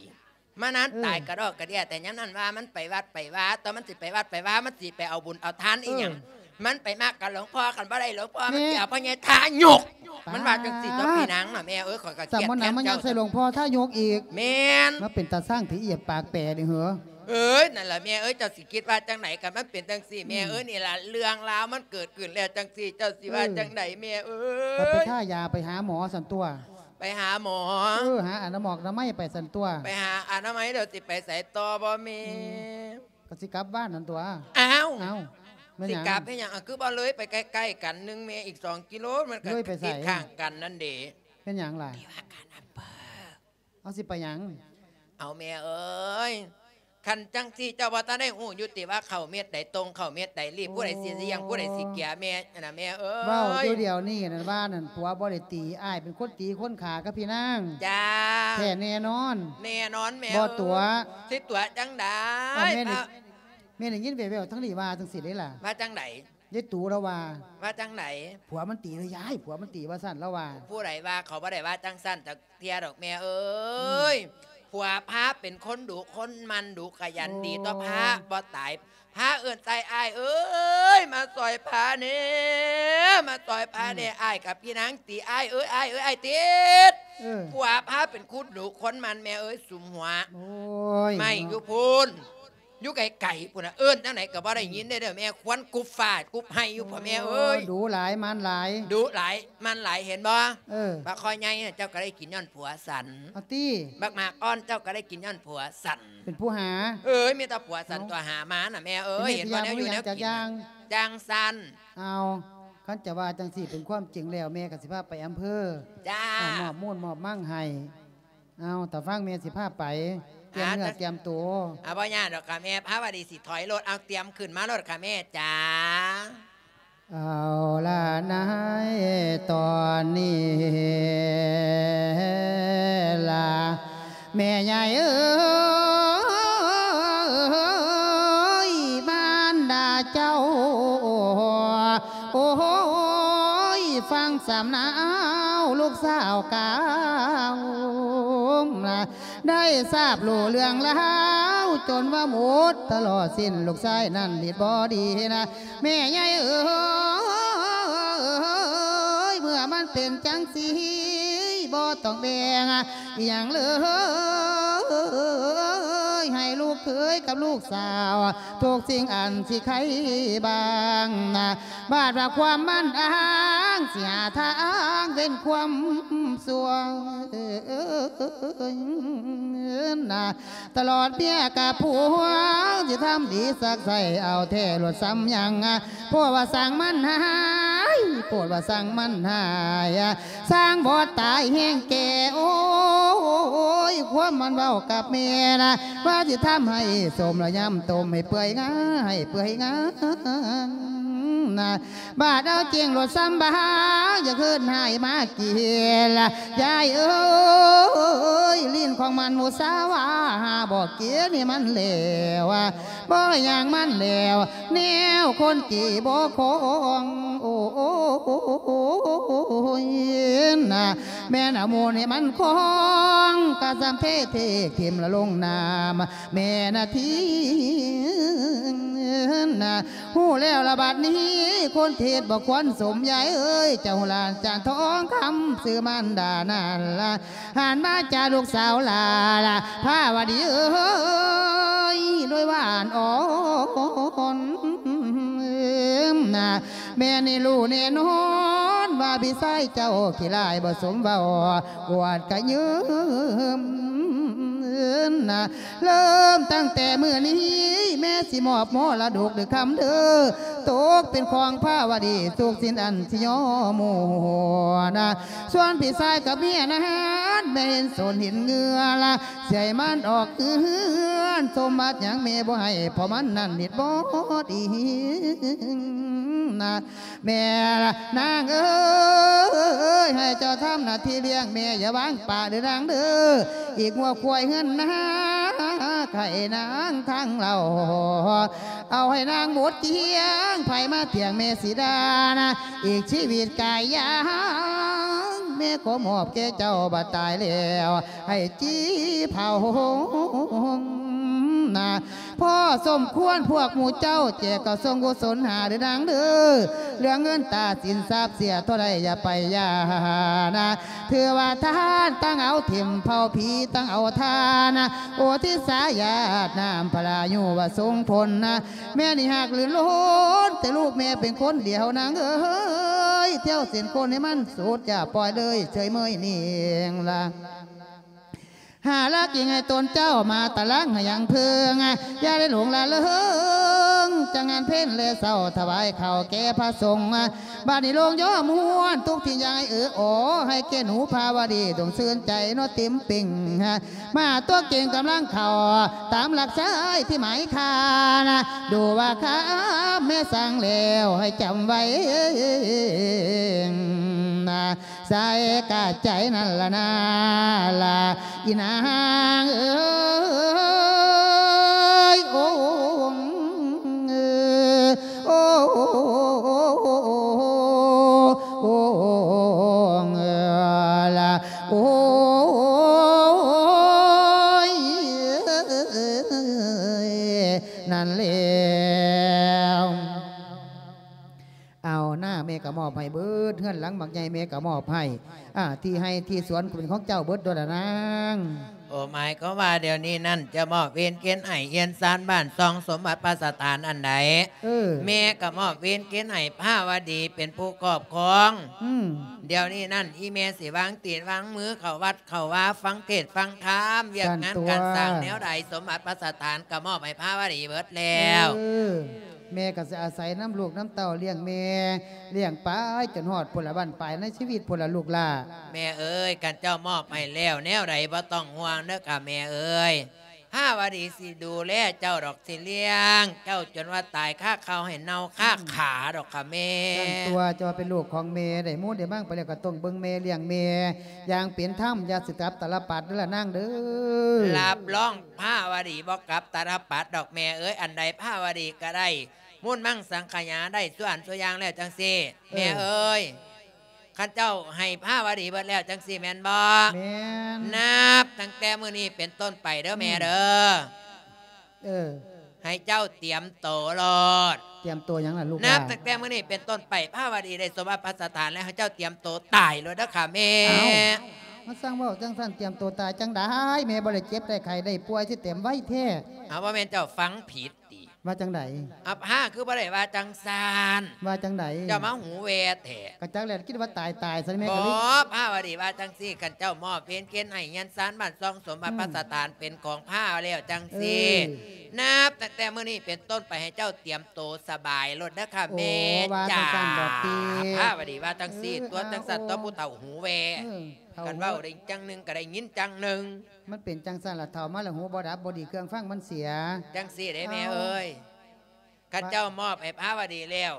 ມານານ ເອີ ຕາຍກະດອກກະເດຍ ແຕ່ຍາມນັ້ນວ່າມັນໄປວັດໄປວາ ຕອນມັນຊິໄປວັດໄປວາ ມັນຊິໄປເອົາບຸນເອົາທານອີ່ຫຍັງ ເອີ ມັນໄປມັກກັບຫຼວງພໍ່ ຄັນບໍ່ໄດ້ຫຼວງພໍ່ ມັນຊິເອົາພໍ່ໃຫຍ່ທາຍົກ ປາດ ມັນວ່າຈັ່ງຊີ້ຕົວະ ພີ່ນາງນະແມ່ເອີຍ. ຂ້ອຍກໍຄຽດແທນເຈົ້າ ສຳມະນາ ມັນຍັງໃສ່ຫຼວງພໍ່ທາຍົກອີກ ແມ່ນ ມາເປັນຕາສ້າງທີ່ອຽບປາກແປນີ້ເຫີ. ເອີຍ ນັ້ນລະແມ່ເອີຍ ເຈົ້າຊິຄິດວ່າຈັ່ງໃດ ຄັນມັນເປັນຈັ່ງຊີ້ ແມ່ເອີຍ ອືມ ນີ້ລະເລື່ອງລາວມັນເກີດຂຶ້ນແລ້ວຈັ່ງຊີ້ ເຈົ້າຊິວ່າ ເອີ ຈັ່ງໃດແມ່ເອີຍ? ກໍໄປທາຢາໄປຫາໝໍຊັ້ນຕົວະ. ໄປຫາໝໍ ເອີ ຫາອະນາໝອກອະນາໄມໄປຊັ້ນຕົວະ. ໄປຫາອະນາໄມແລ້ວຊິໄປໃສຕໍ່ບໍ່ແມ່? ອືມ ກໍຊິກັບບ້ານນັ້ນຕົວະ. ອ້າວ ອ້າວ ແມ່ນຫຍັງ? ຊິກັບເຮັດຫຍັງ? ອ່ະ ຄືບໍ່ເລີຍໄປໃກ້ໆກັນໜຶ່ງແມ່ ອີກສອງກິໂລ ມັນກໍ ເລີຍໄປໃສ? ຕິດຂ້າງກັນນັ້ນເດ. ແມ່ນຫຍັງລະ? ທີ່ວ່າການອຳເພີ. ເອົາ ຊິໄປຫຍັງ? ເອົາແມ່ເອີຍ ຄັນຈັ່ງຊີ້ເຈົ້າບໍ່ທັນໄດ້ຮູ້ຢູ່ຕິວ່າເຂົ້າເມັດໃດ ຕົງເຂົ້າເມັດໃດ ລີບ ໂອ້ຍ ຜູ້ໃດຊິລ້ຽງ ຜູ້ໃດຊິເກຍແມ່ຫັ້ນນະແມ່ເອີຍ. ເວົ້າຢູ່ດຽວນີ້ນັ້ນວ່ານັ້ນ ຜົວບໍ່ໄດ້ຕີ ອ້າຍເປັນຄົນຕີຄົນຂ້າກັບພີ່ນາງ. ຈ້າ ແທ້ແນ່ນອນ? ແນ່ນອນແມ່ ບໍ່ຕົວະ. ຊິຕົວະຈັ່ງໃດ? ເອົາ ແມ່ນີ້ ແມ່ໄດ້ຍິນແວ່ວໆທາງນີ້ວ່າຈັ່ງຊີ້ເດ້ລະ. ວ່າຈັ່ງໃດ? ຍາຍຕູລາວວ່າ. ວ່າຈັ່ງໃດ? ຜົວມັນຕີເລີຍຍາຍ ຜົວມັນຕີວ່າຊັ້ນລາວວ່າ. ຜູ້ໃດວ່າ? ເຂົາບໍ່ໄດ້ວ່າຈັ່ງຊັ້ນຈັກເທື່ອດອກແມ່ເອີຍ. ອືມ ຜົວພາເປັນຄົນດຸຄົນໝັ່ນ ດຸຂະຫຍັນດີ ໂອ້ ຕໍ່ພາບໍ່ຕາຍ. ພາເອີ້ນໃສ່ ອ້າຍເອີຍ ມາຊ່ອຍພາແດ່ ມາຊ່ອຍພາແດ່. ອືມ ອ້າຍກັບພີ່ນາງຕີ ອ້າຍເອີຍ ອ້າຍເອີຍ ອ້າຍຕິດ. ເອີ ຜົວພາເປັນຄົນດຸຄົນໝັ່ນແມ່ເອີຍ ສຸມຫົວ. ໂອ້ຍ ໄມ້ຢູ່ພຸ້ນ ເນາະ ຢູ່ໄກໆພຸ້ນນະ ເອີ້ນຈັ່ງໃດກໍບໍ່ໄດ້ຍິນເດ້ ເດີແມ່ ຄວັນກຸບຟ້າກຸບໄຮ່ຢູ່ພຸ້ນແມ່ເອີຍ. ໂອ້ ດຸຫຼາຍໝັ່ນຫຼາຍ ດຸຫຼາຍໝັ່ນຫຼາຍ ເຫັນບໍ່? ເອີ ບັກຄໍໃຫຍ່ນະ ເຈົ້າກໍໄດ້ກິນຍ້ອນຜົວສັນ. ເອົາຕິ ບັກໝາກອ່ອນເຈົ້າກໍໄດ້ກິນຍ້ອນຜົວສັນ. ເປັນຜູ້ຫາ. ເອີຍ ມີແຕ່ຜົວສັນຕົວະຫາມານະແມ່ເອີຍ. ເຫັນບໍ່ ແນວຢູ່ແນວກິນ ຈັກຢ່າງ ຈັ່ງຊັ້ນ. ເອົາ ຄັນຈະວ່າຈັ່ງຊີ້ ເປັນຄວາມຈິງແລ້ວ ແມ່ກໍຊິພາໄປອຳເພີ. ຈ້າ ອາ ມອບມູນມອບມັງໃຫ້. ເອົາ ຖ້າຟັງແມ່ຊິພາໄປ ກຽມເນື້ອກຽມໂຕ. ອາ ບໍ່ຍາກດອກຄ່ະແມ່ ພາວະດີຊິຖອຍລົດ. ເອົາ ຕຽມຂຶ້ນມາໂລດຄ່ະແມ່ຈ໋າ. ເອົາລະນາຍ ຕອນນີ້ລະ ແມ່ໃຫຍ່ເອີຍ ມານດາເຈົ້າ ໂອ້ຍ ຟັງສຳນາວລູກສາວກ່າວ ໄດ້ຊາບຮູ້ເລື່ອງລາວ ຈົນວ່າໝົດຕະຫຼອດສິ້ນ ລູກຊາຍນັ້ນລິດບໍ່ດີນະ ແມ່ໃຫຍ່ເອີຍ ເມື່ອມັນເປັນຈັ່ງຊີ້ ບໍ່ຕ້ອງແບ່ງອີ່ຫຍັງເລີຍ ໃຫ້ລູກເຂີຍກັບລູກສາວ ທຸກສິ່ງອັນຊິໄຄບາງນະ ບາດວ່າຄວາມມັນອ້າງ ຊິຫາທາງເວັ້ນຄວາມຊົ່ວນະ ຕະຫຼອດເມຍກັບຜົວ ຊິທຳດີສັກໃສ່ເອົາແທ້ໂລດສ່ຳຫຍັງ ໂພດວ່າຊ່າງມັນຫາຍ ໂພດວ່າຊ່າງມັນຫາຍ ຊ່າງບໍ່ຕາຍແຮງແກ່ ໂອ້ ຍ ຄວາມມັນເວົ້າກັບແມ່ນະ ວ່າຊິທຳໃຫ້ສົ້ມລະຍຳຕົ້ມໃຫ້ເປື່ອຍງາ ໃຫ້ເປື່ອຍງານະ ບາດເອົາຈິງໂລດຊຳບາ ຢ່າຄືນໃຫ້ມາກິນລະ ຍາຍເອີຍ ຫຼິ້ນຂອງມັນໝູ່ສາວາ ບໍ່ກິນໃຫ້ມັນແລ້ວ ບໍ່ຫຍັງມັນແລ້ວ ແນວຄົນຈີບໍ່ຄອງ ໂອ້ຍນະ ແມ່ນເອົາມູນໃຫ້ມັນຄອງ ກະສ່ຳເທເທກຖິ້ມລະລົງນ້ຳ ແມ່ນະທີນະ ຮູ້ແລ້ວລະບັດນີ້ ຄົນເທດບໍ່ຄວນສົມ ຍາຍເອີຍ ເຈົ້າຫຼານຈານທອງຄຳ ຊື່ມານດານັ້ນລະ ຫັນມາຈາກລູກສາວຫຼ້າລະ ພາວະດີເອີຍ ໂດຍຫວານອ່ອນນະ ແມ່ນີ້ຮູ້ແນ່ນອນວ່າພີ່ຊາຍເຈົ້າຂີ້ຮ້າຍບໍ່ສົມເວົ້າ ອວດກະຍືມນະ ເລີ່ມຕັ້ງແຕ່ມື້ນີ້ ແມ່ຊິມອບມໍລະດົກເດີຄຳເດີ ຕົກເປັນຂອງພາວະດີ ທຸກສິ່ງອັນຊິຍອມໝູ່ນະ ສ່ວນພີ່ຊາຍກັບເມຍນັ້ນ ແມ່ເຫັນສົນເຫັນເງື່ອລະ ຊິໃຫ້ມັນອອກເຮືອນ ສົມບັດຫຍັງແມ່ບໍ່ໃຫ້ ເພາະມັນນັ້ນເຮັດບໍ່ດີນະ ແມ່ນາງເອີຍ ໃຫ້ເຈົ້າທຳໜ້າທີ່ລ້ຽງແມ່ ຢ່າວາງປະເດີນາງເດີ ອີກງົວຄວາຍເຮືອນນາ ໃຫ້ນາງທາງເຫຼົ່າ ເອົາໃຫ້ນາງໝົດກ້ຽງ ໃຜມາຖຽງແມ່ຊິດ່ານະ ອີກຊີວິດກາຍຢ່າງ ແມ່ຂໍມອບແກ່ເຈົ້າ ບາດຕາຍແລ້ວ ໃຫ້ຈີ່ເຜົານະ ພໍສົມຄວນພວກໝູ່ເຈົ້າ ແຈກເຂົ້າສົງກຸສົນຫາເດີນາງເດີ ເລື່ອງເງິນຕາສິນຊັບເສຍເທົ່າໃດຢ່າໄປຢ່ານະ ຖືວ່າທານ ທັງເອົາຖິ້ມເຜົາຜີ ທັງເອົາທານນະ ໂອທິດສາຍາດນ້ຳພະລາຍຸວ່າສົ່ງຜົນນະ ແມ່ນີ້ຮັກລື່ນລ້ນ ແຕ່ລູກແມ່ເປັນຄົນດຽວນາງເອີຍ ແຖວເສັ້ນຄົນໃຫ້ມັນສຸດ ຢ່າປ່ອຍເລີຍເຊີຍເມີຍນີ້ລະ ຫາລັກອີງໃຫ້ຕົນເຈົ້າມາຕະລັງໃຫ້ຍັງເພິງ ຢ່າໄດ້ຫຼົງລະເລີງ ຈາກງານເພັນແລເຊົ້າຖວາຍເຂົ້າແກ່ພະສົງ ບາດນີ້ລົງຍໍມ່ວນ ທຸກທີ່ຢາຍເອີອ ໃຫ້ແກ່ໜູພາວະດີ ຈົ່ງຊື່ນໃຈເນາະເຕັມເປັງ ມາຕົວເກັ່ງກຳລັງເຂົ້າ ຕາມຫຼັກຊາຍທີ່ໝາຍຄານ ດູວ່າຄຳແມ່ສັ່ງແລ້ວໃຫ້ຈຳໄວ້ ໃສ່ກະໃຈນັ້ນລະນາລະ ອີນາງເອີຍ ໂອ້ ໂອ້ ໂອ້ ໂອ້ ລະ ໂອ້ຍ ນັ້ນແລ້ວ ເອົານາ ແມ່ກໍມອບໃຫ້ເບິດ ເຮືອນຫຼັງບັກໃຫຍ່ແມ່ກໍມອບໃຫ້ ອ່າ ທີ່ໄຮ່ທີ່ສວນກໍເປັນຂອງເຈົ້າເບິດໂດລະນາງ. ໂອ ໝາຍຄວາມວ່າດຽວນີ້ນັ້ນ ຈະມອບເວນເຄນໄອເຮືອນຊານບ້ານຊ່ອງສົມບັດປະສະຖານອັນໃດ ເອີ ແມ່ກໍມອບເວນເຄນໃຫ້ພາວະດີເປັນຜູ້ຄອບຄອງ. ອືມ ດຽວນີ້ນັ້ນ ອີແມ່ຊິວາງຕີນວາງມືເຂົ້າວັດເຂົ້າວາ ຟັງເທດຟັງທຳ ວຽກງານການສ້າງແນວໃດ ສົມບັດປະສະຖານກໍມອບໃຫ້ພາວະດີເບິດແລ້ວ. ເອີ ແມ່ກໍຊິອາໄສນຳລູກນຳເຕົ້າລ້ຽງແມ່ ລ້ຽງໄປຈົນຮອດພຸ້ນລະບັ້ນປາຍໃນຊີວິດພຸ້ນລະລູກຫຼ້າ. ແມ່ເອີຍ ຄັນເຈົ້າມອບໃຫ້ແລ້ວແນວໃດບໍ່ຕ້ອງຫ່ວງເດີຄ່ະແມ່ເອີຍ. ພາວະດີຊິດູແລເຈົ້າດອກ ຊິລ້ຽງເຈົ້າຈົນວ່າຕາຍຄາເຂົ້າໃຫ້ເນົ່າຄາຂາດອກຄ່ະແມ່. ຊັ້ນຕົວະ ເຈົ້າເປັນລູກຂອງແມ່ ໄດ້ມູນໄດ້ມັງໄປແລ້ວກໍຕ້ອງເບິ່ງແມ່ລ້ຽງແມ່ຢ່າງເປັນທຳ ຢ່າຊິຕະລັບຕະລະປັດເດີລະນາງເດີ. ຮັບຮອງພາວະດີບໍ່ກັບຕະລະປັດດອກແມ່ເອີຍ. ອັນໃດພາວະດີກໍໄດ້ມູນມັງສັງຂະຫຍາໄດ້ສ່ວນສ່ວນຢ່າງແລ້ວຈັ່ງຊີ້ ເອີ ແມ່ເອີຍ. ຄັນເຈົ້າໃຫ້ພາວະດີເບິດແລ້ວຈັ່ງຊີ້ແມ່ນບໍ່? ແມ່ນ. ນັບຕັ້ງແຕ່ມື້ນີ້ເປັນຕົ້ນໄປເດີແມ່ເດີ. ອືມ ເອີ ໃຫ້ເຈົ້າຕຽມໂຕໂລດ. ຕຽມໂຕຫຍັງລະລູກຫຼ້າ? ນັບຕັ້ງແຕ່ມື້ນີ້ເປັນຕົ້ນໄປ ພາວະດີໄດ້ສົມບັດປະສະຖານແລ້ວ ໃຫ້ເຈົ້າຕຽມໂຕຕາຍໂລດເດີຄ່ະແມ່. ອ້າວ ມາສັ່ງເວົ້າຈັ່ງຊັ້ນ ຕຽມໂຕຕາຍຈັ່ງໃດ? ແມ່ບໍ່ໄດ້ເຈັບໄດ້ໄຂ້ໄດ້ປ່ວຍ ຊິຕຽມໄວແທ້. ເອົາ ບໍ່ແມ່ນເຈົ້າຟັງຜິດ ຕິ ວ່າຈັ່ງໃດ? ອາ ພາຄືບໍ່ໄດ້ວ່າຈັ່ງຊັ້ນ. ວ່າຈັ່ງໃດ? ເຈົ້າມາຫູແວ່ແທ້. ກະຈັກແລ້ວ ຄິດວ່າຕາຍຕາຍຊັ້ນແມ່. ບໍ່ ກະເລີຍ ພາວະດີວ່າຈັ່ງຊີ້ ຄັນເຈົ້າມອບເວນເຄນໃຫ້ເຮືອນຊານບ້ານຊ່ອງສົມບັດ ອືມ ປະສະຖານເປັນຂອງພາແລ້ວຈັ່ງຊີ້ ເອີ ນັບຕັ້ງແຕ່ມື້ນີ້ເປັນຕົ້ນໄປ ໃຫ້ເຈົ້າຕຽມໂຕສະບາຍໂລດເດີຄ່ະ ໂອ້ ແມ່ ວ່າຈັ່ງຊັ້ນບໍຕິ? ຈ້າ ພາວະດີວ່າຈັ່ງຊີ້ ເອີ ຕົວະ ເອົາ ຈັ່ງຊັ້ນຕົວະ ໂອ້ ຜູ້ເຖົ້າຫູແວ່ ເອີ ເຖົ້າ ຄັນເວົ້າໄດ້ຈັ່ງໜຶ່ງກໍໄດ້ຍິນຈັ່ງໜຶ່ງ. ມັນເປັນຈັ່ງຊັ້ນລະ ເຖົ້າມາລະຫູບໍ່ດັບບໍ່ດີ ເຄື່ອງຟັງມັນເສຍ. ຈັ່ງຊີ້ເດ້ແມ່ເອີຍ ເອົາ ຄັນເຈົ້າມອບໃຫ້ພາວະດີແລ້ວ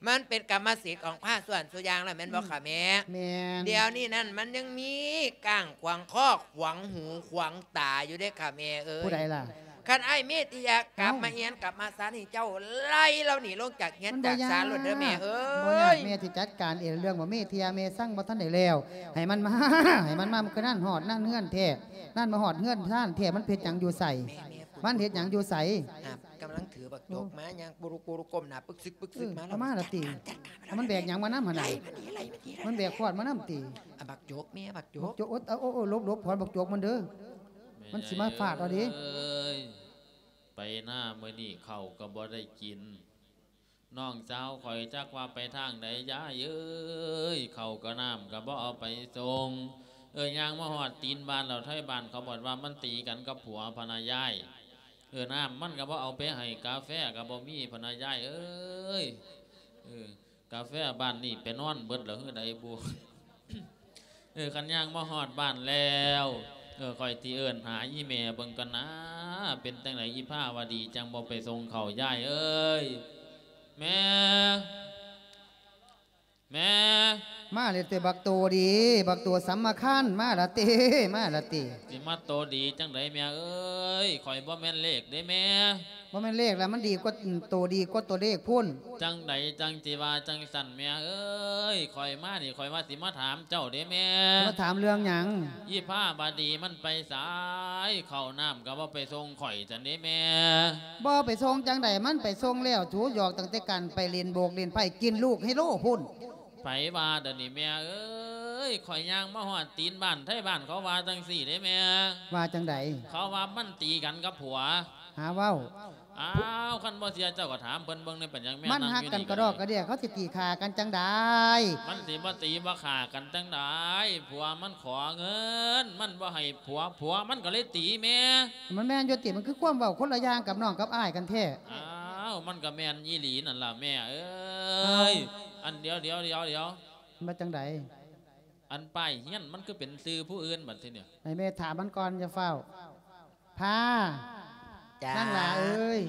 ມັນເປັນກຳມະສິດຂອງພາສ່ວນສູ່ຢ່າງແລ້ວແມ່ນບໍ່ ອືມ ຄ່ະແມ່? ແມ່ນ. ດຽວນີ້ນັ້ນມັນຍັງມີກ້າງຂວາງຄໍຂວາງຫູຂວາງຕາຢູ່ເດ້ຄ່ະແມ່ເອີຍ. ຜູ້ໃດລະ? ຄັນອ້າຍເມດທິຍາກັບ ເອົ້າ ມາເຮືອນກັບມາຊານນີ້ ເຈົ້າໄລ່ລາວໜີລົງຈາກເຮືອນຈາກຊານໂລດເດີແມ່ເອີຍ. ບໍ່ຍາກ ແມ່ຊິຈັດການເອງ. ເລື່ອງວ່າເມດທິຍາແມ່ສັ່ງບໍ່ທັນໄດ້ແລ້ວ ໃຫ້ມັນມາ ໃຫ້ມັນມາ ມັນຄືນັ້ນຮອດນັ້ນເຮືອນແທ້ ນັ້ນມາຮອດເຮືອນຊານແທ້. ມັນເຮັດຫຍັງຢູ່ໃສ? ແມ່ ແມ່ ມັນເຮັດຫຍັງຢູ່ໃສ? ອ່າ ກຳລັງຖືບັກຈົກມາ ໂອ້ ຍ່າງປຸລຸກຸລຸກົ້ມໜ້າປຶກຊຶກປຶກຊຶກ ເອີ ມາແລ້ວ ເອົາມາລະຕິ? ມັນແບກຫຍັງມານຳຫັ້ນນະ? ໄລ່ມັນໜີ ໄລ່ມັນໜີ ມັນແບກຂວດມານຳຕິ? ອ່າ ບັກຈົກແມ່ ບັກຈົກ ບັກຈົກ. ໂອ້ ໂອ້ ໂອ້ ຫຼົບໆ ຂວັນບັກຈົກມັນເດີ ມັນຊິມາຟາດເອົາເດ້. ແມ່ເອີຍ ໄປນາມື້ນີ້ເຂົ້າກໍບໍ່ໄດ້ກິນ ນ້ອງສາວຂ້ອຍຈັກວ່າໄປທາງໃດ ຍາຍເອີຍ ເຂົ້າກໍນ້ຳກໍບໍ່ເອົາໄປສົ່ງ. ເອີ ຍ່າງມາຮອດຕີນບ້ານແລ້ວ ໄທບ້ານເຂົາບອກວ່າມັນຕີກັນກັບຜົວພະນາຍາຍ. ເອີ ນ້ຳມັນກໍບໍ່ເອົາໄປໃຫ້ ກາແຟກໍບໍ່ມີພະນາຍາຍເອີຍ. ເອີ ກາແຟບ້ານນີ້ໄປນອນເບິດແລ້ວຄືໃດບຸ? ເອີ ຄັນຍ່າງມາຮອດບ້ານແລ້ວ ເອີ ຂ້ອຍຊິເອີ້ນຫາອີ່ແມ່ເບິ່ງກ່ອນນາ ເປັນຈັ່ງໃດອີ່ພາວະດີ ຈັ່ງບໍ່ໄປສົ່ງເຂົ້າ ຍາຍເອີຍ. ແມ່ ແມ່ ມາແລ້ວຕິ ບັກໂຕດີ ບັກໂຕສຳມະຄັນ ມາລະຕິ ມາລະຕິ? ຊິມາໂຕດີຈັ່ງໃດແມ່ເອີຍ ຂ້ອຍບໍ່ແມ່ນເລກເດ້ແມ່. ບໍ່ແມ່ນເລກລະ ມັນດີກວ່າ ໂຕດີກວ່າໂຕເລກພຸ້ນ. ຈັ່ງໃດຈັ່ງຊິວ່າຈັ່ງຊັ້ນແມ່ເອີຍ ຂ້ອຍມານີ້ ຂ້ອຍວ່າຊິມາຖາມເຈົ້າເດ້ແມ່. ມາຖາມເລື່ອງຫຍັງ? ອີ່ພາວະດີມັນໄປໃສ? ເຂົ້ານ້ຳກໍບໍ່ໄປສົ່ງຂ້ອຍຊັ້ນເດ້ແມ່. ບໍ່ໄປສົ່ງຈັ່ງໃດ ມັນໄປສົ່ງແລ້ວ ສູຢອກຕັ້ງແຕ່ການໄປຫຼິ້ນໂບກຫຼິ້ນໄພ້ ກິນລູກໄຮໂລພຸ້ນ. ໃຜວ່າດຽວນີ້ແມ່ເອີຍ ຂ້ອຍຍ່າງມາຮອດຕີນບ້ານ ໄທບ້ານເຂົາວ່າຈັ່ງຊີ້ເດ້ແມ່. ວ່າຈັ່ງໃດ? ເຂົາວ່າມັນຕີກັນກັບຜົວ. ຫາເວົ້າ. ອ້າວ ຄັນບໍ່ເຊື່ອເຈົ້າກໍຖາມເພິ່ນເບິ່ງແດ່ ເປັນຫຍັງແມ່ ມັນຮັກກັນກະດອກກະເດຍ ເຂົາຊິຕີຂ້າກັນຈັ່ງໃດ? ມັນຊິບໍ່ຕີບໍ່ຂ້າກັນຈັ່ງໃດ? ຜົວມັນຂໍເງິນ ມັນບໍ່ໃຫ້ຜົວ ຜົວມັນກໍເລີຍຕີແມ່. ມັນແມ່ນຢູ່ຕິ? ມັນຄືຄວາມເວົ້າຄົນລະຢ່າງກັບນ້ອງກັບອ້າຍກັນແທ້. ອ້າວ ມັນກໍແມ່ນອີ່ຫຼີນັ້ນລະແມ່ເອີຍ. ເອົ້າ ອັນ ດຽວ ດຽວ ດຽວ ດຽວ ວ່າຈັ່ງໃດ? ອັນປ້າຍເຮືອນມັນຄືເປັນຊື່ຜູ້ອື່ນບັດທີນີ້? ໃຫ້ແມ່ຖາມມັນກ່ອນ ຢ່າຟ້າວ. ພາ ຈ້າ ນາງຫຼ້າເອີຍ.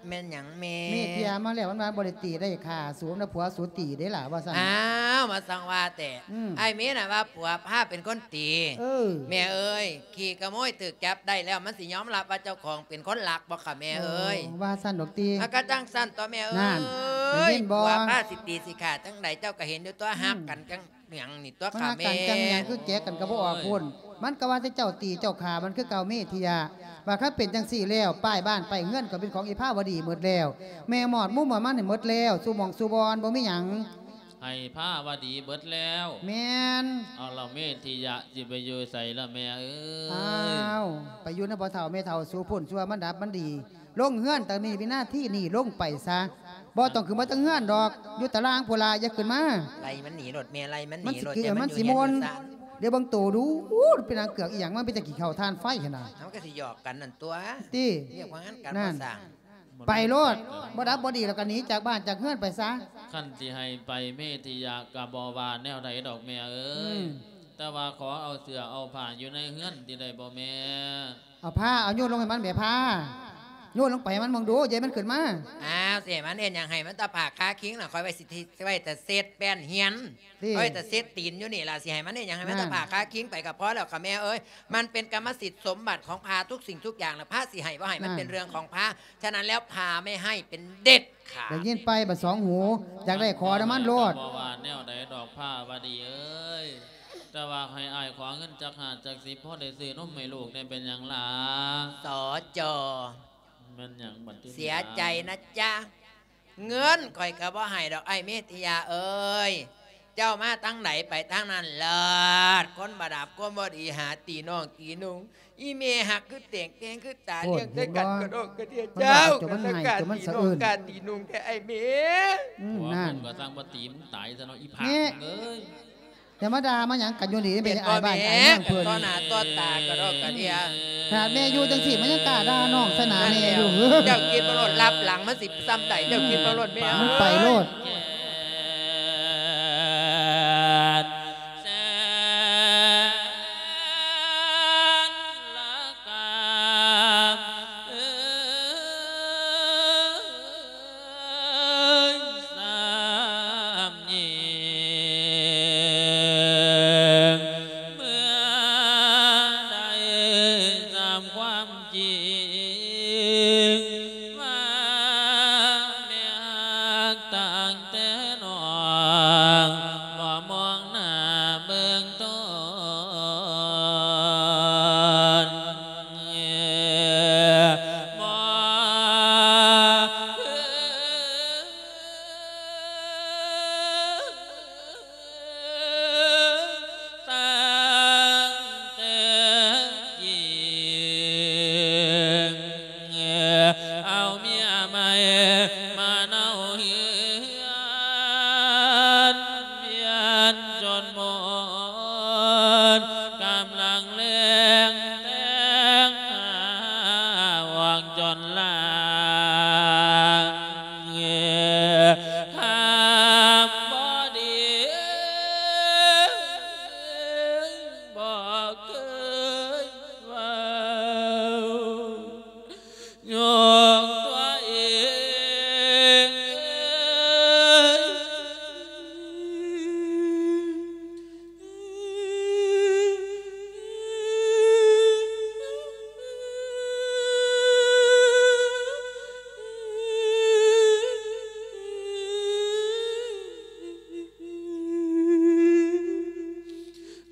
ແມ່ນຫຍັງແມ່? ເມດທິຍາມາແລ້ວ ມັນວ່າບໍ່ໄດ້ຕີໄດ້ຂ້າສູນນະ ຜົວສູຕີເດ້ຫຼ້າ ວ່າຊັ້ນ. ອ້າວ ມາສັ່ງວ່າແຕ່ ອືມ ອ້າຍເມນນະວ່າຜົວພາເປັນຄົນຕີ. ເອີ ແມ່ເອີຍ ຂີ້ຂະໂມຍຖືກຈັບໄດ້ແລ້ວ ມັນຊິຍອມຮັບວ່າເຈົ້າຂອງເປັນຄົນລັກບໍ່ຄະແມ່ເອີຍ? ໂອ້ ວ່າຊັ້ນດອກຕິ. ອາ ກະຈັ່ງຊັ້ນຕົວະແມ່ເອີຍ. ນັ້ນ ໄດ້ຍິນບໍ່? ຜົວພາຊິຕີຊິຂ້າຈັ່ງໃດ ເຈົ້າກະເຫັນຢູ່ຕົວະ. ອືມ ຮັກກັນຈັ່ງ ຫຍັງນີ້ຕົວະ ມັນ ຂ້າ ມາແມ່ ກັນຈັ່ງຫຍັງ ຄືແຈກັນກໍບໍ່ອອກພຸ້ນ. ມັນກໍວ່າແຕ່ເຈົ້າຕີເຈົ້າຂ້າມັນຄືເກົ່າ ເມດທິຍາ. ວ່າຄັນເປັນຈັ່ງຊີ້ແລ້ວ ປ້າຍບ້ານປ້າຍເຮືອນກໍເປັນຂອງອີພາວະດີໝົດແລ້ວ. ແມ່ມອດໝູມອດມັນໃຫ້ໝົດແລ້ວ ສູ່ໝ່ອງສູ່ບ່ອນ ບໍ່ມີຫຍັງ ໃຫ້ພາວະດີເບິດແລ້ວ. ແມ່ນ. ເອົາລະ ເມດທິຍາຊິໄປຢູ່ໃສລະແມ່ເອີຍ? ອ້າວ ໄປຢູ່ນຳພໍ່ເຖົ້າແມ່ເຖົ້າສູ່ພຸ້ນ ຊົ່ວມັນດັບມັນດີ. ລົງເຮືອນແຕ່ນີ້ວິນາທີນີ້ລົງໄປຊະ ບໍ່ຕ້ອງຂຶ້ນມາເທິງເຮືອນດອກ ຢູ່ຕາລ່າງພຸ້ນລະ ຢ່າຂຶ້ນມາ. ໄລ່ມັນໜີໂລດແມ່ ໄລ່ມັນໜີໂລດ ມັນຊິ ມັນຊິມ່ວນ. ດຽວເບິ່ງໂຕດູ ເປັນນາງເກືອກອີ່ຫຍັງ ມັນເປັນຕາຂີ້ເຂົ້າຖ່ານໄຟຫັ້ນນະ. ເຮົາກໍຊິຫຍອກກັນນັ້ນຕົວະ ຕິ ວຽກວ່າງານການ ນັ້ນ ບໍ່ສ້າງ. ໄປໂລດ ບໍ່ດັບບໍ່ດີແລ້ວກໍໜີຈາກບ້ານຈາກເຮືອນໄປຊະ. ຄັນຊິໃຫ້ໄປ ເມດທິຍາກໍບໍ່ວ່າແນວໃດດອກແມ່ເອີຍ. ອືມ ແຕ່ວ່າຂໍເອົາເສື້ອເອົາຜ້າຢູ່ໃນເຮືອນຕິໄດ້ບໍ່ແມ່? ເອົາຜ້າ ເອົາໂຍນລົງໃຫ້ມັນແໝ່ ຜ້າ ໂຍນລົງໄປໃຫ້ມັນເບິ່ງດູ ຢ່າໃຫ້ມັນຂຶ້ນມາ. ອ້າວ ຊິໃຫ້ມັນເຮັດຫຍັງ? ໃຫ້ມັນຕາກຜ້າຄາຄິງນະ ຂ້ອຍໄວ້ຊິ ໄວ້ແຕ່ເຊັດແປ້ນຮຽນ ຕິ ຂ້ອຍໄວ້ແຕ່ເຊັດຕີນຢູ່ນີ້ລະ ຊິໃຫ້ມັນເຮັດຫຍັງ? ໃຫ້ມັນ ນັ້ນ ຕາກຜ້າຄາຄິງໄປກໍພໍແລ້ວຄ່ະແມ່ເອີຍ. ມັນເປັນກຳມະສິດສົມບັດຂອງພາ ທຸກສິ່ງທຸກຢ່າງນະ ພາຊິໃຫ້ບໍ່ໃຫ້ ນັ້ນ ມັນເປັນເລື່ອງຂອງພາ. ສະນັ້ນແລ້ວ ພາໄມ່ໃຫ້ເປັນເດັດຂາດ. ໄດ້ຍິນໄປ ບັດສອງຫູ ຢາກໄດ້ຂໍນຳມັນໂລດ. ບໍ່ວ່າແນວໃດດອກພາວະດີເອີຍ. ແຕ່ວ່າໃຫ້ອ້າຍຂໍເງິນຈັກຫ້າຈັກສິບ ພໍໄດ້ຊື້ນົມໃຫ້ລູກແດ່ ເປັນຫຍັງລະ? ສຈ. ແມ່ນຫຍັງບັດທີນີ້? ເສຍໃຈນະຈະ ເງິນຂ້ອຍກໍບໍ່ໃຫ້ດອກ ອ້າຍເມດທິຍາເອີຍ. ເຈົ້າມາທາງໃດໄປທາງນັ້ນເລີດ. ຄົນບໍ່ດັບຄວາມບໍ່ດີຫາຕີນ້ອງຕີນຸ່ງ. ອີ່ແມ່ຮັກຄືແຕງແຕ່ງຄືຕາ ໂອ້ຍ ລ້ຽງແຕ່ກັນ ເຫັນບໍ່? ກະດອກກະເດຍ. ມັນວ່າ ເຈົ້າ ຕົວມັນໃຫ້ ກະ ຕົວມັນສະເອື້ນ ກະຕີນຸ່ງແຕ່ອ້າຍເມ. ອືມ ນັ້ນ ກໍສັ່ງວ່າຕີມັນຕາຍຊະເນາະ ອີ່ຜາກເອີຍ. ຢ່າມາດ່າມາຫຍັງກັນຢູ່ນີ້ ເປັນອ້າຍບ້ານອ້າຍເມືອງເພິ່ນ ຕໍ່ໜ້າຕໍ່ຕາກະດອກກະເດຍ. ຂະໜາດແມ່ຢູ່ຈັ່ງຊີ້ ມັນຍັງກ້າດ່ານ້ອງໃສ່ໜ້າແມ່ຢູ່. ເຈົ້າຄິດເບິ່ງໂລດ ລັບຫຼັງມັນຊິສ່ຳໃດ ເຈົ້າຄິດເບິ່ງໂລດແມ່. ມັນໄປໂລດ.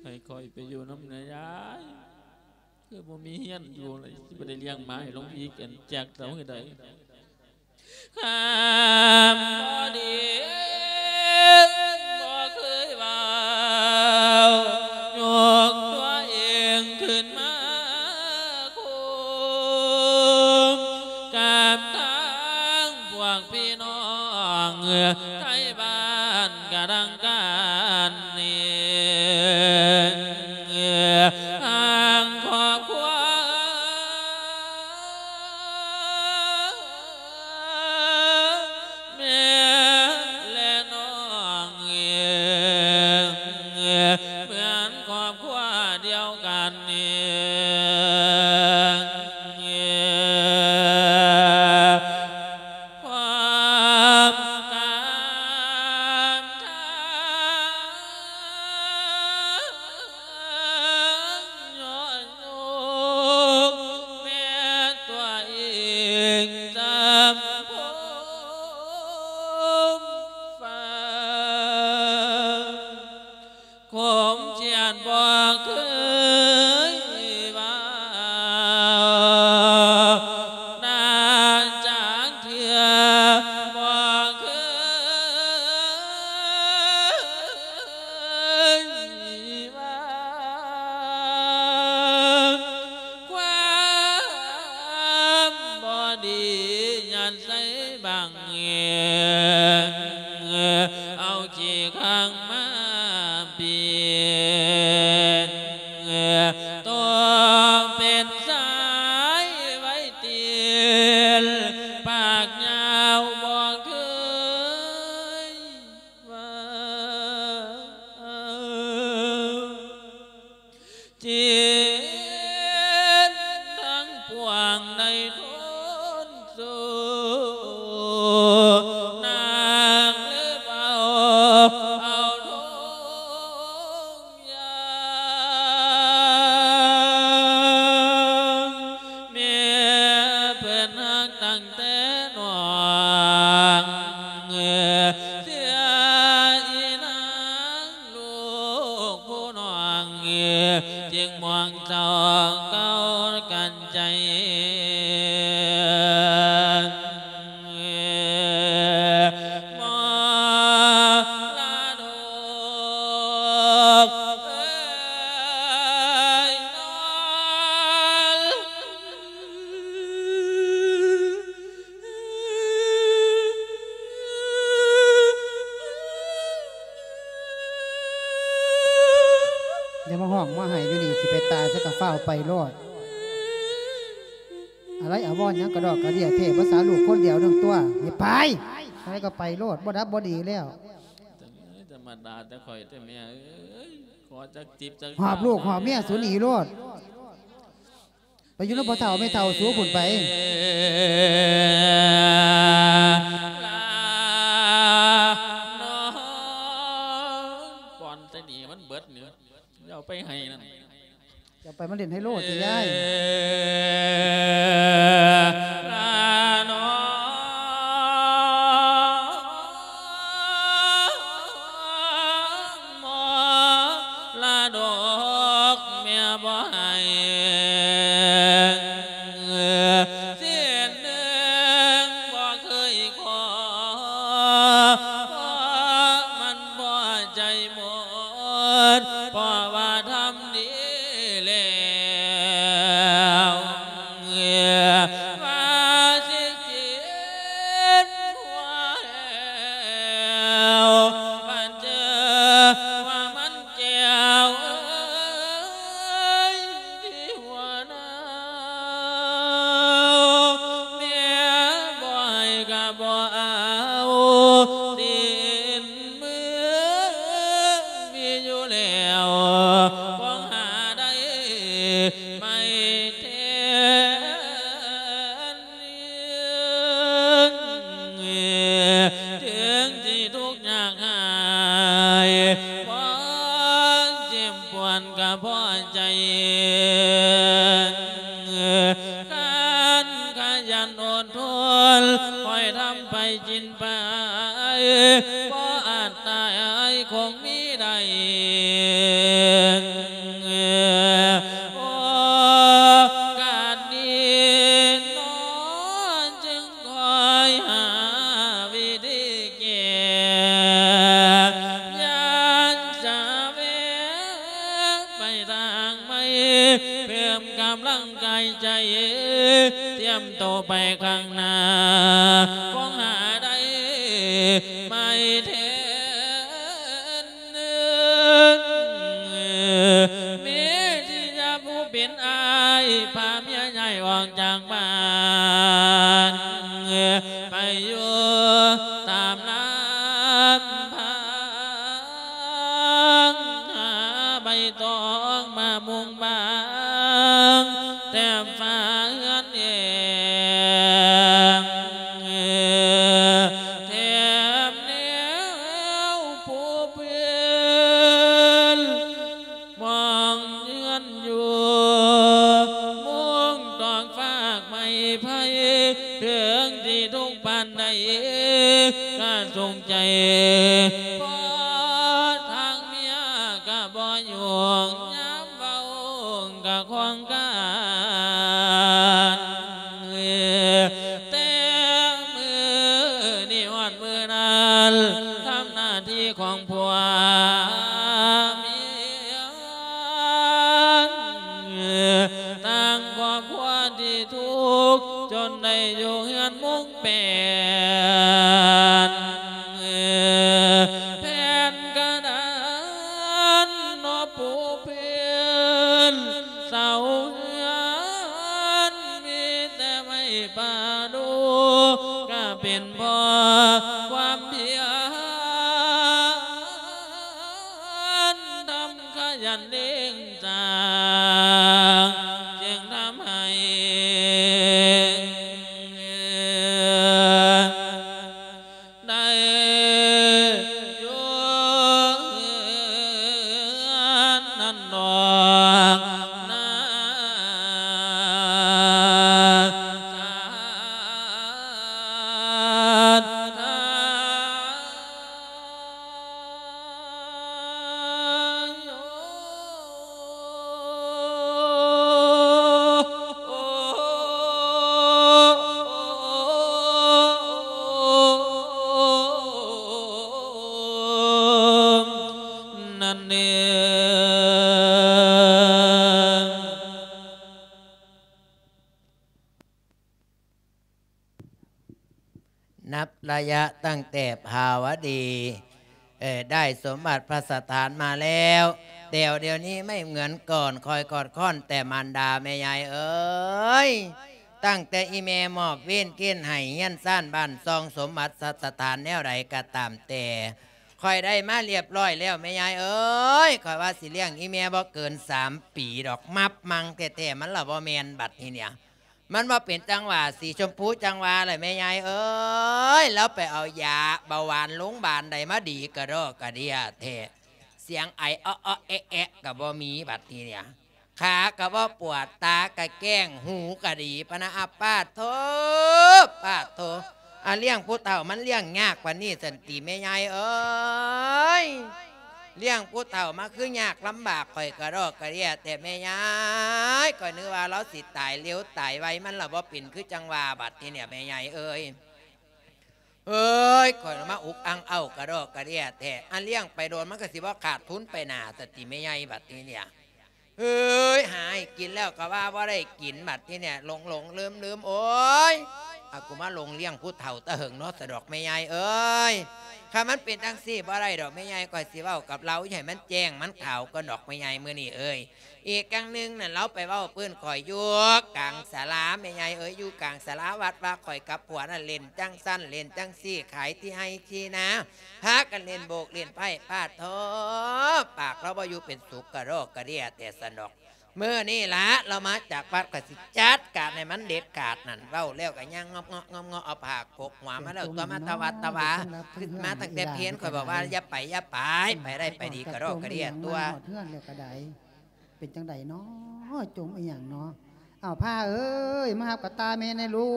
ໃຫ້ຂ້ອຍໄປຢູ່ນຳແດ່ຍາຍ ຄືບໍ່ມີເຮືອນຢູ່ເລີຍ ຊິບໍ່ໄດ້ລ້ຽງໝາໃຫ້ຫຼວງພີ່ແກ່ນແຈກເອົາໃຫ້ໄດ້. ຄຳບໍ່ດີບໍ່ເຄີຍເວົ້າ ຍົກຕົວເອງຂຶ້ນມາຄຸ້ມ ກັບທາງພວກພີ່ນ້ອງ ໄທບ້ານກະດັງການນີ້ ທາງຄອບຄົວ ແມ່ ແລະ ນ້ອງ ເໝືອນຄອບຄົວດຽວກັນນີ້ ຄວາມການທາງ ຍ້ອນໂຍມແມ່ຕົວເອງຈຳພົມຟ້າ ຄົມຈຽນບໍ່ເຄີຍເວົ້າ ນານຈັກເທື່ອບໍ່ເຄີຍວ່າ ຄວາມບໍ່ດີຍັດໃສ່ບັງ ເອົາຂີ້ຂ້າງມາປິ່ນ ໂຕເປັນສາຍໄວ້ຕີນ ປາກຍາວບໍ່ເຄີຍ ວ່າ ຈີນທັງປວງໄດ້ທົນສູ້ ນາງເລີບເອົາ ເອົາທຸງ ຢ່າງແມ່ເພິ່ນຮັກຕັ້ງແຕ່ນ້ອງ ເສຍອີນາງລູກຜູ້ນ້ອງ ຈຶ່ງໝວງເສົ້າເກົ່າກັນໃຈ ມໍລະດົກເອີຍນອນ. ຢ່າມາຮ້ອງມາໄຫ້ຢູ່ນີ້ ຊິໄປຕາຍຊະກະຟ້າວໄປໂລດ. ອາໄລອາວອນຫຍັງກະດອກກະເດຍແທ້ ພາສາລູກຄົນດຽວໜຶ່ງຕົວະ. ຢ່າໄປ! ໃຜກະໄປໂລດ ບໍ່ດັບບໍ່ດີແລ້ວ. ທຳມະດາແຕ່ຂ້ອຍແຕ່ແມ່ເອີຍ ຂໍຈັກຈິບຈັກ ຫອບລູກຫອບເມຍສູໜີໂລດ. ໄປຢູ່ນຳພໍ່ເຖົ້າແມ່ເຖົ້າສູພຸ້ນໄປ. ລານ້ອງ ກ່ອນແຕ່ໜີມັນເບິດນີ້ ເຈົ້າໄປໃຫ້ນັ້ນ ເຈົ້າໄປມາຫຼິ້ນໄຮໂລຕິຍາຍ. ລານ້ອງ ມໍລະດົກແມ່ບໍ່ໃຫ້ ເສັ້ນໜຶ່ງບໍ່ເຄີຍຂໍ ເພາະມັນພໍໃຈໝົດ ເພາະວ່າທຳດີແລ້ວ ວ່າຊິກິນຫົວແລ້ວ ບັດເຈີວ່າມັນ ແກ້ວເອີຍ ທີ່ຫົວໜາວ ແມ່ບໍ່ໃຫ້ກະບໍ່ເອົາ ຊີ້ນມືມີຢູ່ແລ້ວ ຄວນຫາໄດ້ໃໝ່ແທນ. ເຖິງຊິທຸກຍາກຮ້າຍ ຄວາມເຈັບປວດກະພໍໃຈ ຄັນຂະຫຍັນອົດທົນ ຄ່ອຍທຳໄປກິນໄປ ພໍອາດຕາຍຄົງມີໄດ້ ໂອກາດດີໜໍ ຈຶ່ງຄອຍຫາວິທີແກ້ ຢ້ານຈະແວະໄປທາງໃໝ່ ເພີ່ມກຳລັງກາຍໃຈ ຕຽມໂຕໄປຂ້າງໜ້າ ຄວນຫາໄດ້ໃໝ່ແທນ. ມີທີ່ຈະຜູ້ເປັນອ້າຍ ພາເມຍຍ້າຍອອກຈາກບ້ານ ໄປຢູ່ຕາມລຳພັງ ຫາໃບຕອງມາມຸງບາງ ແຖມຝາເຮືອນແອງ ແຖມແນວພູພື້ນ ມອງເຮືອນຢູ່ ມຸງຕອກຟາກໄມ້ໄຜ່ ເຖິງທີ່ທຸກປານໃດກະສົງໃຈ ເພາະທາງເມຍກະບໍ່ຫຍຸ້ງ ຍາມເວົ້າກະຂອງການ ແຕ່ມື້ນີ້ຮອດມື້ນັ້ນ ທຳໜ້າທີ່ຂອງຜົວເມຍ ຕັ້ງຄອບຄົວທີ່ທຸກ ຈົນໄດ້ຢູ່ເຮືອນມຸງແປນ ແຜ່ນກະດານເນາະປູພື້ນ ເສົາເຮືອນມີແຕ່ໄມ້ປະດູ່ ກະເປັນເພາະຄວາມພຽນ ທຳຂະຫຍັນເລັ່ງສ້າງ ຈຶ່ງທຳໃຫ້ ໄດ້ຢູ່ເຮືອນນັ້ນດອກນາສາທາ ນັ້ນເອງ. ນັບໄລຍະຕັ້ງແຕ່ພາວະດີ เอ่อ ได้สมบัติพัสถานมาแล้ว แต่เดี๋ยวนี้ไม่เหมือนก่อน คอยกอดค้อนแต่มารดาแม่ยายเอ๋ย ตั้งแต่อีแม่มอบเวรเกณฑ์ให้เฮือนซานบ้านช่องสมบัติพัสถานแนวใดก็ตามแต่ ข้อยได้มาเรียบร้อยแล้วแม่ยายเอ๋ย ข้อยว่าสิเลี้ยงอีแม่บ่เกินสามปีดอก มับมังแท้ๆ มันละบ่แม่นบัดนี้เนี่ย มันบ่เป็นจั่งว่าสีชมพูจั่งว่าแหละแม่ยายเอ๋ย ลาวไปเอายาเบาหวานโรงบาลใดมาดีกะดอกกะเดี้ยแท้ เสียงไอเอาะๆ แอะๆ กะบ่มีบัดนี้เนี่ย ขากะบ่ปวด ตากะแก้ง หูกะดีปะนะ อา ปาดโธ่ ปาดโธ่ อา เลี้ยงผู้เฒ่ามันเลี้ยงยากปานนี้ซั้นติแม่ยายเอ๋ย เลี้ยงผู้เฒ่ามาคือยากลำบาก ข้อยกะดอกกะเดี้ยแท้แม่ยาย ข้อยนึกว่าลาวสิตายเร็วตายไว มันละบ่เป็นคือจั่งว่าบัดนี้เนี่ยแม่ยายเอ๋ย เฮ้ย ข้อยละมาอุกอั่งเอ้ากะดอกกะเดี้ยแท้ อันเลี้ยงไปโดนมันกะสิบ่ขาดทุนไปหน้าซั้นติแม่ยายบัดนี้เนี่ย เฮ้ย หาให้กินแล้วกะว่าบ่ได้กินบัดนี้เนี่ย หลงๆ ลืมๆ โอ๊ย อา กูมาหลงเลี้ยงผู้เฒ่าตะเหิงเนาะสะดอกแม่ยายเอ๋ย คันมันเป็นจั่งซี้บ่ได้ดอกแม่ยาย ข้อยสิเว้ากับลาวอย่าให้มันแจ้งมันขาวก่อนดอกแม่ยายมื้อนี้เอ๋ย อีกอย่างหนึ่งนั่น ลาวไปเว้าพื้นข้อยอยู่กลางศาลา แม่ใหญ่เอ๋ย อยู่กลางศาลาวัด ว่าข้อยกับผัวนั่นเล่นจั่งซั้นเล่นจั่งซี้ ขายที่ไฮ่ที่นา พากันเล่นโบกเล่นไพ่ ปาดโธ่ ปากลาวบ่อยู่เป็นสุข กะดอกกะเดี้ยแต่ซั้นดอก มื้อนี้ละลาวมาจากวัด ข้อยสิจัดการให้มันเด็ดขาดนั่น เว้าแล้วกะย่างงอบเงาะงอบเงาะ เอาผ้ากกหัวมาแล้วตั๊ว มาตะหวาดตะหวา ขึ้นมาตั้งแต่เพล ข้อยบอกว่าอย่าไปอย่าไป ไปได้ไปดี กะดอกกะเดี้ยตั๊ว เฮือนแล้วกะได เป็นจั่งใดน้อ จมอีหยังน้อ อ้าว พาเอ๋ย มาฮับกะต่าแม่แหน่ลู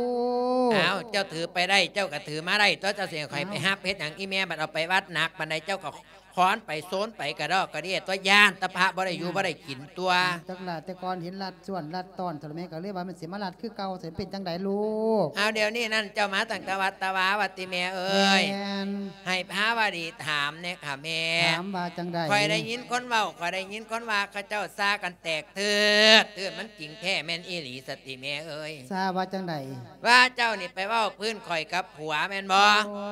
ก อ้าว เจ้าถือไปได้ เจ้ากะถือมาได้ตั๊ว เจ้าสิให้ข้อย อ้าว ไปฮับเฮ็ดหยัง อีแม่บัดเอาไปวัดหนักปานใด เจ้ากะค้อนไปโซนไปกะดอกกะเดี้ยตั๊ว ย้านตะพระบ่ได้อยู่ อ้าว บ่ได้กินตั๊ว จักล่ะ แต่ก่อนเห็นลัดส่วนลัดตอน เท่าแม่กะเลยว่ามันสิมาลัดคือเก่า สิเป็นจั่งใดลูก อ้าว เดี๋ยวนี้นั่นเจ้ามาตั้งแต่วัดตะหวา วัดติแม่เอ๋ย แม่น ให้พาว่าดีถามแหน่ค่ะแม่ ถามว่าจั่งใด ข้อยได้ยินคนเว้า ข้อยได้ยินคนว่าเขาเจ้าซากันแตกเถิด เถิดมันจริงแท้แม่นอีหลีสติแม่เอ๋ย ซาว่าจั่งใด ว่าเจ้านี่ไปเว้าพื้นข้อยกับผัวแม่นบ่ โอ้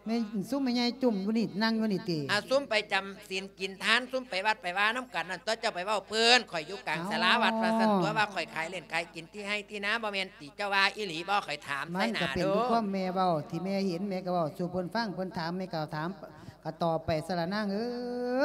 แม่น ซุมแม่ใหญ่จุ่มอยู่นี่ นั่งอยู่นี่ติ อ่า ซุมไปจำศีลกินทาน ซุมไปวัดไปวานำกันนั่นตั๊ว เจ้าไปเว้าพื้นข้อยอยู่กลาง เอ้า ศาลาวัดว่าซั่นตั๊ว ว่าข้อยขายเล่นขายกินที่ไฮ่ที่นา บ่แม่นติ เจ้าว่าอีหลีบ่ ข้อยถาม มันกะเป็น ใส่หน้าดู คือความแม่เว้า ที่แม่เห็นแม่กะเว้าสู่เพิ่นฟัง เพิ่นถามแม่กะถาม กะตอบไปซะละนางเอ๋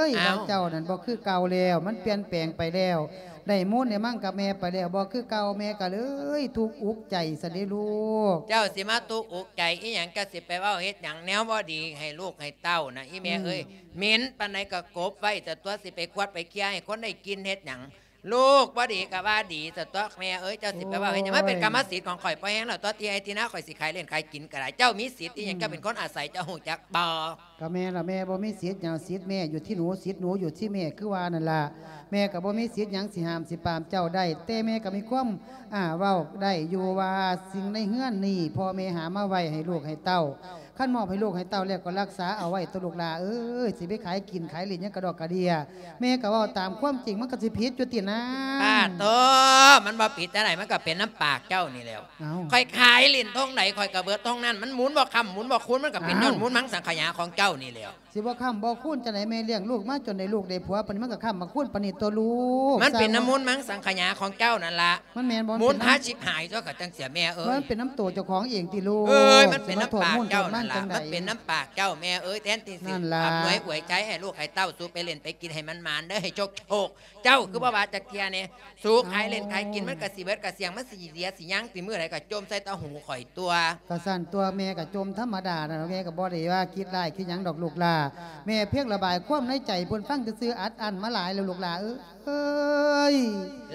ย อ้าว ว่าเจ้านั่นบ่คือเก่าแล้ว มันเปลี่ยนแปลงไปแล้ว ได้มูลได้มั่งกับแม่ไปแล้ว บ่คือเก่า แม่กะเลยทุกข์อุกใจซะเด้ลูก เจ้าสิมาทุกข์อุกใจอีหยัง เจ้าสิไปเว้าเฮ็ดหยัง แนวบ่ดีให้ลูกให้เต้านะ อีแม่เอ๋ย อืม เหม็นปานใดกะกบไว้ซะตั๊ว สิไปขวดไปเคลียร์ให้คนได้กลิ่นเฮ็ดหยัง ลูกบ่ดีกะว่าดีซะตั๊วแม่เอ๋ย เจ้าสิไปเว้าเฮ็ดหยัง โอ้ย มันเป็นกรรมสิทธิ์ของข้อย พอแฮงแล้วตั๊ว ที่ไฮ่ที่นาข้อยสิขายเล่นขายกินกะได้ เจ้ามีสิทธิ์อีหยัง อืม เจ้าเป็นคนอาศัย เจ้าฮู้จักบ่ กะแม่นละ แม่บ่มีสิทธิ์หยัง สิทธิ์แม่อยู่ที่หนู สิทธิ์หนูอยู่ที่แม่ คือว่านั่นล่ะ แม่กะบ่มีสิทธิ์หยังสิห้ามสิปรามเจ้าได้ แต่แม่กะมีความ อ่า เว้าได้อยู่ว่าสิ่งในเฮือนนี้ พ่อแม่หามาไว้ให้ลูกให้เต้า คันมอบให้ลูกให้เต้าแล้วกะรักษาเอาไว้ตั๊วลูกหล่าเอ๋ย สิไปขายกินขายเล่นหยังกะดอกกะเดี้ย แม่กะเว้าตามความจริง มันกะสิผิดอยู่ตินาง ปาดโธ่ มันบ่ผิดจั่งใด มันกะเป็นนำปากเจ้านี่แหล้ว เอ้า ข้อยขายเล่นท่งใดข้อยกะเบิดท่งนั้น มันหมุนบ่ค่ำหมุนบ่คูณ มันกะเป็น อ้าว ย้อนมูลมังสังขยาของเจ้านี่แหล้ว สิบ่ค้ำบ่คูณจั่งใด แม่เลี้ยงลูกมาจนได้ลูกได้ผัวปานนี้ มันกะค้ำบ่คูณปานนี้ตั๊วลูก มันเป็นนำมูลมังสังขยาของเจ้านั่นล่ะ มันแม่นบ่ หมุนพาชิบหายตั๊ว กะจั่งซี้แม่เอ๋ย มันเป็นนำโตเจ้าของเองติลูก เอ้ย มันเป็นนำปากเจ้านั่นล่ะ สิมาโทษมูลโทษมันจั่งใด มันเป็นนำปากเจ้าแม่เอ๋ย แทนที่สิ นั่นล่ะ อำนวยอวยชัยให้ลูกให้เต้า สูไปเล่นไปกินให้มันหมานเด้อ ให้โชคโชค เจ้าคือบ่ว่าจักเที่ยแหน่ สูขายเล่นขายกิน มันกะสิเบิดกะเสี้ยง มันสิเสียสิหยังติ มื้อใดกะจ่มใส่ตาหูข้อยตั๊ว กะซั้นตั๊ว แม่กะจ่มธรรมดานั่นล่ะ แม่กะบ่ได้ว่าคิดร้ายคิดหยังดอกลูกหล่า แม่เพียงระบายความในใจเพิ่นฟังซื่อๆ อัดอั้นมาหลายแล้วลูกหล่าเอย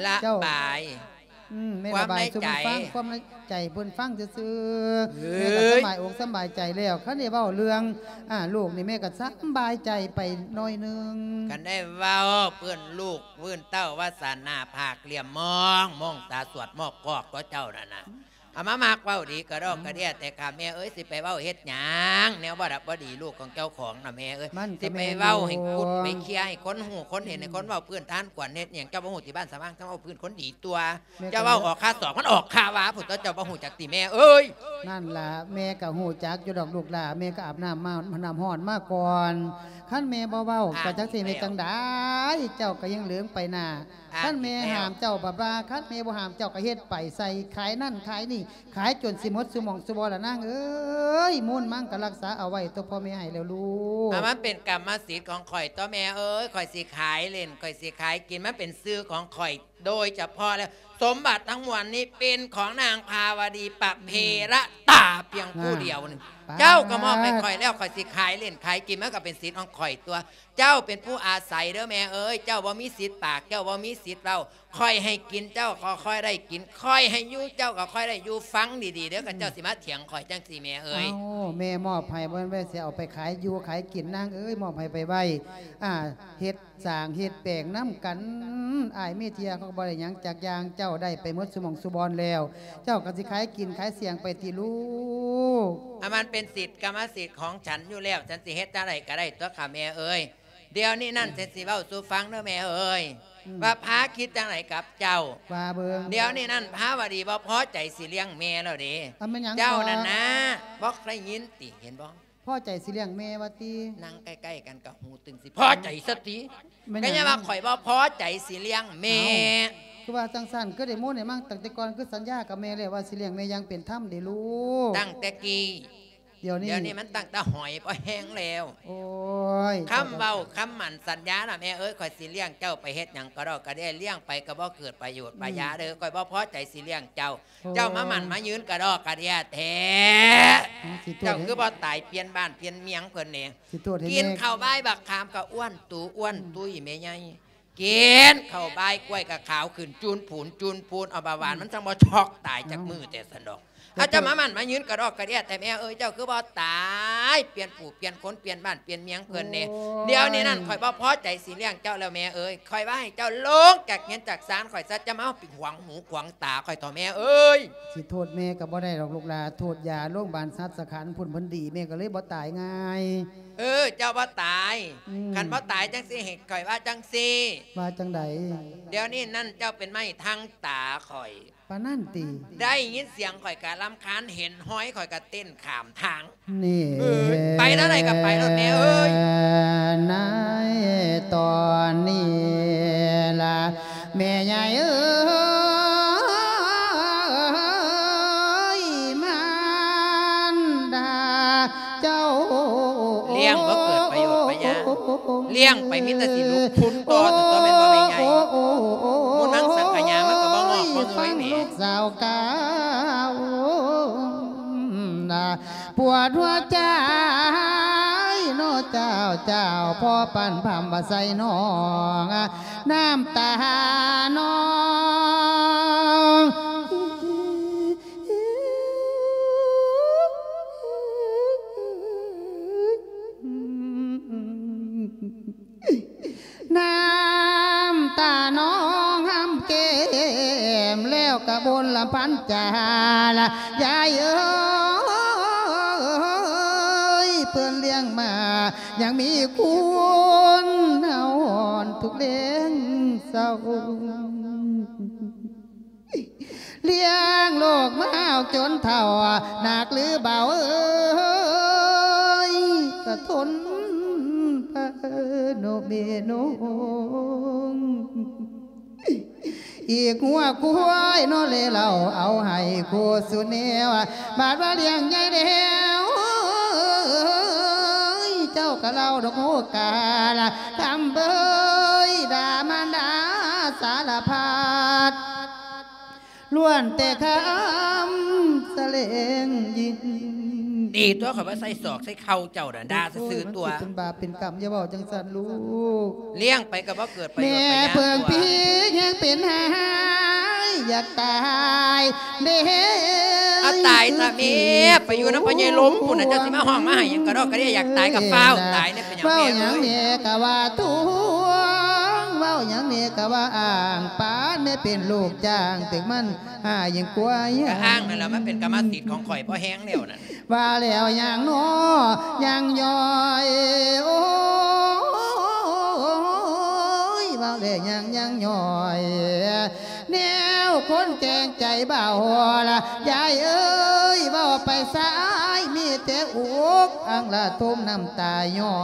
ระบาย เจ้า อืม แม่ระบายสู่เพิ่นฟัง ความในใจ ความในใจเพิ่นฟังซื่อๆ เอ้ย แม่กะสำบายอกสำบายใจแล้ว คันได้เว้าเรื่อง อ่า ลูกนี่แม่กะสำบายใจไปหน่อยหนึ่ง คันได้เว้าเพิ่นลูก พื้นเต้าว่าซั่น หน้าผากเหลี่ยมมอง มองตาสวดมอกกอกตั๊วเจ้านั่นน่ะ เอามามักเว้าดีกะดอกกะเดี้ย แต่ค่ะแม่เอ๋ย สิไปเว้าเฮ็ดหยัง แนวบ่ดับบ่ดีลูกของเจ้าของน่ะแม่เอ๋ย มันกะ สิไปเว้าให้กุด แม่นอยู่ ไปเคลียร์ให้คนฮู้คนเห็น ให้คนเว้าพื้นทานกวนเฮ็ดหยัง เจ้าบ่ฮู้ติบ้านสะว่าง เจ้าเว้าพื้นคนดีตั๊ว แม่กะ เจ้าเว้าออกคาศอก มันออกคาวาพุ้นตั๊ว เจ้าบ่ฮู้จักติแม่เอ๋ย นั่นล่ะ แม่กะฮู้จักอยู่ดอกลูกหล่า แม่กะอาบน้ำมา น้ำร้อนมาก่อน ຄັນແມ່ບໍ່ເວົ້າ ອ້າງ ກໍຈັກຊິເຮັດ ອີກແລ້ວ ຈັ່ງໃດ ເຈົ້າກໍຍັງເຫຼີງໄປໜ້າ. ອ້າງ ຄັນແມ່ ອີກແລ້ວ ຫ້າມເຈົ້າ ບັດວ່າ ຄັນແມ່ບໍ່ຫ້າມ ເຈົ້າກໍເຮັດໄປ ໃສ່ຂາຍນັ້ນຂາຍນີ້ ຂາຍຈົນຊິໝົດຊຸໝ່ອງຊຸບ່ອນລະນາງເອີຍ. ມູນມັງກໍລັກສາເອົາໄວ້ຕົວະພໍ່ແມ່ໃຫ້ແລ້ວລູກ. ອາ ມັນເປັນກຳມະສິດຂອງຂ້ອຍຕົວະແມ່ເອີຍ. ຂ້ອຍຊິຂາຍຫຼິ້ນ ຂ້ອຍຊິຂາຍກິນ ມັນເປັນຊື່ຂອງຂ້ອຍ ໂດຍສະເພາະແລ້ວ ສົມບັດທັງມວນນີ້ເປັນຂອງນາງພາວະດີປະເພລະຕາພຽງຜູ້ດຽວໜຶ່ງ. ອ່າ ເຈົ້າກໍມອບໃຫ້ຂ້ອຍແລ້ວ ຂ້ອຍຊິຂາຍຫຼິ້ນຂາຍກິນ ມັນກໍເປັນສິດຂອງຂ້ອຍຕົວະ. ເຈົ້າເປັນຜູ້ອາໄສເດີແມ່ເອີຍ. ເຈົ້າບໍ່ມີສິດປາກ ເຈົ້າບໍ່ມີສິດເວົ້າ. ຂ້ອຍໃຫ້ກິນເຈົ້າກໍຄ່ອຍໄດ້ກິນ ຂ້ອຍໃຫ້ຢູ່ເຈົ້າກໍຄ່ອຍໄດ້ຢູ່. ຟັງດີໆເດີ ຄັນເຈົ້າຊິມາຖຽງຂ້ອຍຈັ່ງຊີ້ແມ່ເອີຍ. ເອົ້າ ແມ່ມອບໃຫ້ ບໍ່ແມ່ນວ່າຊິເອົາໄປຂາຍຢູ່ຂາຍກິນນາງເອີຍ. ມອບໃຫ້ໄປໄວ້ ອ່າ ເຮັດ ສ້າງເຮັດແປງນຳກັນ. ອ້າຍມີເທື່ອເຂົາກໍບໍ່ໄດ້ຫຍັງຈັກຢ່າງ. ເຈົ້າໄດ້ໄປໝົດຊຸໝ່ອງຊຸບ່ອນແລ້ວ ເຈົ້າກໍຊິຂາຍກິນຂາຍສ່ຽງໄປຕິລູກ. ອາ ມັນເປັນສິດກຳມະສິດຂອງສັນຢູ່ແລ້ວ ສັນຊິເຮັດຈັ່ງໃດກໍໄດ້ຕົວະຄ່ະແມ່ເອີຍ. ດຽວນີ້ນັ້ນ ອືມ ສັນຊິເວົ້າສູ່ຟັງເດີແມ່ເອີຍ ອືມ ວ່າພາຄິດຈັ່ງໃດກັບເຈົ້າ. ວ່າເບິ່ງ. ດຽວນີ້ນັ້ນພາວະດີບໍ່ພໍໃຈຊິລ້ຽງແມ່ແລ້ວເດ້. ອາ ແມ່ນຫຍັງ ເຈົ້ານັ້ນນະ ບໍ່ໄດ້ຍິນຕິ ເຫັນບໍ່? ພໍໃຈຊິລ້ຽງແມ່ວ່າຕິ? ນັ່ງໃກ້ໆກັນກໍຫູຕຶງ ຊິພໍໃຈຊະຕິ. ແມ່ນຫຍັງ? ກໍຍັງວ່າຂ້ອຍບໍ່ພໍໃຈຊິລ້ຽງແມ່. ເອົ້າ ຄືວ່າຈັ່ງຊັ້ນ? ຄືໄດ້ໂມໄດ້ມັງຕັ້ງແຕ່ກ່ອນ ຄືສັນຍາກັບແມ່ແລ້ວວ່າຊິລ້ຽງແມ່ຢ່າງເປັນທຳເດ້ລູກ. ຕັ້ງແຕ່ກີ້. ດຽວນີ້ ດຽວນີ້ມັນຕັ້ງແຕ່ຫອຍພໍແຮງແລ້ວ. ໂອ້ຍ ຄຳເວົ້າຄຳໝັ້ນສັນຍານະແມ່ເອີຍ ຂ້ອຍຊິລ້ຽງເຈົ້າໄປເຮັດຫຍັງກະດອກກະເດຍ ລ້ຽງໄປກໍບໍ່ເກີດປະໂຫຍດປະຫຍັງເດີ. ອືມ ຂ້ອຍບໍ່ພໍໃຈຊິລ້ຽງເຈົ້າ. ໂອ້ ເຈົ້າມາໝັ້ນມາຍືນກະດອກກະເດຍແທ້. ເຈົ້າຄືບໍ່ຕາຍປ່ຽນບ້ານປ່ຽນເມືອງເພິ່ນແດ່. ກິນເຂົ້າບາຍບັກຂາມກໍອ້ວນຕູອ້ວນຕຸ້ຍແມ່ໃຫຍ່. ກິນເຂົ້າບາຍກ້ວຍກໍຂາວຂຶ້ນຈູນພູນຈູນພູນ. ເອົາ ເບົາຫວານມັນຈັ່ງບໍ່ຊັອກຕາຍຈັກມື້ແຕ່ຊັ້ນດອກ. ເອົາ ເຈົ້າມາໝັ້ນມາຍືນກະດອກກະເດຍແທ້ແມ່ເອີຍ. ເຈົ້າຄືບໍ່ຕາຍ ປ່ຽນຜູ້ປ່ຽນຄົນ ປ່ຽນບ້ານປ່ຽນເມືອງເພິ່ນແດ່. ໂອ້ຍ ດຽວນີ້ນັ້ນຂ້ອຍບໍ່ພໍໃຈຊິລ້ຽງເຈົ້າແລ້ວແມ່ເອີຍ. ຂ້ອຍວ່າໃຫ້ເຈົ້າລົງຈາກເຮືອນຈາກຊານຂ້ອຍຊະ ຈະມາເອົາປິດຫວງຫູຂວາງຕາຂ້ອຍເຖາະແມ່ເອີຍ. ຊິໂທດແມ່ກໍບໍ່ໄດ້ດອກລູກຫຼ້າ ໂທດຢາໂລງບານສັດສະຂັນພຸ້ນເພິ່ນດີ ແມ່ກໍເລີຍບໍ່ຕາຍງ່າຍ. ເອີ ເຈົ້າບໍ່ຕາຍ. ອືມ ຄັນບໍ່ຕາຍຈັ່ງຊີ້ ໃຫ້ຂ້ອຍວ່າຈັ່ງຊີ້. ວ່າຈັ່ງໃດ? ດຽວນີ້ນັ້ນເຈົ້າເປັນໄມ້ທັງຕາຂ້ອຍ. ປານນັ້ນຕິ? ໄດ້ຍິນສຽງຂ້ອຍກະລຳຄານ ເຫັນຮອຍຂ້ອຍກະເຕັ້ນຂ້າມທາງ. ນີ້ ເອີ ໄປທາງໃດກໍໄປໂລດແມ່ເອີຍ. ໃນຕອນນີ້ລະ ແມ່ໃຫຍ່ເອີຍ ມານດາເຈົ້າ ລ້ຽງບໍ່ເກີດປະໂຫຍດປະຫຍັງ ລ້ຽງໄປມີແຕ່ຊິລຸກພຸນຕໍ່ ຕົວແມ່ນບໍ່ແມ່ໃຫຍ່. ມຸນມັງສັງກະຍາ ມັນກໍບໍ່ງອກບໍ່ເງີຍແໝ. ລູກສາວກາວ ປວດຫົວໃຈເນາະເຈົ້າ ເຈົ້າພໍປັ່ນພຳວ່າໃສ່ນ້ອງ ນ້ຳຕານ້ອງ ນ້ຳຕານ້ອງຫຳແກ້ມ ແລ້ວກະບົນລະພັນຈາລະ ຍາຍເອີຍ ເພິ່ນລ້ຽງມາ ຍັງມີຄຸນເຮົາຮອນທຸກແລງເຊົ້າ. ລ້ຽງລູກມາເອົາຈົນເຖົ້າ ໜັກຫຼືເບົາເອີຍ ກະທົນພາໂນແມ່ນ້ອງ. ອີກຫົວຄວາຍເນາະເລເລົ່າ ເອົາໃຫ້ຄູ່ສູ່ແນວ ບາດວ່າລ້ຽງໃຫຍ່ແລ້ວ ເຈົ້າກະເລົ່າດອກໂຫກາລະ ຄຳເບີຍ ດ່າມານດາສາລະພັດ ລ້ວນແຕ່ຄຳສະແຫຼງຍິນ. ດີຕົວະ ຂ້ອຍວ່າໃສ່ສອກໃສ່ເຂົ່າເຈົ້ານະ ດ່າຊື່ໆຕົວະ. ໂອ້ຍ ມັນຊິເປັນບາບເປັນກຳ ຢ່າເວົ້າຈັ່ງຊັ້ນລູກ. ລ້ຽງໄປກໍບໍ່ເກີດປະໂຫຍດປະຫຍັງ. ແມ່ເພິ່ງພີແຮງເປັນຫາຍ ຢາກຕາຍເດ້. ອາ ຕາຍຊະແມ່ ໄປຢູ່ນຳພໍ່ໃຫຍ່ລົມພຸ້ນນະ ເຈົ້າຊິມາຮ້ອງມາໄຫ້ຫຍັງກະດອກກະເດຍ. ຢາກຕາຍກໍຟ້າວຕາຍເດ້. ເປັນຫຍັງແມ່ເອີຍ? ເວົ້າຫຍັງແມ່ກະວ່າທ້ວງ ເວົ້າຫຍັງແມ່ກະວ່າອ້າງ ປານແມ່ເປັນລູກຈ້າງ ຖືກມັນຫາຍິ່ງກວ່າ ກະອ້າງນັ້ນແຫຼະ ມັນເປັນກຳມະສິດຂອງຂ້ອຍພໍແຮງແລ້ວນັ້ນ. ວ່າແລ້ວຍັງໜໍ ຍັງຍ່ອຍ ໂອ້ຍ ເວົ້າ ແລຍັງຍັງຍ້ອຍ ແນວຄົນແກ່ງໃຈເບົາລະ ຍາຍເອີຍ ເວົ້າໄປສາຍ ມີແຕ່ອຸກອັ່ງລະທົມນ້ຳຕາຍ້ອ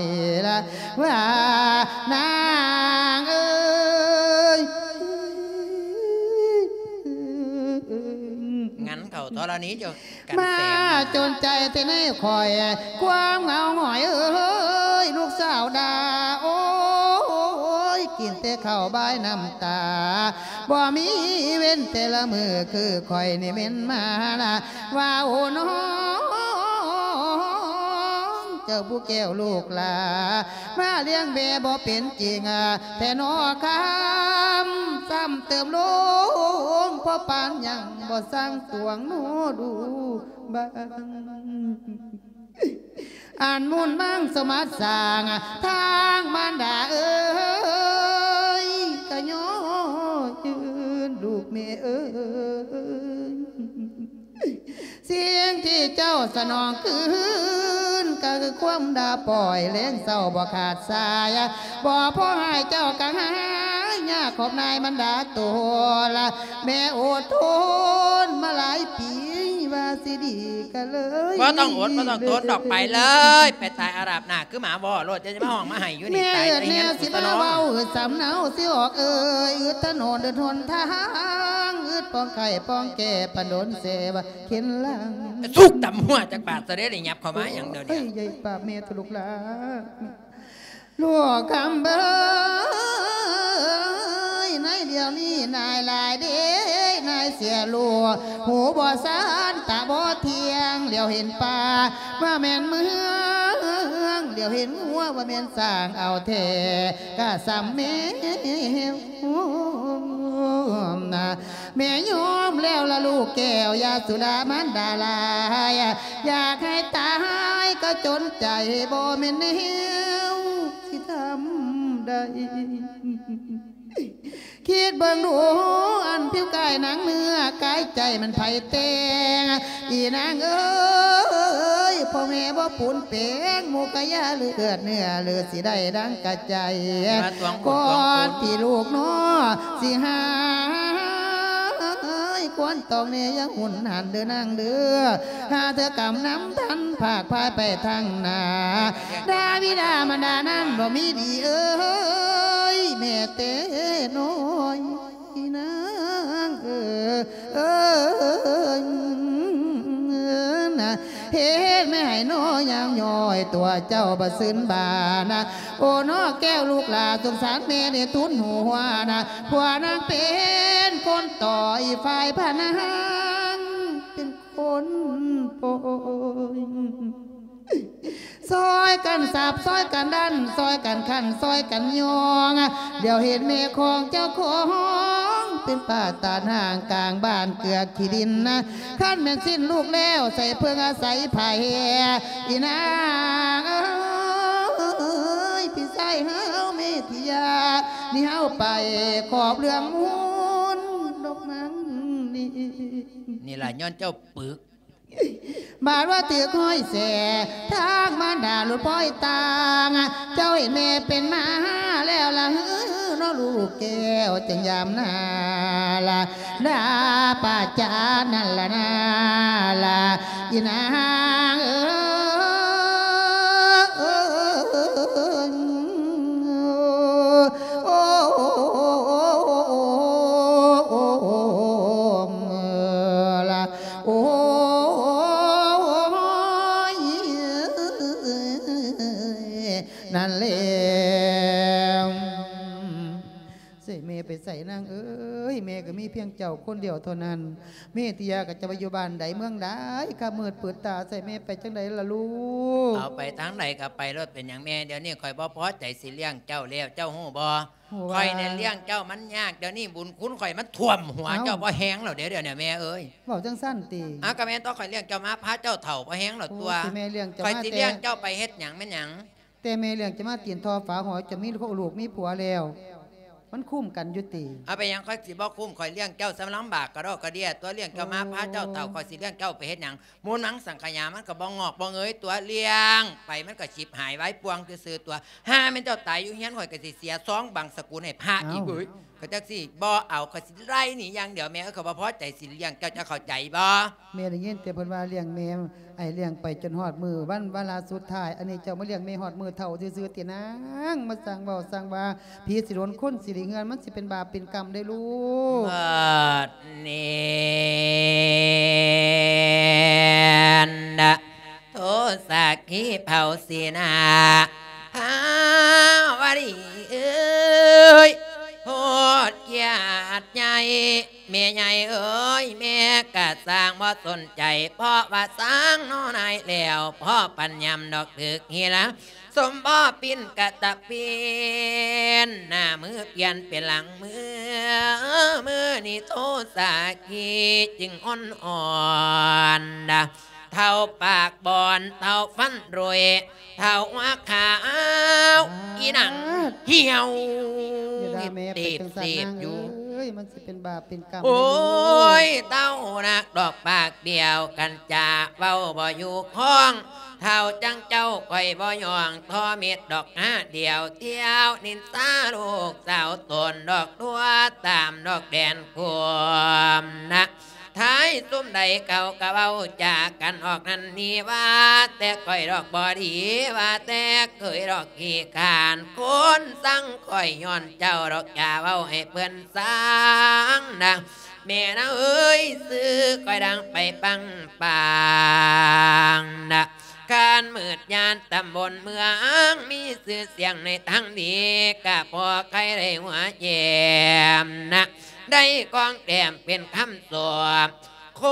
ຍລະ ວ່ານາງເອີຍ. ງານເຂົາທໍລະນີເຈົ້າ ກັນແສງ ມາຈົນໃຈແທ້ໃນຂ້ອຍ ຄວາມເຫງົາຫງອຍເອີຍ ລູກສາວດາ ໂອ້ຍ ກິນແຕ່ເຂົ້າບາຍນ້ຳຕາ ບໍ່ມີເວັ້ນແຕ່ລະມື້ ຄືຂ້ອຍນີ້ແມ່ນມາລະ ວ່າໂອ້ນ້ອງ ເຈົ້າຜູ້ແກ້ວລູກຫຼ້າ ມາລ້ຽງແມ່ບໍ່ເປັນຈິງ ແທ້ໜໍຄຳ ຊ້ຳເຕີມລົງ ພໍປານຫຍັງບໍ່ສັງຕວງໜໍດູບາງ ອັນມູນມັງສະມາດສ້າງ ທາງມານດາເອີຍ ກະຍໍຢືນລູກແມ່ເອີຍ. ສິ່ງທີ່ເຈົ້າສະໜອງຄືນ ກໍຄືຄວາມດ່າປ່ອຍ ແລງເຊົ້າບໍ່ຂາດສາຍ ບໍ່ພໍໃຫ້ເຈົ້າກະຫາຍ ຍາກຂອບນາຍບັນດາໂຕລະ ແມ່ອົດທົນມາຫຼາຍປີ ວ່າຊິດີກະເລີຍ ບໍ່ຕ້ອງອົດ ບໍ່ຕ້ອງທົນດອກ ໄປເລີຍ ໄປຕາຍອາບນ້ຳ ຄືໝາວໍ້ໂລດ ຈະມາຮ້ອງມາໄຫ້ຢູ່ນີ້ ຕາຍແລ້ວ ແມ່ເອີດ ແມ່ຊິມາເວົ້າອຶດສຳເນົາຊິອອກເອີຍ ອຶດຖະໜົນອຶດຫົນທາງ ອຶດປ້ອງໄຂ້ປ້ອງແກ້ ປານດົນເສວ່າເຂັນຫຼັງ ສຸກຕຳຫົວຈັກບາດຊະເດ້ ໄດ້ຫຍັບເຂົ້າມາຫຍັງດຽວນີ້ ເອີຍ ຢ່າປາກແມ່ໂຕລູກຫຼ້າ ລູກຄຳເອີຍ ໃນດຽວນີ້ນາຍຫຼາຍເດ້ ນາຍເສຍລູກ ຫູບໍ່ສານ ຕາບໍ່ທ່ຽງ ຫຼຽວເຫັນປ່າ ວ່າແມ່ນເມືອງ ຫຼຽວເຫັນງົວ ວ່າແມ່ນຊ້າງ ເອົາແທ້ກະສ່ຳແມ່ນາ ແມ່ຍອມແລ້ວລະລູກແກ້ວ ຢ່າສຸລາມານດາຫຼາຍ ຢາກໃຫ້ຕາຍກໍຈົນໃຈ ບໍ່ແມ່ນແນວຊິທຳໄດ້ ຄິດເບິ່ງດູ ອັນຜິວກາຍໜັງເນື້ອ ກາຍໃຈມັນໃຜແຕ່ງ ອີນາງເອີຍ ພໍ່ແມ່ບໍ່ປູນແປງ ໝູ່ກະຢ່າເລືອດເນື້ອ ຫຼືຊິໄດ້ດັ່ງກະໃຈ ກ່ອນທີ່ລູກນ້ອງຊິຫາຍ ຄວນຕ້ອງແນ່ຢ່າຮຸນຫັນເດີນາງເດີ ຫາເທື່ອກຳນຳທັນ ພາກພາຍໄປທາງໜ້າ ດາບິດາມານດານັ້ນບໍ່ມີດີເອີຍ ແມ່ແຕ່ນ້ອຍນາງເອີຍ ເອີຍນະ ເຮັດແມ່ໃຫ້ນ້ອຍຍ່າງຍ້ອຍ ຕົວເຈົ້າບໍ່ຊື່ນບານະ ໂອ້ນ້ອງແກ້ວລູກຫຼ້າ ສົງສານແມ່ໄດ້ທູນຫົວນະ ຜົວນາງເປັນຄົນຕໍ່ ອີກຝ່າຍພະນາງເປັນຄົນປ່ອຍ ຊ່ອຍກັນສາບ ຊ່ອຍກັນດັນ ຊ່ອຍກັນຂັນ ຊ່ອຍກັນຍ້ອງ ດຽວເຫັນແມ່ຂອງເຈົ້າຂອງ ເປັນປ່າຕານຫ້າງກາງບ້ານເກືອກຂີ້ດິນນະ ຄັນແມ່ນສິ້ນລູກແລ້ວ ໃສເພິ່ງອາໄສໃຜ ອີນາງເອີຍ ພີ່ຊາຍເຮົາເມທິຍາ ນີ້ເຮົາໄປຂອບເລື່ອງມູນດອກມັງນີ້ ນີ້ລະຍ້ອນເຈົ້າປຶກ ບາດວ່າຖືກຫ້ອຍແສ ທາງມານດາຫຼຸດພ້ອຍຕ່າງ ເຈົ້າເຫັນແມ່ເປັນມາແລ້ວລະເຮີ ເນາະລູກແກ້ວ ຈັ່ງຍາມໜ້າລະ ດາປາຈານນັ້ນລະນາລະ ອີນາງເອີຍ ໂອ້ ລະ ໂອ້ຍ ນັ້ນແຫຼະ ໃສແມ່ໄປໃສນາງເອີຍ ແມ່ກໍມີພຽງເຈົ້າຄົນດຽວເທົ່ານັ້ນ ເມຕິຍາກໍຈະໄປຢູ່ບ້ານໃດເມືອງໃດ ຄ່ຳມືດປືດຕາໃສ່ແມ່ໄປຈັ່ງໃດລະລູກ ເອົາໄປທາງໃດກໍໄປໂລດ ເປັນຫຍັງແມ່ ດຽວນີ້ຂ້ອຍບໍ່ພໍໃຈຊິລ້ຽງເຈົ້າແລ້ວ ເຈົ້າຮູ້ບໍ່? ຮູ້ວ່າ ຂ້ອຍນີ້ລ້ຽງເຈົ້າມັນຍາກ ດຽວນີ້ບຸນຄຸນຂ້ອຍມັນຖ້ວມຫົວ ເອົ້າ ເຈົ້າບໍ່ແຮງແລ້ວເດ້ ດຽວນີ້ແມ່ເອີຍ ເວົ້າຈັ່ງຊັ້ນຕິ ອ້າວ ກໍແມ່ນຕົວະ ຂ້ອຍລ້ຽງເຈົ້າມາພາແມ່ເຈົ້າເຂົ້າບໍ່ແຮງແລ້ວຕົວະ ໂອ້ຍ ແມ່ລ້ຽງເຈົ້າ ຂ້ອຍຊິລ້ຽງເຈົ້າໄປເຮັດຫຍັງແມ່ນຫຍັງ ແຕ່ແມ່ລ້ຽງເຈົ້າມາຕີນທໍ່ຝາຫົວ ເຈົ້າມີລູກມີຜົວແລ້ວ ມັນຄຸ້ມກັນຢູ່ຕິ? ເອົາ ເປັນຫຍັງຂ້ອຍຊິບໍ່ຄຸ້ມ? ຂ້ອຍລ້ຽງເຈົ້າສ່ຳລຳບາກກະດອກກະເດຍຕົວະ ລ້ຽງເຈົ້າມາພາເຈົ້າເຖົ້າ ຂ້ອຍຊິລ້ຽງເຈົ້າໄປເຮັດຫຍັງ? ມູນມັງສັງຂະຫຍາມັນກະບໍ່ງອກບໍ່ເງີຍຕົວະ ລ້ຽງໄປມັນກະຊິບຫາຍວາຍປ່ວງຊື່ໆຕົວະ. ຫາແມ່ນເຈົ້າຕາຍຢູ່ເຮືອນ ຂ້ອຍກະຊິເສຍຊອງບັງສະກຸນໃຫ້ພະອີກ. ເອີຍ ຂ້ອຍຈັກຊິບໍ່ເອົາ ຂ້ອຍຊິໄລ່ໜີຢ່າງດຽວ ແມ່ເອີຍ ຂ້ອຍບໍ່ພໍໃຈ ຊິລ້ຽງເຈົ້າ ເຈົ້າເຂົ້າໃຈບໍ່? ແມ່ໄດ້ຍິນແຕ່ເພິ່ນວ່າລ້ຽງແມ່ ອ້າຍລ້ຽງໄປຈົນຮອດມື້ວັນວາລະສຸດທ້າຍ ອັນນີ້ເຈົ້າມາລ້ຽງແມ່ຮອດມື້ເຖົ້າຊື່ໆຕິນາງ? ມາສ້າງເວົ້າສ້າງວ່າ ຜີຊິໂດນຄົນຊິໄດ້ເຮືອນ ມັນຊິເປັນບາບເປັນກຳເດ້ລູກ. ບັດນີ້ນະ ໂທສັກຂີເຜົາສີໜ້າ ພາວະດີເອີຍ ໂພດກຽດໃຫຍ່ ແມ່ໃຫຍ່ເອີຍ ແມ່ກະຊ່າງບໍ່ສົນໃຈ ເພາະວ່າຊ່າງນໍນາຍແລ້ວ ພໍປັນຍາມດອກຖືກຮີລາ ສົມພໍປິ່ນກະຕະປິ່ນ ໜ້າມືປ່ຽນເປັນຫຼັງມື ມື້ນີ້ໂທສັກຂີຈຶ່ງອ່ອນອ່ອນ ເຖົ້າປາກບອນ ເຖົ້າຟັນໂຣຍ ເຖົ້າຫົວຂາວ ອີ່ໜັງຫ່ຽວ ຢ່າດ່າແມ່ໄປຈັງຊັ້ນນາງເອີຍ ມັນຊິເປັນບາບເປັນກຳ. ໂອ້ຍ ເຖົ້ານັກດອກປາກບ້ຽວ ຄັນຈະເວົ້າບໍ່ຢູ່ຄອງ ເຖົ້າຈັ່ງເຈົ້າຂ້ອຍບໍ່ຍ້ອງ ທໍ້ມິດດອກຫາດຽວ ທ່ຽວນິນທາລູກສາວຕົນ ດອກຕົວະຕາມດອກແດນຄວາມນະ ທ້າຍຊຸມໃດເຂົາກະເວົ້າຈາກັນອອກນັ້ນນີ້ ວ່າແຕ່ຂ້ອຍດອກບໍ່ດີ ວ່າແຕ່ເຄີຍດອກຂີ້ຄ້ານ ຄົນຊັງຂ້ອຍຍ້ອນເຈົ້າດອກ ຢ່າເວົ້າໃຫ້ເພິ່ນຊັງນະ ແມ່ນາເອີຍ ຊື່ຂ້ອຍດັງໄປປັງປາງນະ ຄານມືດຍານຕຳບົນເມືອງ ມີຊື່ສຽງໃນທາງດີ ກະພໍໃຄ່ໄດ້ຫົວແຍ້ມນະ ໄດ້ກອງແຕ້ມເປັນຄຳສອບ ໂຄ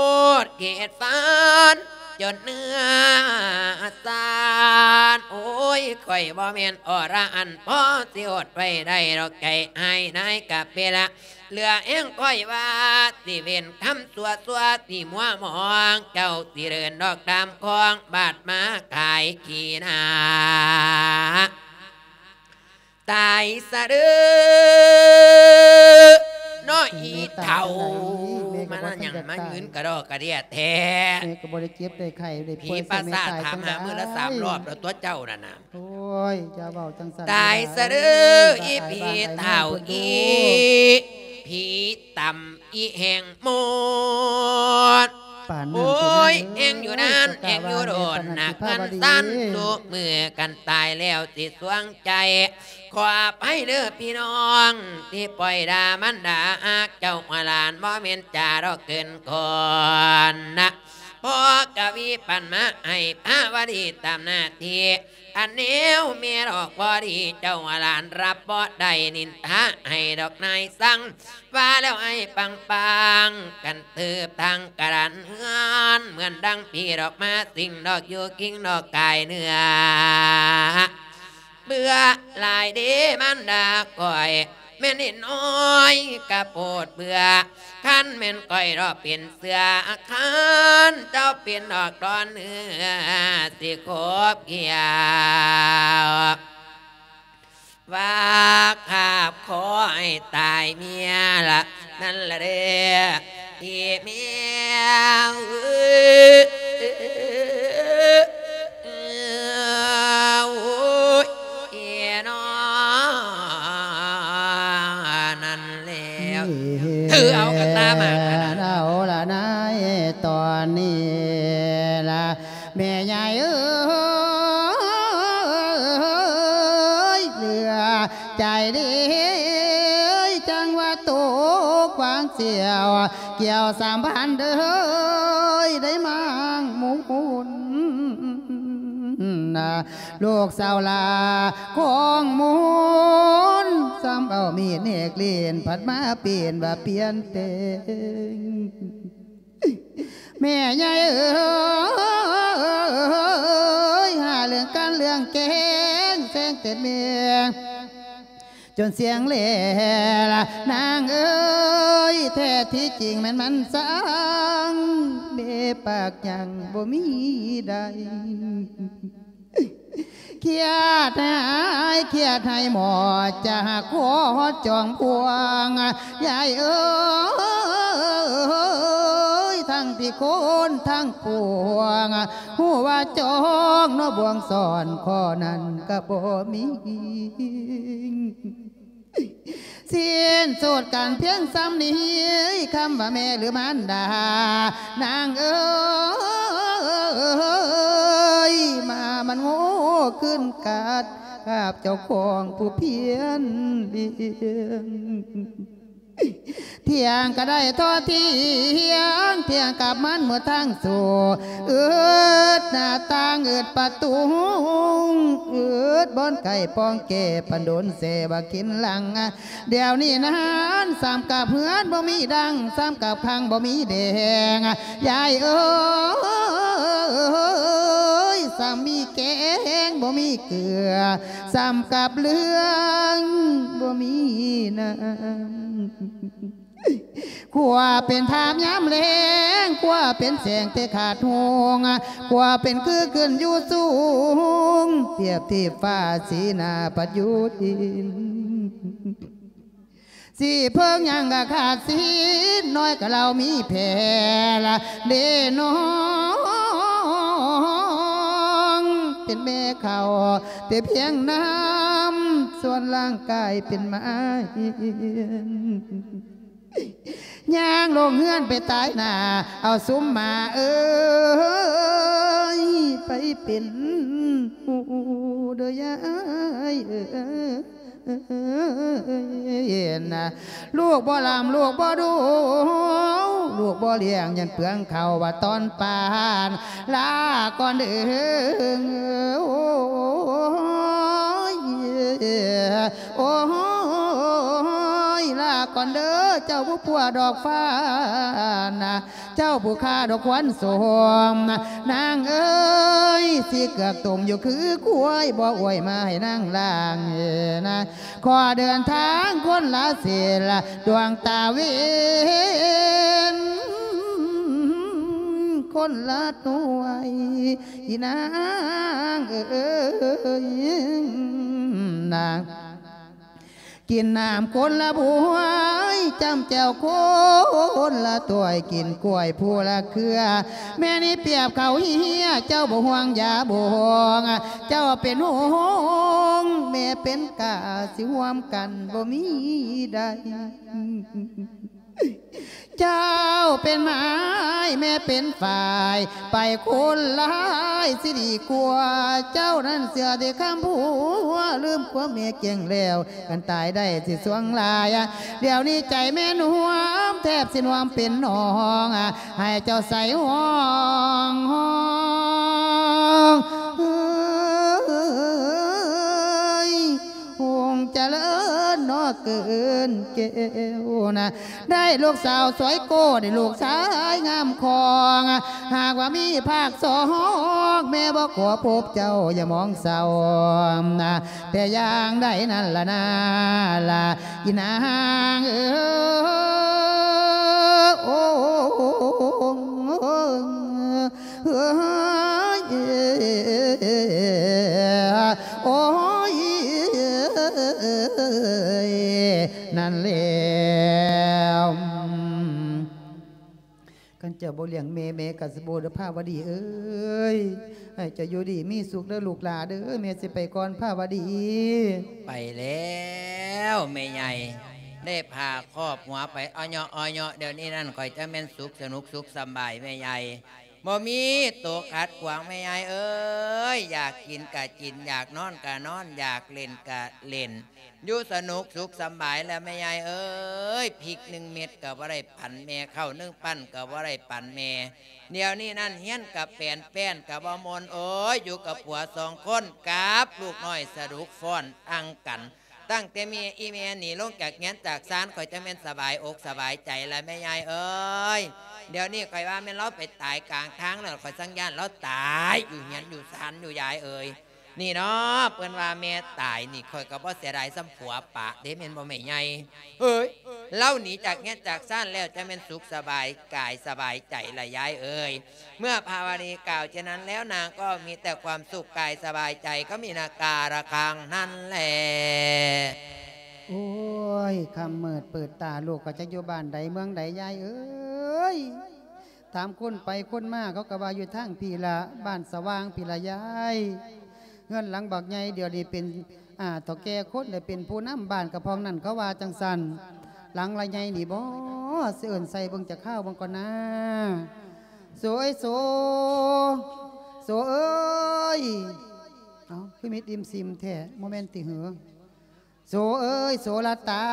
ດເຂດຟານ ຈົນເນື້ອສານ ໂອ້ຍ ຂ້ອຍບໍ່ແມ່ນອໍລະອັນ ພໍຊິອົດໄວ້ໄດ້ດອກ ໃຈອ້າຍນາຍກະເປລະ ເຫຼືອແຮງຂ້ອຍວ່າ ຊິເວັ້ນຄຳຊົ່ວໆ ທີ່ມົວໝອງ ເຈົ້າຊິເດີນດອກຕາມຄອງ ບາດມາຂາຍຂີ້ໜ້າ ຕາຍສະເດີເນາະ ອີເຖົ້າ ມາຫຍັງມາຍືນກະດອກກະເດຍແທ້ ແມ່ກໍບໍ່ໄດ້ເຈັບໄດ້ໄຂ້ໄດ້ປ່ວຍ ຜີປາສາດຖາມຫາມື້ລະສາມຮອບແລ້ວຕົວະເຈົ້ານັ້ນນະ. ໂອ້ຍ ຢ່າເວົ້າຈັ່ງຊັ້ນ ຕາຍສະເດີ ອີ່ຜີເຖົ້າ ອີ່ຜີຕຳ ອີ່ແຮງໝົດ ໂອ້ຍ ແຮງຢູ່ນານ ແຮງຢູ່ດົນນະ ເງິນຊັ້ນ ຊຸມື້ກັນຕາຍແລ້ວຊິສວງໃຈ ຂໍອະໄພເດີພີ່ນ້ອງ ທີ່ປ່ອຍດ່າມັນດ່າຮັກເຈົ້າຫົວຫຼານ ບໍ່ແມ່ນຈາດອກເກີນຄອນນະ ພໍ່ກະວີປັນມາໃຫ້ພາວະດີຕາມໜ້າທີ່ ອັນແນວແມ່ດອກບໍ່ດີ ເຈົ້າວ່າຫຼານຮັບບໍ່ໄດ້ ນິນທາໃຫ້ດອກນາຍຊັງ ວ່າແລ້ວອ້າຍປັງໆ ກັນເຕີບທາງກະດານເຮືອນ ເໝືອນດັ່ງຜີດອກມາສິງ ດອກຢູ່ຄິງດອກກາຍເນື້ອ ເບື່ອຫຼາຍເດມານດາຂ້ອຍ ແມ່ນເດັກນ້ອຍກະໂພດເບື່ອ ຄັນແມ່ນຂ້ອຍດອກເປັນເສືອ ຄັນເຈົ້າເປັນດອກດອນເນື້ອ ຊິຂົບຂຽວ ວ່າຂາບຂໍໃຫ້ຕາຍເມຍລະ ນັ້ນລະເດີ ອີເມຍ ໂອ້ຍ ເອີນອ ນັ້ນແລ້ວ ຖືເອົາກະຕາໝາກອັນນັ້ນ ເອົາລະນາຍ ຕອນນີ້ລະ ແມ່ໃຫຍ່ເອີຍ ເຫຼືອໃຈເດ ຈັ່ງວ່າຕົກຫວ່າງສຽວ ກ່ຽວສາມພັນເດີ ໄດ້ມາງມຸນ ລູກສາວຫຼ້າຂອງມຸນ ສ່ຳເອົາມີດແນກຫຼິ້ນ ພັດມາປ່ຽນວ່າປ່ຽນແປງ ແມ່ໃຫຍ່ເອີຍ ຫາເລື່ອງການເລື່ອງແກງ ແຊງແຕ່ແມ່ ຈົນສຽງແລລະນາງເອີຍ ແທ້ທີ່ຈິງແມ່ນມັນສັງ ແມ່ປາກຫຍັງບໍ່ມີໃດ ຄຽດໃຫ້ ຄຽດໃຫ້ໝໍ ຈະຫາກຂໍຈອງພວງ ຍາຍເອີຍ ທັງທີ່ຄົນທັງພວງ ຮູ້ວ່າຈອງເນາະ ບ່ວງສອນຂໍ້ນັ້ນກໍບໍ່ມີ. ສິ້ນສຸດກັນພຽງສ່ຳນີ້ ຄຳວ່າແມ່ຫຼືມານດາ ນາງເອີຍ ມາມັນໂງ່ຂຶ້ນກັດ ກັບເຈົ້າຂອງຜູ້ພຽນລ້ຽງ. ທ່ຽງກໍໄດ້ທໍ່ທ່ຽງ ທ່ຽງກັບມັນໝົດທັງໂສ ອຶດໜ້າຕ່າງ ອຶດປະຕູ ອຶດບ່ອນໄກ່ປ່ອງແກ້ ປານດົນແຊ່ວ່າກິນຫຼັງ. ດຽວນີ້ນັ້ນ ສ່ຳກັບເຮືອນບໍ່ມີດັງ ສ່ຳກັບຄັງບໍ່ມີແດງ ຍາຍເອີຍ ສ່ຳມີແກງບໍ່ມີເກືອ ສ່ຳກັບເລື່ອງບໍ່ມີນ້ຳ. ຂົວເປັນທາບຍາມແລ້ງ ຂົວເປັນແສງແຕ່ຂາດຮຸ່ງ ຂົວເປັນຄືຂຶ້ນຢູ່ສູງ ທຽບທີ່ຟ້າ ສີໜ້າປັດຢູ່ດິນ. ສີເພິ່ງຍັງກະຂາດສີ ນ້ອຍກະເລົ່າມີແຜ່ລະເດນ້ອງ ເປັນແມ່ເຂົ້າແຕ່ພຽງນ້ຳ ສ່ວນຮ່າງກາຍເປັນໝາຮຽນ. ຍ່າງລົງເຮືອນໄປຕາຍໜ້າ ເອົາຊຸມໝາເອີຍ ໄປເປັນໝູ່ເດີຍາຍເອີຍ. ເອີຍນະ ລູກບໍ່ລ້ຳລູກບໍ່ດູ ລູກບໍ່ລ້ຽງ ຢ້ານເປືອງເຂົ້າວ່າຕອນປານ ລາກ່ອນເດີ ໂອ້ຍ ໂອ້ຍ ລາກ່ອນເດີ ເຈົ້າຜູ້ປົວດອກຟ້ານະ ເຈົ້າຜູ້ຄາດອກຄວັນໂສມ ນາງເອີຍ ສີເກືອກຕົມຢູ່ຄືຄວາຍ ບໍ່ອວຍມາໃຫ້ນາງລ້າງເນາະ. ຂໍເດີນທາງຄົນລະເສັ້ນ ດວງຕາເວັນຄົນລະໜ່ວຍ ອີນາງເອີຍ ນາງ ກິນນ້ຳຄົນລະບວຍ ຈ້ຳແຈ່ວຄົນລະຖ້ວຍ ກິນກ້ວຍຜູ້ລະເຄືອ ແມ່ນີ້ປຽບເຂົ້າເຫຍ ເຈົ້າບໍ່ຫ່ວງຢາບໍ່ຫ່ວງ ເຈົ້າເປັນຫົງ ແມ່ເປັນກ້າ ຊິຮ່ວມກັນບໍ່ມີໄດ້. ເຈົ້າເປັນໄມ້ ແມ່ເປັນຝ້າຍ ໄປຄົນລະໄມ້ຊິດີກວ່າ ເຈົ້ານັ້ນເຊື່ອແຕ່ຄຳຜົວ ລືມຄວາມແມ່ກ້ຽງແລ້ວ ຄັນຕາຍໄດ້ຊິສ່ວງຫຼາຍ ດຽວນີ້ໃຈແມ່ນຫ່ວງ ແທບຊິນວມເປັນໜອງ ໃຫ້ເຈົ້າໃສ່ຮ່ອງ ຮ່ອງ ເອີຍ ຮຸ່ງຈະເລີນເນາະເກີນແກ້ວນະ ໄດ້ລູກສາວສວຍໂກ້ ໄດ້ລູກຊາຍງາມຄອງ ຫາກວ່າມີພາກສອງ ແມ່ບໍ່ຂໍພົບເຈົ້າຢ່າມອງເສົ້ານະ ແຕ່ຢ່າງໃດນັ້ນລະນາລະ ອີນາງເອີຍ ໂອ້ ເອີຍ ໂອ້ຍ ນັ້ນແລ້ວ ຄັນເຈົ້າບໍ່ລ້ຽງແມ່ ແມ່ກໍຊິບໍ່ໄດ້ພາວະດີເອີຍ ໃຫ້ເຈົ້າຢູ່ດີມີສຸກເດີລູກຫຼ້າເດີ ແມ່ຊິໄປກ່ອນພາວະດີ. ໄປແລ້ວແມ່ໃຫຍ່ ໄດ້ຜ້າຄອບຫົວໄປ ອອຍເຍາະ ອອຍເຍາະ ດຽວນີ້ນັ້ນຂ້ອຍຈະແມ່ນສຸກສະໜຸກສຸກສະບາຍແມ່ໃຫຍ່. ບໍ່ມີໂຕຂັດຂວາງແມ່ໃຫຍ່ເອີຍ ຢາກກິນກະກິນ ຢາກນອນກະນອນ ຢາກຫຼິ້ນກະຫຼິ້ນ ຢູ່ສະໜຸກສຸກສະບາຍແລ້ວແມ່ໃຫຍ່ເອີຍ ພິກໜຶ່ງເມັດກະບໍ່ໄດ້ປັນແມ່ ເຂົ້າໜຶ່ງປັ້ນກະບໍ່ໄດ້ປັນແມ່ ດຽວນີ້ນັ້ນຮຽນກະແປນ ແປ້ນກະບໍ່ມ່ວນ ໂອ້ຍ ຢູ່ກັບຜົວສອງຄົນ ກັບລູກນ້ອຍສະດຸກຟ້ອນອັ່ງກັນ. ຕັ້ງແຕ່ແມ່ ອີແມ່ນີ້ລົງຈາກເຮືອນຈາກຊານ ຂ້ອຍຈັ່ງແມ່ນສະບາຍອົກສະບາຍໃຈລະແມ່ໃຫຍ່ເອີຍ. ດຽວນີ້ຂ້ອຍວ່າແມ່ນລາວໄປຕາຍກາງທາງແລ້ວ ຂ້ອຍຈັ່ງຢ້ານລາວຕາຍຢູ່ເຮືອນຢູ່ຊານຢູ່ຍາຍເອີຍ. ນີ້ເນາະ ເພິ່ນວ່າແມ່ຕາຍນີ້ ຂ້ອຍກໍບໍ່ເສຍດາຍສ່ຳຜົວປະເດ້ ແມ່ນບໍ່ແມ່ໃຫຍ່ເອີຍ? ລາວໜີຈາກເຮືອນຈາກຊານແລ້ວ ຈະແມ່ນສຸກສະບາຍກາຍສະບາຍໃຈລະຍາຍເອີຍ. ເມື່ອພາວະລີກ່າວເຊັ່ນນັ້ນແລ້ວ ນາງກໍມີແຕ່ຄວາມສຸກກາຍສະບາຍໃຈ ກໍມີນາກາລະຄັງນັ້ນແຫຼະ. ໂອ້ຍ ຄ່ຳມືດເປີດຕາ ລູກກໍຈັກຢູ່ບ້ານໃດເມືອງໃດ ຍາຍເອີຍ. ຖາມຄົນໄປຄົນມາ ເຂົາກໍວ່າຢູ່ທາງພີ້ລະ ບ້ານສະຫວ່າງພີ້ລະຍາຍ. ເຮືອນຫຼັງບັກໃຫຍ່ ດຽວນີ້ເປັນ ອາ ເຖົ້າແກ່ຄົນໄດ້ເປັນຜູ້ນຳບ້ານ ກະພອງນັ້ນເຂົາວ່າຈັ່ງຊັ້ນ. ຫຼັງລະໃຫຍ່ນີ້ບໍ ຊິເອີ້ນໃສ່ເບິ່ງຈັກຄາວເບິ່ງກ່ອນນາ. ໂສເອີຍໂສ ໂສເອີຍ. ເອົ້າ ຄືມິດອີ່ມຊິມແທ້ ບໍ່ແມ່ນຕິເຫີ? ໂສເອີຍ ໂສລະຕາ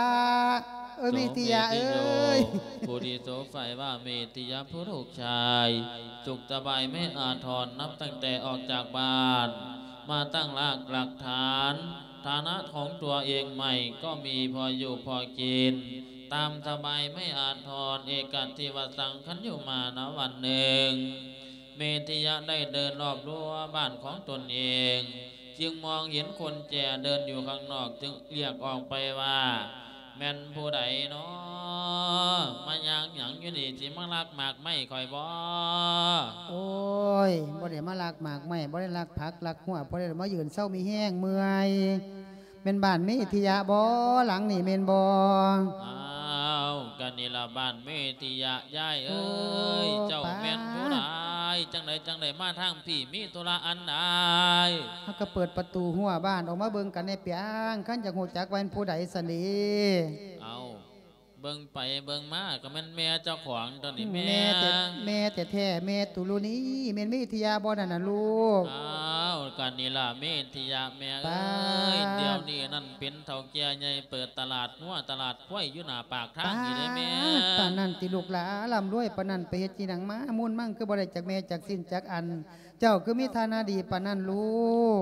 ເອີຍ ໂສເມທິຍະເອີຍ ເມທິໂຍ ຜູ້ທີ່ໂສໃຝ່ວ່າເມທິຍະຜູ້ລູກຊາຍ ສຸກສະບາຍແມ່ອາທອນ ນັບຕັ້ງແຕ່ອອກຈາກບ້ານ ມາຕັ້ງຮາກຫຼັກຖານ ຖານະຂອງຕົວເອງໃໝ່ກໍມີພໍຢູ່ພໍກິນ ຕາມສະບາຍແມ່ອາທອນ ເອກະທິວະສັງ ຄັນຢູ່ມານະວັນໜຶ່ງ ເມທິຍະໄດ້ເດີນລອບຮົ້ວບ້ານຂອງຕົນເອງ ຈຶ່ງມອງເຫັນຄົນແຈເດີນຢູ່ຂ້າງນອກ ຈຶ່ງລຽກອອກໄປວ່າ ແມ່ນຜູ້ໃດນໍ ມາຍ່າງຫຍັງຢູ່ນີ້ ຊິມາລັກໝາກໄມ້ຂ້ອຍບໍ? ໂອ້ຍ ບໍ່ໄດ້ມາລັກໝາກໄມ້ ບໍ່ໄດ້ລັກຜັກລັກຫົວ ບໍ່ໄດ້ມາຢືນເຊົາມີແຮງເມື່ອຍ. ແມ່ນບ້ານເມທິຍະບໍ ຫຼັງນີ້ແມ່ນບໍ່? ອ້າວ ກະນີ້ລະບ້ານເມທິຍະ ຍາຍເອີຍ. ໂອ້ ເຈົ້າແມ່ນຜູ້ໃດ? ປາດ ຈັ່ງໃດຈັ່ງໃດມາທາງພີ້ ມີທຸລະອັນໃດ? ເຮົາກໍເປີດປະຕູຮົ້ວບ້ານອອກມາເບິ່ງກັນແດ່ ປຽງ ຄັນຢາກຮູ້ຈັກວ່າແມ່ນຜູ້ໃດຊັ້ນເດ. ເອົ້າ ເບິ່ງໄປເບິ່ງມາກໍແມ່ນແມ່ເຈົ້າຂອງຕົວນີ້ແມ່. ແມ່ແທ້ໆ ແມ່ຕຸລຸນີ ແມ່ນເມທິຍະບໍ່ນັ້ນນະລູກ? ອ້າວ ກະນີ້ລະເມທິຍະແມ່ເອີຍ. ປາດ ດຽວນີ້ນັ້ນເປັນເຖົ້າແກ່ໃຫຍ່ເປີດຕະຫຼາດງົວຕະຫຼາດຄວາຍຢູ່ໜ້າປາກທາງນີ້ເດ້ແມ່. ປາດ ປານນັ້ນຕິລູກຫຼາ ລ່ຳລວຍປານນັ້ນ ໄປເຮັດອີ່ຫຍັງມາ ມູນມັງຄືບໍ່ໄດ້ຈັກແມ່ຈັກຊິ້ນຈັກອັນ ເຈົ້າຄືມີຖານະດີປານນັ້ນລູ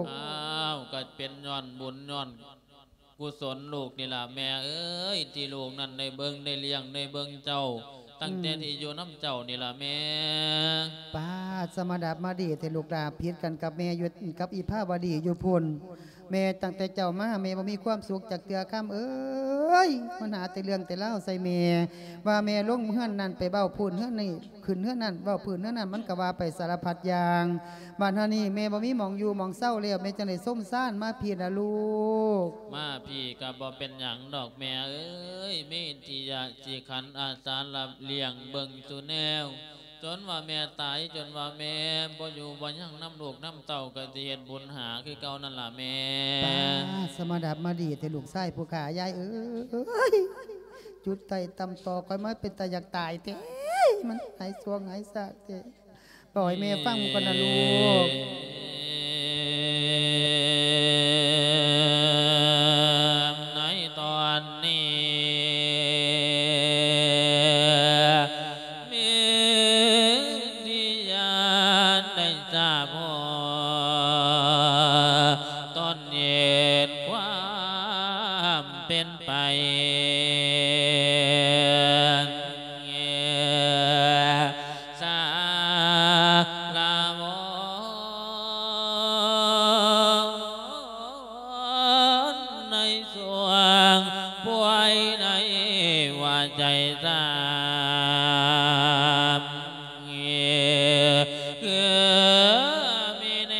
ກ? ອ້າວ ກໍເປັນຍ້ອນບຸນຍ້ອນ ກຸສົນລູກນີ້ລະແມ່ເອີຍ ທີ່ລູກນັ້ນໄດ້ເບິ່ງໄດ້ລ້ຽງໄດ້ເບິ່ງເຈົ້າ ຕັ້ງແຕ່ ອືມ ທີ່ຢູ່ນຳເຈົ້ານີ້ລະແມ່. ປາດ ສະມາດັບມາດີແທ້ລູກຫຼາ ຜິດກັນກັບແມ່ຢູ່ ກັບອີພາວະດີຢູ່ພຸ້ນ. ແມ່ຕັ້ງແຕ່ເຈົ້າມາ ແມ່ບໍ່ມີຄວາມສຸກຈັກເທື່ອຄຳເອີຍ ມັນຫາແຕ່ເລື່ອງແຕ່ລາວໃສ່ແມ່ ວ່າແມ່ລົງເຮືອນນັ້ນໄປເວົ້າພື້ນເຮືອນນີ້ ຂຶ້ນເຮືອນນັ້ນ ເວົ້າພື້ນເຮືອນນັ້ນ ມັນກໍວ່າໄປສາລະພັດຢ່າງ. ບາດເຮົານີ້ແມ່ບໍ່ມີໝ່ອງຢູ່ໝ່ອງເຊົາແລ້ວ ແມ່ຈັ່ງໄດ້ສົມຊານມາພີ້ລະລູກ? ມາພີ້ກໍບໍ່ເປັນຫຍັງດອກແມ່ເອີຍ ມີທີ່ຢາກຊິຂັນອາສາຮັບລ້ຽງເບິ່ງສູ່ແນວ ຈົນວ່າແມ່ຕາຍ ຈົນວ່າແມ່ບໍ່ຢູ່ບໍ່ຍັງນຳລູກນຳເຕົ້າ ກໍຊິເຮັດບຸນຫາຄືເກົ່ານັ້ນລະແມ່. ປາດ ສະມາດັບມາດີແທ້ລູກຊາຍຜູ້ຂ້າ ຍາຍເອີຍ. ຈຸດໄຕ້ຕຳຕໍຂ້ອຍມາເປັນຕາຢາກຕາຍແທ້ ມັນຫາຍຊ່ວງຫາຍຊາກແທ້. ເວົ້າໃຫ້ແມ່ຟັງກ່ອນນະລູກ. ໃນຕອນນີ້ ເມທິຍາໄດ້ຊາບຮອດ ຕອນເຫັນຄວາມ ເປັນໄປ ສາລະວອນ ໃນຊ່ວງປ່ວຍໃນຫົວໃຈສາມ ເອີ ຄືມີແນ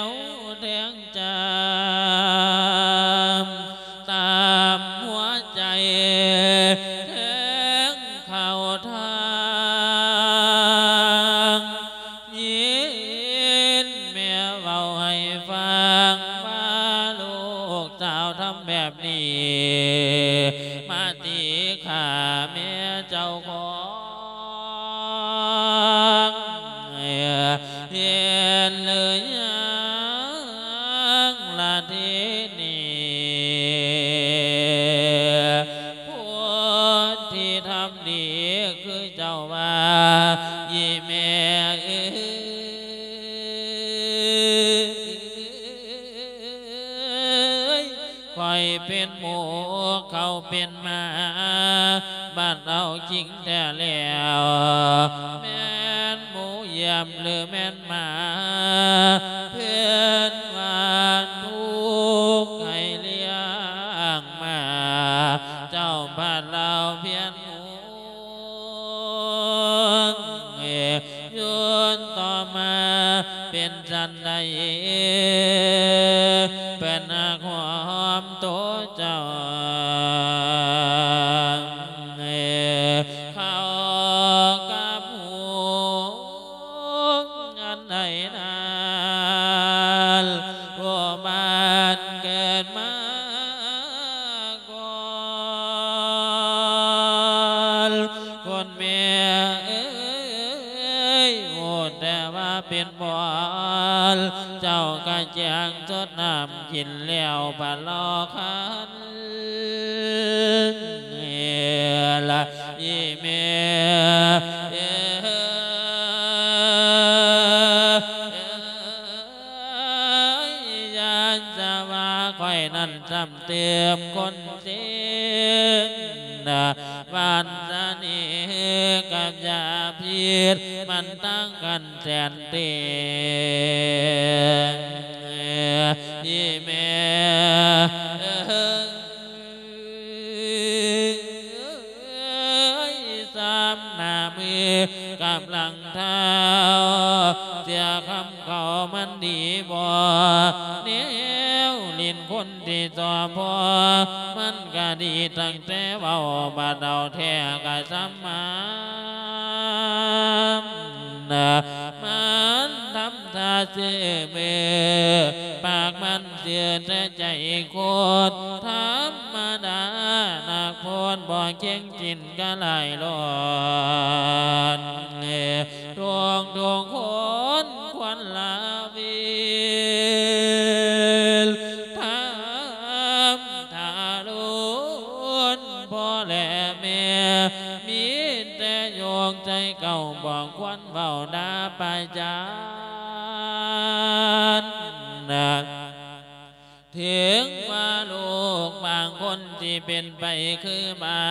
ວແທງຈາມ ຕາມຫົວໃຈແທງເຂົ້າທາງ ຍິນແມ່ເວົ້າໃຫ້ຟັງ ວ່າລູກສາວທຳແບບນີ້ ມາຕີຂ້າແມ່ເຈົ້າຂອງ ເຫັນຫຼືຍັງລະທີນີ້ ຜູ້ທີ່ທຳດີຄືເຈົ້າວ່າ ອີ່ແມ່ເອີຍ ຂ້ອຍເປັນໝູ ເຂົາເປັນໝາ ບັດເອົາຈິງແທ້ແລ້ວ ແມ່ນໝູຢ້ຽມຫຼືແມ່ນໝາ ເພິ່ນວ່າທຸກໃຫ້ລ້ຽງໝາ ເຈົ້າ ພະລາວພຽນຫົວ ຍືນຕໍ່ມາເປັນ ອັນໃດເພິ່ນຫາກຫອມໂຕເຈົ້າ ເຂົາກັບຫູອັນໃດນັ້ນ ຜູ້ບ້ານເກີດມາ ກ່ອນ ຄົນແມ່ເອີຍ ຮູ້ແຕ່ວ່າເປັນບ່ອນ ເຈົ້າກະແຈ້ງຊົດນ້ຳກິນແລ້ວ ພະລາວຄັນ ລະອີແມ່ເອີຍ ຢ້ານຈະວ່າຂ້ອຍນັ້ນຈຳ ເຕີມຄົນເຈັບ ຫວານສະເໜ່ກັບຢາພິດ ມັນຕ່າງກັນແສນເຕີ ອີແມ່ເອີຍ ສາມໜ້າມືກັບຫຼັງ ທ້າວເສຍຄຳເຂົາມັນດີບໍ່ ແນວຫຼິ້ນຄົນທີ່ຊອບພໍ ມັນກະດີຕັ້ງແຕ່ເວົ້າ ບາດເອົາແທ້ກະສຳມານ ມັນທຳທ່າຊື່ມື ປາກມັນຊື່ແຕ່ໃຈໂຄດ ທຳມະດານັກໂພດ ບໍ່ເກັ່ງຈິນກະຫຼາຍຫຼອນ ທຸກໆຄົນຄວນລາວິນ ທຳທາລຸນພໍ່ແລະແມ່ ມີແຕ່ໂຍກໃຈເກົ່າ ບໍ່ຄວນເວົ້າດ່າປະຈານ ເຖິງວ່າລູກບາງຄົນຊິເປັນໄປຄືບາ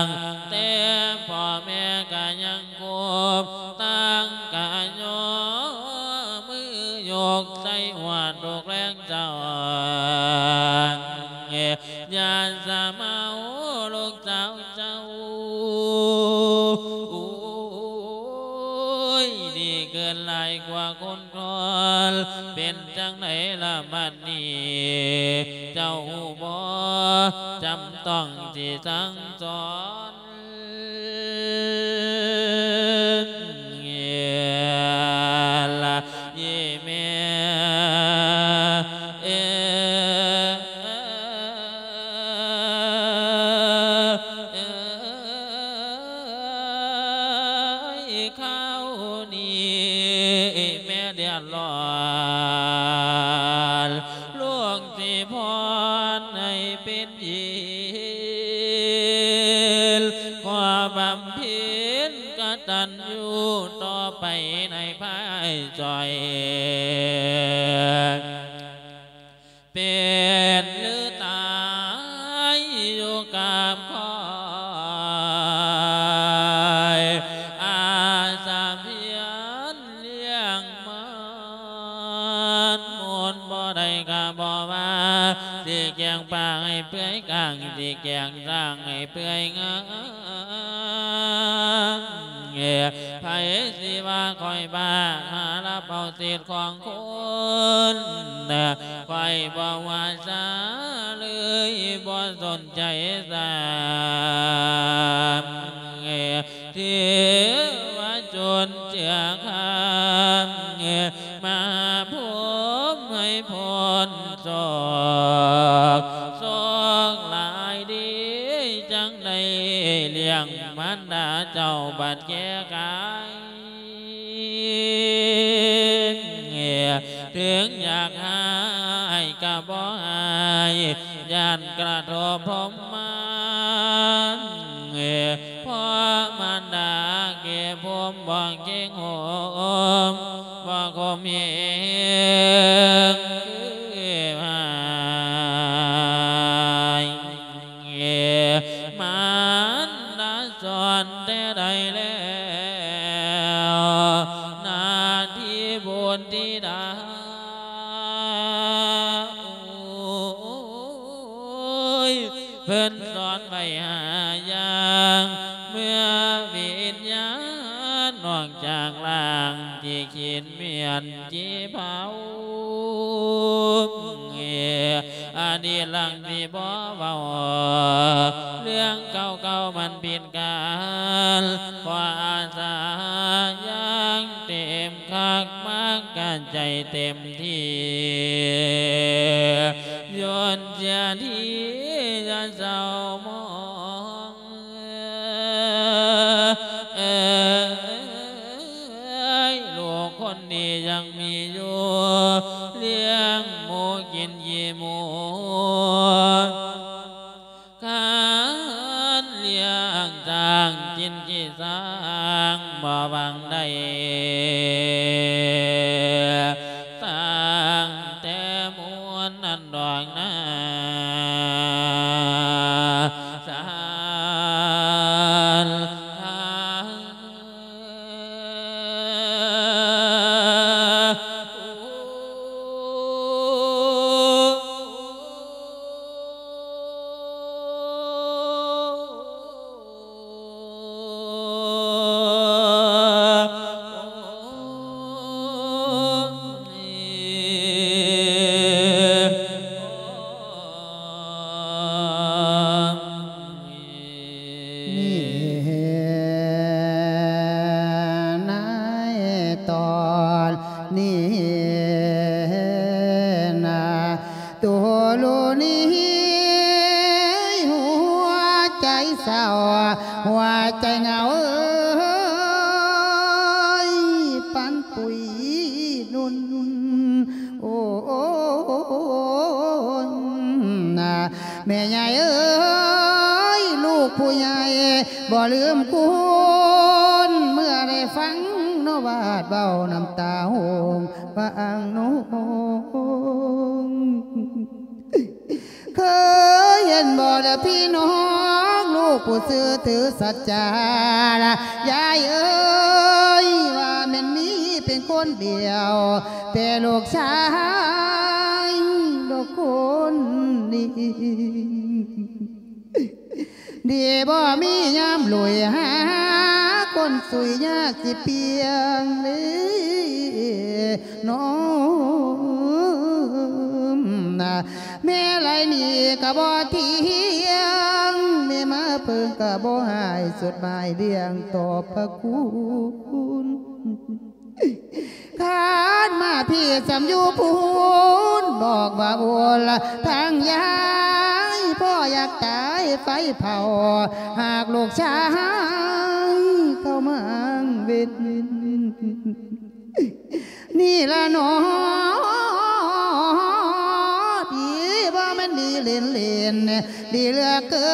ງ ແຕ່ພໍ່ແມ່ກະຍັງຄົບ ຕ່າງກະຍໍມືຍົກໃສ່ຫົວທຸກແລງເຊົ້າ ຢ່າສະເມົາລູກສາວເຈົ້າ ໂອ້ຍ ດີເກີນຫຼາຍກວ່າຄົນ ກ່ອນ ເປັນຈັ່ງໃດລະບັດນີ້ ເຈົ້າຮູ້ບໍ່ ຈຳຕ້ອງຊິສັ່ງສອນ ລະອີແມ່ເອີຍ ຄາວນີ້ແມ່ເດືອດຮ້ອນ ຫຼວງຊິພອນໃຫ້ເປັນເຢັນ ຂໍບຳເພັນກະຕັນຍູຕໍ່ໄປໃນພາຍຊ່ອຍ ເປັນຫຼືຕາຍຢູ່ກັບຂ້ອຍ ອາສາພຽນລ້ຽງມັນ ໝົດບໍ່ໄດ້ກະບໍ່ວ່າ ຊິແກງປາໃຫ້ເປື່ອຍກ້າງ ຊິແກງຊ້າງໃຫ້ເປື່ອຍງາ ໃຜຊິວ່າຂ້ອຍບ້າ ຫາລັບເອົາສິດຂອງຄົນ ຂ້ອຍບໍ່ວ່າຊາເລີຍ ບໍ່ສົນໃຈຊ້ຳ ເທວະຊົນເຈື່ອຄຳ ມາພົມໃຫ້ພົ້ນໂສກ ໂສກຫຼາຍດີ ຈັ່ງໄດ້ລ້ຽງມານດາເຈົ້າບັດແກ່ກາຍ ເຖິງຢາກຮ້າຍກະບໍ່ຮ້າຍ ຢ້ານກະທົບພົມມານ ເພາະມານດາເກັບຜົມບໍ່ເກັງຫົມ ບໍ່ຂົ່ມເຫງຄືຫາຍ ມານດາສອນແຕ່ໃດແລ້ວ ໜ້າທີ່ບຸດທິດາ ໂອ້ຍ ເພິ່ນສອນ ໄປຫາຢ່າງ ເມື່ອວິນຍານອອກຈາກຮ່າງທີ່ຄິດ ແມ່ນທີ່ເຜົາ ອະດີດຫຼັງທີ່ບໍ່ເວົ້າ ເລື່ອງເກົ່າໆມັນຜິດການ ເພາະອາສາຍັງເຕັມຄັກ ມັກກະໃຈເຕັມທີ່ ຢ້ອນເສຍທີຢ່າເສົ້າໝອງ ເອີຍ ລູກຄົນດີຍັງມີຢູ່ ລ້ຽງໝູກິນຂີ້ໝູ ຄັນລ້ຽງຊ້າງກິນຂີ້ຊ້າງ ບໍ່ຫວັງໄດ້ ຕັ້ງແຕ່ມູນນັ້ນດອກນາ ສານທາ ນີ້ ໃນຕອນນີ້ນະ ໂຕໂລນີ້ ຫົວໃຈເສົ້າ ຫົວໃຈເຫງົາເອີຍ ປັນປຸຍນຸ່ນ ໂອ້ ນະ ແມ່ໃຫຍ່ເອີຍ ລູກຜູ້ໃຫຍ່ບໍ່ລືມຄຸນ ເມື່ອໄດ້ຟັງນ້ອງວາດເວົ້າ ນ້ຳຕາຫົ່ງພາອາງນົງ ເຄີຍເຫັນບໍ່ລະພີ່ນ້ອງ ລູກຜູ້ຊື່ຖືສັດຈາລະ ຍາຍເອີຍ ວ່າແມ່ນມີເປັນຄົນດຽວ ແຕ່ລູກຊາຍດອກຄົນນີ້ ດີບໍ່ມີຍາມລຸຍຫາຄົນສຸຍ ຍາກຊິປ່ຽງເດ້ນ້ອງນະ ແມ່ໄຫຼນີ້ກະບໍ່ທ່ຽງ ແມ່ມາເພິ່ງກະບໍ່ຫາຍ ສຸດໝາຍລ້ຽງຕອບພະຄຸນ. ຄັນມາພີ້ສ່ຳຢູ່ພຸ້ນ ບອກວ່າໂອລະທາງຍາຍ ພໍ່ຢາກຕາຍໄຟເຜົາ ຫາກລູກຊາຍເຂົ້າມາເວັນ ນີ້ລະໜໍ ດີບໍ່ແມ່ນດີເຫຼັ້ນໆ ດີເຫຼືອເກີ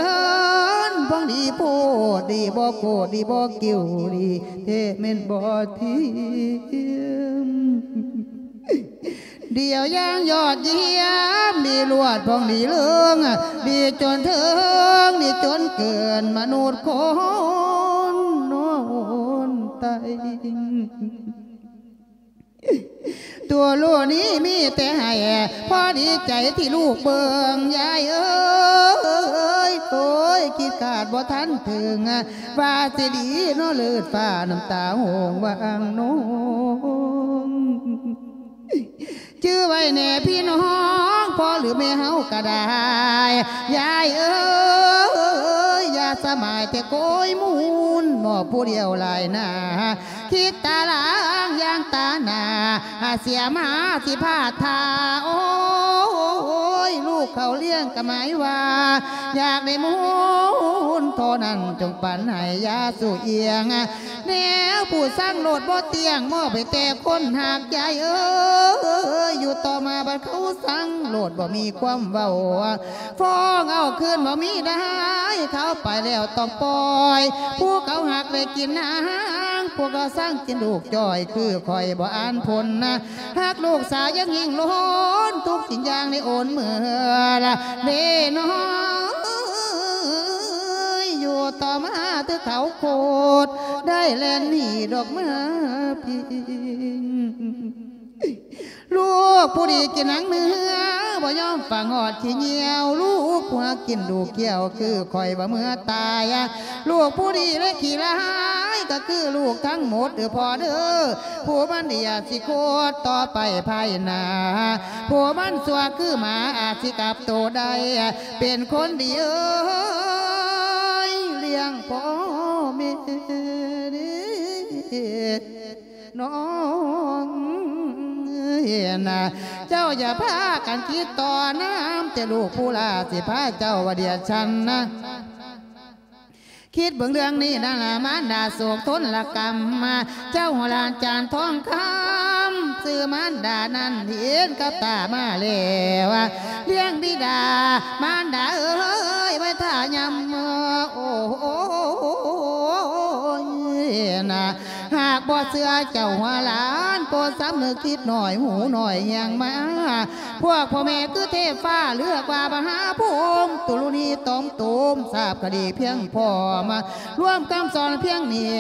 ນ ພວງດີໂພດ ດີບໍ່ໂກດ ດີບໍ່ກິ່ວ ດີແທ້ແມ່ນບໍ່ທຽມ ດຽວຢ່າງຍອດຢ້ຽມ ດີລວດພອງດີເລີງ ດີຈົນເທິງ ດີຈົນເກີນມະນຸດຄົນນອນໄຕ. ຕົວລູກນີ້ມີແຕ່ໃຫ້ ພໍດີໃຈທີ່ລູກເບິ່ງ ຍາຍເອີຍ ໂອ້ຍ ຄິດຄາດບໍ່ທັນເຖິງ ວ່າຊິດີເນາະ ເລີດຟ້ານ້ຳຕາຫົ່ງວ່າອ່າງນົງ ຈື່ໄວ້ແດ່ພີ່ນ້ອງ ພໍ່ຫຼືແມ່ເຮົາກະໄດ້ ຍາຍເອີຍ ຢ່າສະໝາຍແຕ່ໂກຍມູນ ໝໍ້ຜູ້ດຽວຫຼາຍໜ້າ ຄິດຕາລາງຢ່າງຕາໜ້າ ອາເສຍມາຊິພາດທ່າ ໂອ້ຍ ລູກເຂົາລ້ຽງກະໝາຍວ່າ ຢາກໄດ້ມູນທໍ່ນັ້ນ ຈົ່ງປັນໃຫ້ຢ່າສູ່ອຽງ ແນວຜູ້ສັງໂລດບໍ່ຕຽງ ມອບໃຫ້ແຕ່ຄົນຮັກ ຍາຍເອີຍ ຢູ່ຕໍ່ມາບັດເຂົາສັງໂລດບໍ່ມີຄວາມເວົ້າ ຟ້ອງເອົາຄືນບໍ່ມີໄດ້ ເຂົາໄປແລ້ວຕ້ອງປ່ອຍ ຜູ້ເຂົາຮັກໄດ້ກິນນາງ ພວກເຂົາສັງກິນລູກຈ່ອຍ ຄືຂ້ອຍບໍ່ອ່ານພົນນະ ຮັກລູກສາວຍັງຍິ່ງລົ້ນ ທຸກສິ່ງຢ່າງໄດ້ໂອນເມືອລະເດນ້ອງເອີຍ ຢູ່ຕໍ່ມາຖືເຂົາໂຄດ ໄດ້ແລ່ນໜີດອກມາພີ້ ລູກຜູ້ດີກິນໜັງເນື້ອ ບໍ່ຍອມຟັງຮອດຂີ້ຍ່ຽວ ລູກຜູ້ຮັກກິນດູກກ້ຽວ ຄືຂ້ອຍວ່າເມື່ອຕາຍ ລູກຜູ້ດີແລະຂີ້ຮ້າຍ ກໍຄືລູກທັງໝົດເດີພໍ່ເດີ. ຜູ້ມັນດີອາດຊິໂຄດຕໍ່ໄປພາຍໜ້າ ຜູ້ມັນຊົ່ວຄືໝາອາດຊິກັບໂຕໄດ້ ເປັນຄົນດີເອີຍ ລ້ຽງພໍ່ແມ່ເດີ ນ້ອງເອີຍນະ. ເຈົ້າຢ່າພາກັນຄິດຕໍ່ນຳ ແຕ່ລູກຜູ້ຫຼ້າຊິພາເຈົ້າວ່າດຽວຊັ້ນນະ ຄິດເບິ່ງເລື່ອງນີ້ນະລະ ມານດາໂສກທົນລະກຳ ເຈົ້າຫົວຫຼານຈານທອງຄຳ ຊື່ມານດານັ້ນເຫັນກັບຕາມາແລ້ວ ລ້ຽງບິດາມານດາເອີຍ ໄວ້ຖ້າຍາມ ໂອ້ຍນະ ຫາກບໍ່ເຊື່ອເຈົ້າຫົວຫຼານ ໂປດສຳນຶກຄິດໜ້ອຍ ຫູໜ້ອຍແຮງມາ ພວກພໍ່ແມ່ຄືເທບຟ້າ ເລືອກວ່າມະຫາພູມ ຕຸລຸນີຕອມໂຕມ ຊາບຄະດີພຽງພໍມາ ລວມຄຳສອນພຽງນີ້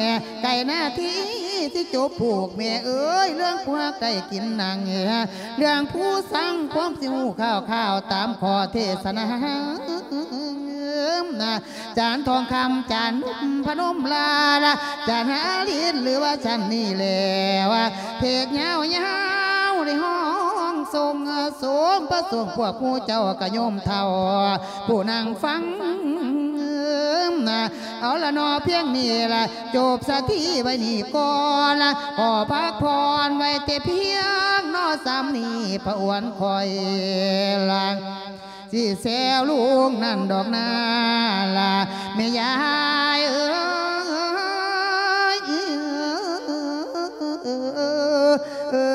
ໃກ້ໜ້າທີ່ຊິຈົບພູກ ແມ່ເອີຍ ເລື່ອງພວກໄດ້ກິນໜັງ ເລື່ອງຜູ້ສັງຄວາມຊິຮູ້ຂ່າວໆ ຕາມຂໍ້ເທດສະໜາ ຈານທອງຄຳ ຈານນົບພະນົມລາລະ ຈານຫາລິນ ຫຼືວ່າຊັ້ນນີ້ແລ້ວ ເທດຍາວໆ ໄດ້ຮ້ອງສົ່ງ ສົມປະສົງ ພວກໝູ່ເຈົ້າກໍໂຍມເຖົ້າ ຜູ້ນັ່ງຟັງ ເອົາລະເນາະ ພຽງນີ້ລະ ຈົບສະຖີໄວ້ນີ້ກ່ອນລະ ຂໍພັກຜ່ອນໄວ້ແຕ່ພຽງເນາະ ສ່ຳນີ້ ພະອວນຂ້ອຍລະ ຊິແຊວລຸງນັ້ນດອກນາລະ ແມ່ຍາຍເອີຍ ເອີ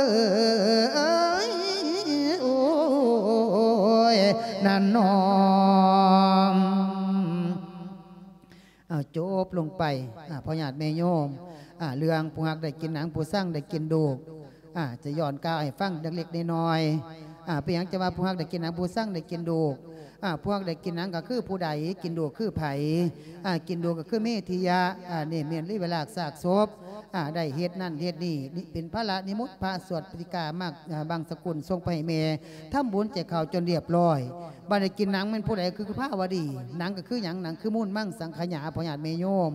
ຍ ໂອ້ຍ ນັ້ນນ້ອງ. ເອົາ ຈົບລົງໄປ ອາ ພໍ່ຍາດແມ່ໂຍມ ອາ ເລື່ອງຜູ້ຮັກໄດ້ກິນໜັງ ຜູ້ຊັງໄດ້ກິນດູກ ອາ ຈະຍ້ອນກ່າວໃຫ້ຟັງເລັກໆນ້ອຍໆ ອາ ເປັນຫຍັງຈະວ່າຜູ້ຮັກໄດ້ກິນໜັງ ຜູ້ຊັງໄດ້ກິນດູກ ອາ ຜູ້ຮັກໄດ້ກິນໜັງກໍຄືຜູ້ໃດ ກິນດູກຄືໃຜ ອາ ກິນດູກກໍຄືເມທິຍະ ອາ ນີ້ແມ່ນລິເວລາກຊາກສົບ ອາ ໄດ້ເຮັດນັ້ນເຮັດນີ້ ນີ້ເປັນພາລະນິມົດພະ ສວດປະຕິກາມັກ ອາ ບັງສະກຸນ ສົ່ງໄປໃຫ້ແມ່ ທຳບຸນແຈກເຂົ້າຈົນລຽບລ້ອຍ. ບາດນີ້ກິນໜັງແມ່ນຜູ້ໃດ? ຄືພາວະດີ. ໜັງກໍຄືຫຍັງ? ໜັງຄືມູນມັງສັງຂະຫຍາ ພໍ່ຍາດແມ່ໂຍມ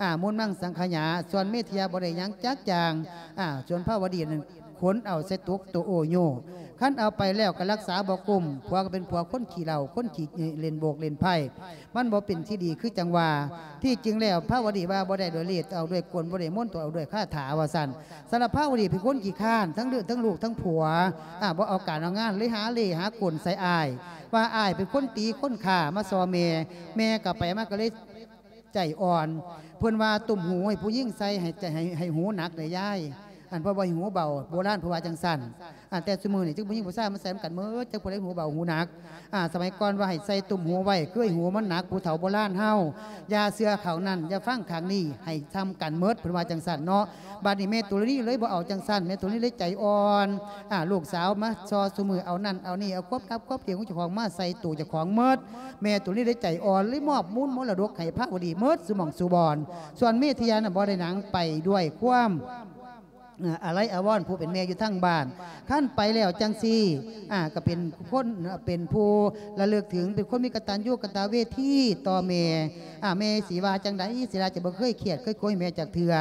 ອາ ມູນມັງສັງຂະຫຍາ. ສ່ວນເມທິຍະບໍ່ໄດ້ຫຍັງຈັກຢ່າງ ອາ ສ່ວນພາວະດີນັ້ນຂົນເອົາໃສ່ຕົກໂຕໂອໂຍ. ຄັນເອົາໄປແລ້ວກໍລັກສາບໍ່ກຸ້ມ. ຜົວກໍເປັນຜົວຄົນຂີ້ເຫຼົ້າ ຄົນຂີ້ເລ່ນໂບກເລ່ນໄພ້. ມັນບໍ່ເປັນທີ່ດີ ຄືຈັ່ງວ່າ ທີ່ຈິງແລ້ວພາວະດີວ່າບໍ່ໄດ້ດ້ວຍເລດ ເອົາດ້ວຍກົນ ບໍ່ໄດ້ມົນ ຕ້ອງເອົາດ້ວຍຄາຖາ ວ່າຊັ້ນ. ສຳລັບພາວະດີເປັນຄົນຂີ້ຄ້ານ ທັງເລື່ອງ ທັງລູກ ທັງຜົວ ອາ ບໍ່ເອົາການເອົາງານ ເລີຍຫາເລ່ຫາກົນໃສ່ອ້າຍ ວ່າອ້າຍເປັນຄົນຕີຄົນຂ້າມາສໍ່ແມ່ ແມ່ກໍໄປມາກໍເລີຍໃຈອ່ອນ. ເພິ່ນວ່າຕຸ້ມຫູໃຫ້ຜູ້ຍິງໃສ່ ໃຫ້ໃຈ ໃຫ້ ໃຫ້ຫູໜັກເດ້ຍາຍ. ອັນເພິ່ນວ່າໃຫ້ຫູເບົາ ໂບລານເພິ່ນວ່າຈັ່ງຊັ້ນ. ອາ ແຕ່ຊຸມື້ນີ້ ຈັ່ງຜູ້ຍິງຜູ້ຊາຍມາໃສ່ນຳກັນໝົດ ຈັກຜູ້ໃດຫູເບົາຫູໜັກ. ອາ ສະໄໝກ່ອນວ່າໃຫ້ໃສ່ຕຸ້ມຫູໄວ້ ຄືໃຫ້ຫູມັນໜັກ ຜູ້ເຖົ້າໂບລານເຮົາ. ຢ່າເຊື່ອຂ້າງນັ້ນ ຢ່າຟັງຂ້າງນີ້ ໃຫ້ຊ່ຳກັນໝົດ ເພິ່ນວ່າຈັ່ງຊັ້ນເນາະ. ບາດນີ້ແມ່ຕຸລະນີເລີຍບໍ່ເອົາຈັ່ງຊັ້ນ ແມ່ຕຸລະນີເລີຍໃຈອ່ອນ. ອາ ລູກສາວມາສໍ່ຊຸມື້ ເອົານັ້ນເອົານີ້ ເອົາຄວາມລັບຄວາມດຽງຂອງເຈົ້າຂອງມາໃສ່ໂຕເຈົ້າຂອງໝົດ. ແມ່ຕຸລະນີເລີຍໃຈອ່ອນ ເລີຍມອບມູນມໍລະດົກໃຫ້ພາວະດີໝົດສູ່ໝ່ອງສູ່ບ່ອນ. ສ່ວນເມທິຍະນັ້ນບໍ່ໄດ້ໜັງ ໄປດ້ວຍຄວາມ ອາ ອາໄລອາວອນ ຜູ້ເປັນແມ່ຢູ່ທາງບ້ານ. ຄັນໄປແລ້ວຈັ່ງຊີ້ ອາ ກໍເປັນຄົນ ເປັນຜູ້ລະລຶກເຖິງ ເປັນຄົນມີກະຕັນຍູກະຕະເວທີຕໍ່ແມ່. ອາ ແມ່ຊິວ່າຈັ່ງໃດ? ສິລາຈະບໍ່ເຄີຍຄຽດເຄີຍໂກຍແມ່ຈັກເທື່ອ.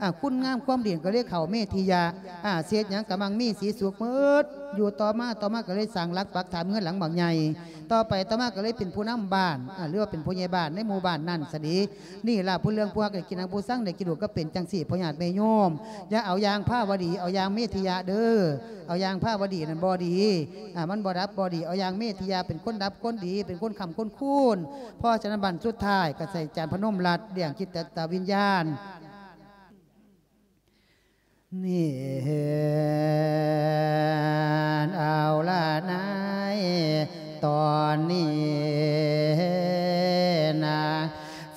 ອາ ຄຸນງາມຄວາມດີກໍເລີຍເຂົ້າເມທິຍະ. ອາ ເຮັດຫຍັງກໍມັ່ງມີສີສຸກໝົດ. ຢູ່ຕໍ່ມາ ຕໍ່ມາກໍເລີຍສ້າງຫຼັກປັກຖານເຮືອນຫຼັງບັກໃຫຍ່. ຕໍ່ໄປຕໍ່ມາກໍເລີຍເປັນຜູ້ນຳບ້ານ ອາ ຫຼືວ່າເປັນຜູ້ໃຫຍ່ບ້ານໃນໝູ່ບ້ານນັ້ນຊະເດ. ນີ້ລະ ຜູ້ເລື່ອງພວກໄດ້ກິນໜັງ ຜູ້ຊັງໄດ້ກິນດູກ ກໍເປັນຈັ່ງຊີ້ ພໍ່ຍາດແມ່ໂຍມ. ຢ່າເອົາຢ່າງພາວະດີ ເອົາຢ່າງເມທິຍະເດີ. ເອົາຢ່າງພາວະດີນັ້ນບໍ່ດີ ອາ ມັນບໍ່ດັບບໍ່ດີ. ເອົາຢ່າງເມທິຍະ ເປັນຄົນດັບຄົນດີ ເປັນຄົນຄ້ຳຄົນຄູນ. ເພາະສະນັ້ນບັດສຸດທ້າຍກໍໃສ່ຈານພະນົມລັດ ລ້ຽງຈິດຕະວິນຍານ. ນີ້ເຫັນເອົາລະນາຍ ຕອນນີ້ນາງ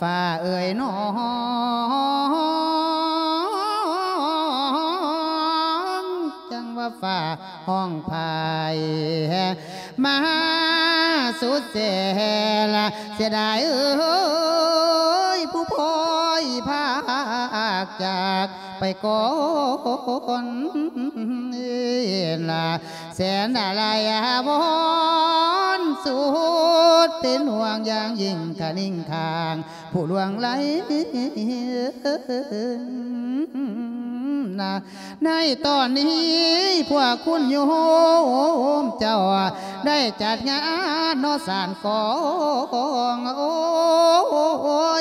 ຟ້າເອີຍນ້ອງ ຈັ່ງວ່າຟ້າຮ້ອງໄພມາສຸດແສນລະ ເສຍດາຍເອີຍ ຜູ້ພໍ່ ພາກຈາກໄປກ່ອນລະ ແສນອາໄລອາວອນສຸດ ເປັນຫ່ວງຢ່າງຍິ່ງຄະນິງຂ້າງຜູ້ລ່ວງໄຫຼນະ ໃນຕອນນີ້ພວກຄຸນໂຍມເຈົ້າ ໄດ້ຈັດງານເນາະສານກອງ ໂອ້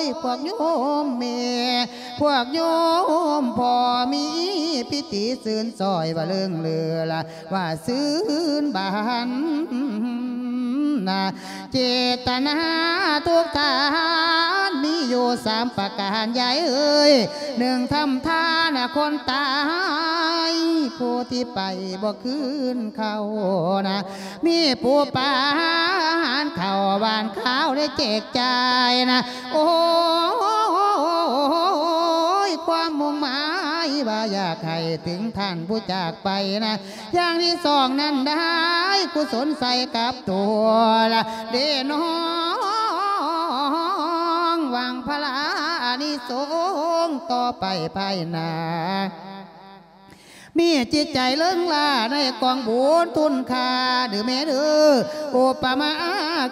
ຍ ພວກໂຍມແມ່ ພວກໂຍມພໍ່ ມີພິທີຊື່ນຊ້ອຍວ່າເລີງເຫຼືອລະວ່າຊື່ນບານນະ ເຈດຕະນາທຸກທ່ານມີຢູ່ສາມປະການ ຍາຍເອີຍ ໜຶ່ງ ທຳທານຄົນຕາຍ ຜູ້ທີ່ໄປບໍ່ຄືນເຂົ້ານະ ມີຜູ້ປາອາຫານເຂົ້າ ຫວ່ານຂ້າວໄດ້ແຈກຈ່າຍນະ ໂອ້ຍ ຄວາມມຸ່ງໝາຍວ່າຢາກໃຫ້ເຖິງທ່ານຜູ້ຈາກໄປນະ ຢ່າງທີສອງນັ້ນໄດ້ ກຸສົນໃສ່ກັບຕົວລະເດນ້ອງ ຫວັງຜະລາອານິສົງຕໍ່ໄປພາຍໜ້າ ມີຈິດໃຈເລີງລາໃນກອງບຸນຄຸນຄ່າເດີແມ່ເດີ ອຸປະມາ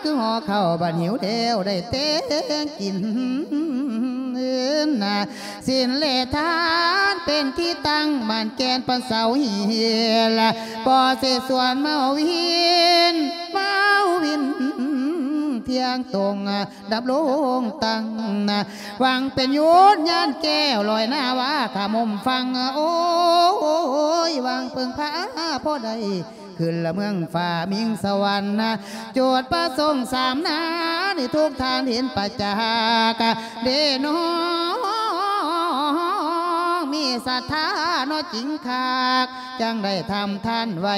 ຄືຫໍ່ເຂົ້າ ບັດຫິວແລ້ວໄດ້ແຕ່ງກິນ ນະ ສິນແລະທານເປັນທີ່ຕັ້ງໝັ້ນແກ່ນປານເສົາຫີນ ບໍ່ເສສວນເມົາວິນ ເມົາວິນທ່ຽງຕົງດຳລົງຕັ້ງ ຫວັງເປັນຍູນຍານແກ້ວລອຍໜ້າວ່າຂ້າມຸມຝັ່ງ ໂອ້ຍ ຫວັງເພິ່ງພາພໍໄດ້ ຂຶ້ນລະເມືອງຟ້າມິງສະຫວັນນະ ຈຸດປະສົງສາມນານີ້ ທຸກທ່ານເຫັນປະຈັກເດນ້ອງ ມີສັດທາເນາະຈິງຄັກ ຈັ່ງໄດ້ທຳທານໄວ້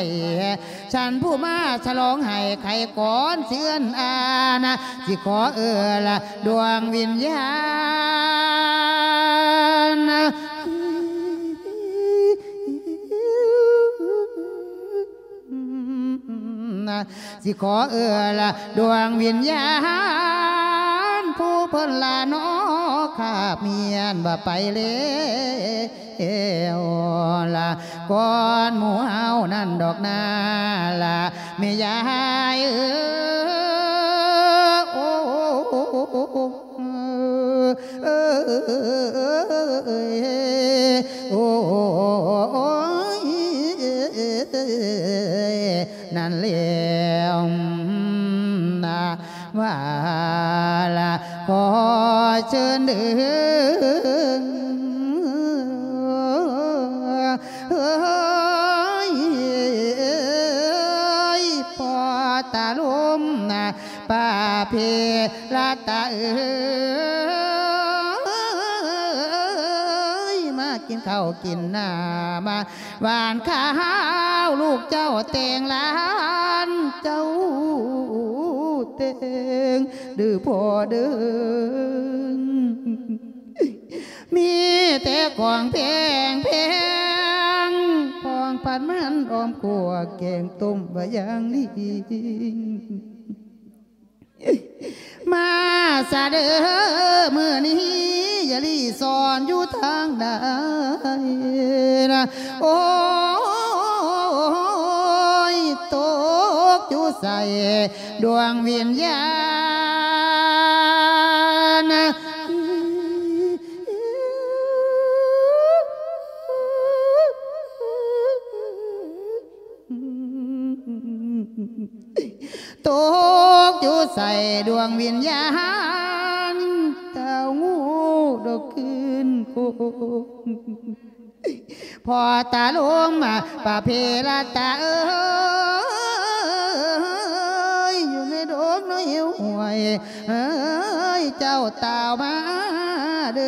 ສັນຜູ້ມາສະຫຼອງໃຫ້ໄຂກ່ອນເຊືອນອານະ ຊິຂໍເອື້ອລະດວງວິນຍານ ຊິຂໍເອື້ອລະດວງວິນຍານ ຜູ້ເພິ່ນລານອກຄາບມຽນວ່າໄປແລ້ວລະ ກ່ອນໝູ່ເຮົານັ້ນດອກນາລະແມ່ຍາຍເອີຍ ໂອ້ ເອີຍ ໂອ້ຍ ນັ້ນແລ້ວນະ ວ່າລະຂໍເຊີນເດີ ເອີຍ ພໍ່ຕາລົມນະ ປະເພລະຕາເອີຍ ມາກິນເຂົ້າກິນນ້ຳ ຫວ່ານຂ້າວລູກເຈົ້າແຕ່ງຫຼານເຈົ້າແຕ່ງ ເດີພໍ່ເດີ ມີແຕ່ຂອງແພງໆ ຂອງພັດມັນອ້ອມຂົ້ວ ແກງຕົ້ມວ່າຢ່າງດີ ມາຊະເດີ ມື້ນີ້ຢ່າລີສອນຢູ່ທາງໃດນະ ໂອ້ຍ ຕົກຢູ່ໃສດວງວິນຍານ ຕົກຢູ່ໃສດວງວິນຍານ ເຕົ້າງູດອກຄືນຄົນ ພໍ່ຕາລົມ ປະເພລະຕາເອີຍ ຢູ່ໃນດົງໃນຫ້ວຍ ເອີຍ ເຈົ້າຕ່າວມາເດີ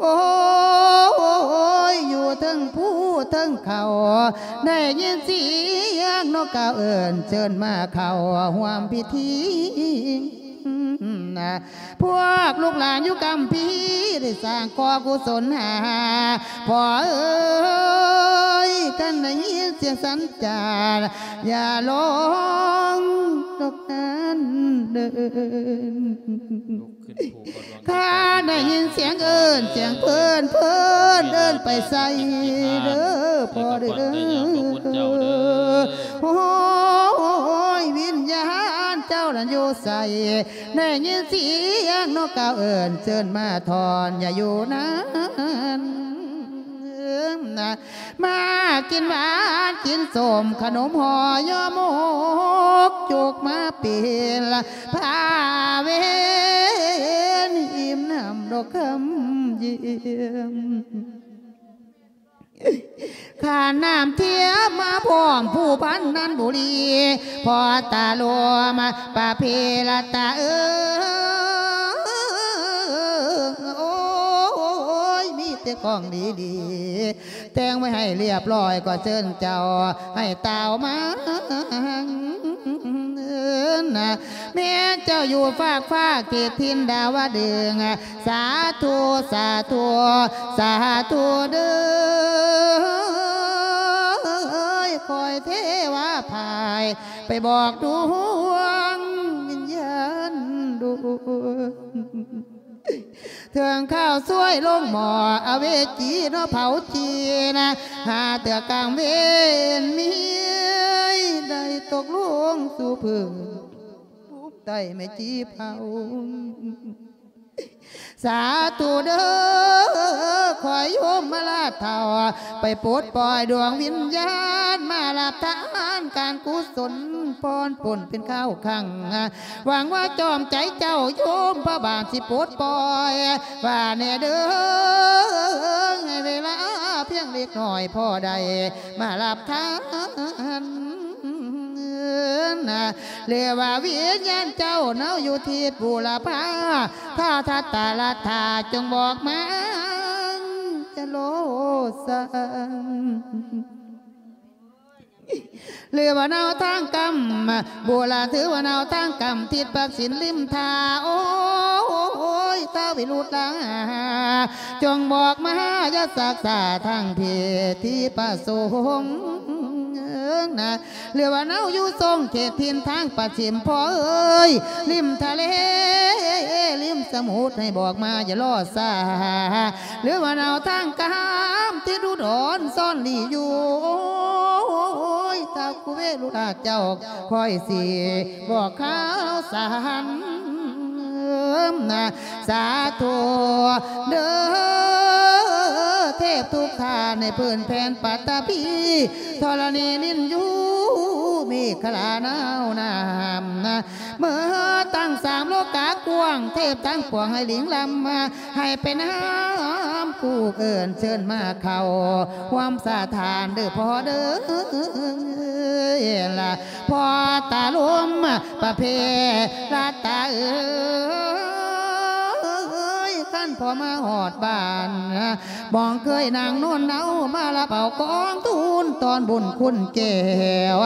ໂອ້ຍ ຢູ່ເທິງພູເທິງເຂົາ ໄດ້ຍິນສຽງນົກກ່າວເອີ້ນເຊີນມາເຂົ້າຮ່ວມພິທີນະ ພວກລູກຫຼານຢູ່ກຳພີໄດ້ສ້າງກໍ່ກຸສົນຫາ ພໍ່ເອີຍ ຄັນໄດ້ຍິນສຽງສັນຈານ ຢ່າລົງດອກນັ້ນເດີ ລຸກຂຶ້ນພູບໍ່ດວງ ທ່ານໄດ້ຍິນສຽງເອີ້ນ ສຽງເພິ່ນ ເພິ່ນເອີ້ນໄປໃສເດີພໍ່ເດີ. ໂອ້ຍ ວິນຍານເຈົ້ານັ້ນຢູ່ໃສ? ໄດ້ຍິນສຽງນົກກາວເອີ້ນ ເຊີນມາທ່ອນ ຢ່າຢູ່ນານ. ມາກິນຫວານກິນສົ້ມ ຂະໜົມຫໍ່ຍໍໝົກ ຈົກມາເປັນພາເວນ ອີ່ມນ້ຳດອກຄຳຢ້ຽມ. ຂ້ານ້ຳທຽມມາພ້ອມ ຜູ້ພັນນັນບຸລີ ພໍ່ຕາຫຼວງ ປະເພລະຕາເອີຍ ໂອ້ຍ ມີແຕ່ຂອງດີໆ ແຕ່ງໄວ້ໃຫ້ລຽບລ້ອຍ ກໍເຊີນເຈົ້າໃຫ້ຕ່າວມາ. ແມ່ນເຈົ້າຢູ່ຟາກຟ້າເຂດຖິ່ນດາວະດຶງ ສາທຸ ສາທຸ ສາທຸເດີ. ຂ້ອຍເທວະພາຍ ໄປບອກດວງວິນຍານດວງ ເຖິງຄາວຊ່ວຍລົງໝໍ້ ອະເວຈີເນາະເຜົາຈີນະ ຫາເທື່ອກາງເວນມີ ໄດ້ຕົກລົງສູ່ພື້ນ ພູມໃຕ້ແມ່ຈີເຜົາ. ສາທຸເດີ ຂໍໃຫ້ໂຍມມາລາດເຖົ້າ ໄປປົດປ່ອຍດວງວິນຍານ ມາຮັບທານການກຸສົນ ຜ່ອນປົນເປັນຄາວຄັ້ງ ຫວັງວ່າຈອມໃຈເຈົ້າໂຍມພະບາດຊິປົດປ່ອຍ ວ່າແນ່ເດີ ໃຫ້ເວລາພຽງເລັກນ້ອຍ ພໍໄດ້ມາຮັບທານ ຫຼືວ່າວິນຍານເຈົ້າເນົາຢູ່ທິດບູລະພາ ຖ້າທັດຕະລະທາ ຈົ່ງບອກມາ ຈະໂລສັງ ຫຼືວ່າເນົາທາງກຳ ບູລະ ຖືວ່າເນົາທາງກຳ ທິດປາກສິນລິມທ່າ ໂອ້ຍ ທ້າວວິລຸດລາ ຈົ່ງບອກມາ ຢ່າຊັກຊ້າທາງເພດທີ່ປະສົງນະ ຫຼືວ່າເນົາຢູ່ຊົງເຂດຖິ່ນທາງປະສິມ ພໍ່ເອີຍ ລິມທະເລ ລິມສະໝຸດ ໃຫ້ບອກມາ ຢ່າລໍຊ້າ ຫຼືວ່າເນົາທາງກາມ ທີ່ດຸດອນຊອນຫຼີຢູ່ ໂອ້ຍ ທ້າວກຸເວລຸລາເຈົ້າ ຂ້ອຍຊິບອກຂ່າວສານນະ ສາທຸເດີ ເທບທຸກທ່ານໃນພື້ນແຜ່ນປັດຖະພີ ທໍລະນີ ວິນຍານ ເມຂະລາ ໜາວນ້ຳນະ ເມື່ອຕັ້ງສາມໂລກາກວ້າງ ເທບທັງປວງໃຫ້ລິງລຳ ໃຫ້ໄປນຳ ກູເອີ້ນເຊີນມາເຂົ້າຮ່ວມສະຖານເດີພໍ່ເດີ ລະພໍ່ຕາລົມປະເພລະຕາເອີຍ ຄັນພໍ່ມາຮອດບ້ານ ບ່ອງເຄີຍນາງນວນເນົາ ມາຮັບເອົາກອງທຶນຕ້ອນບຸນຄຸນແກ້ວ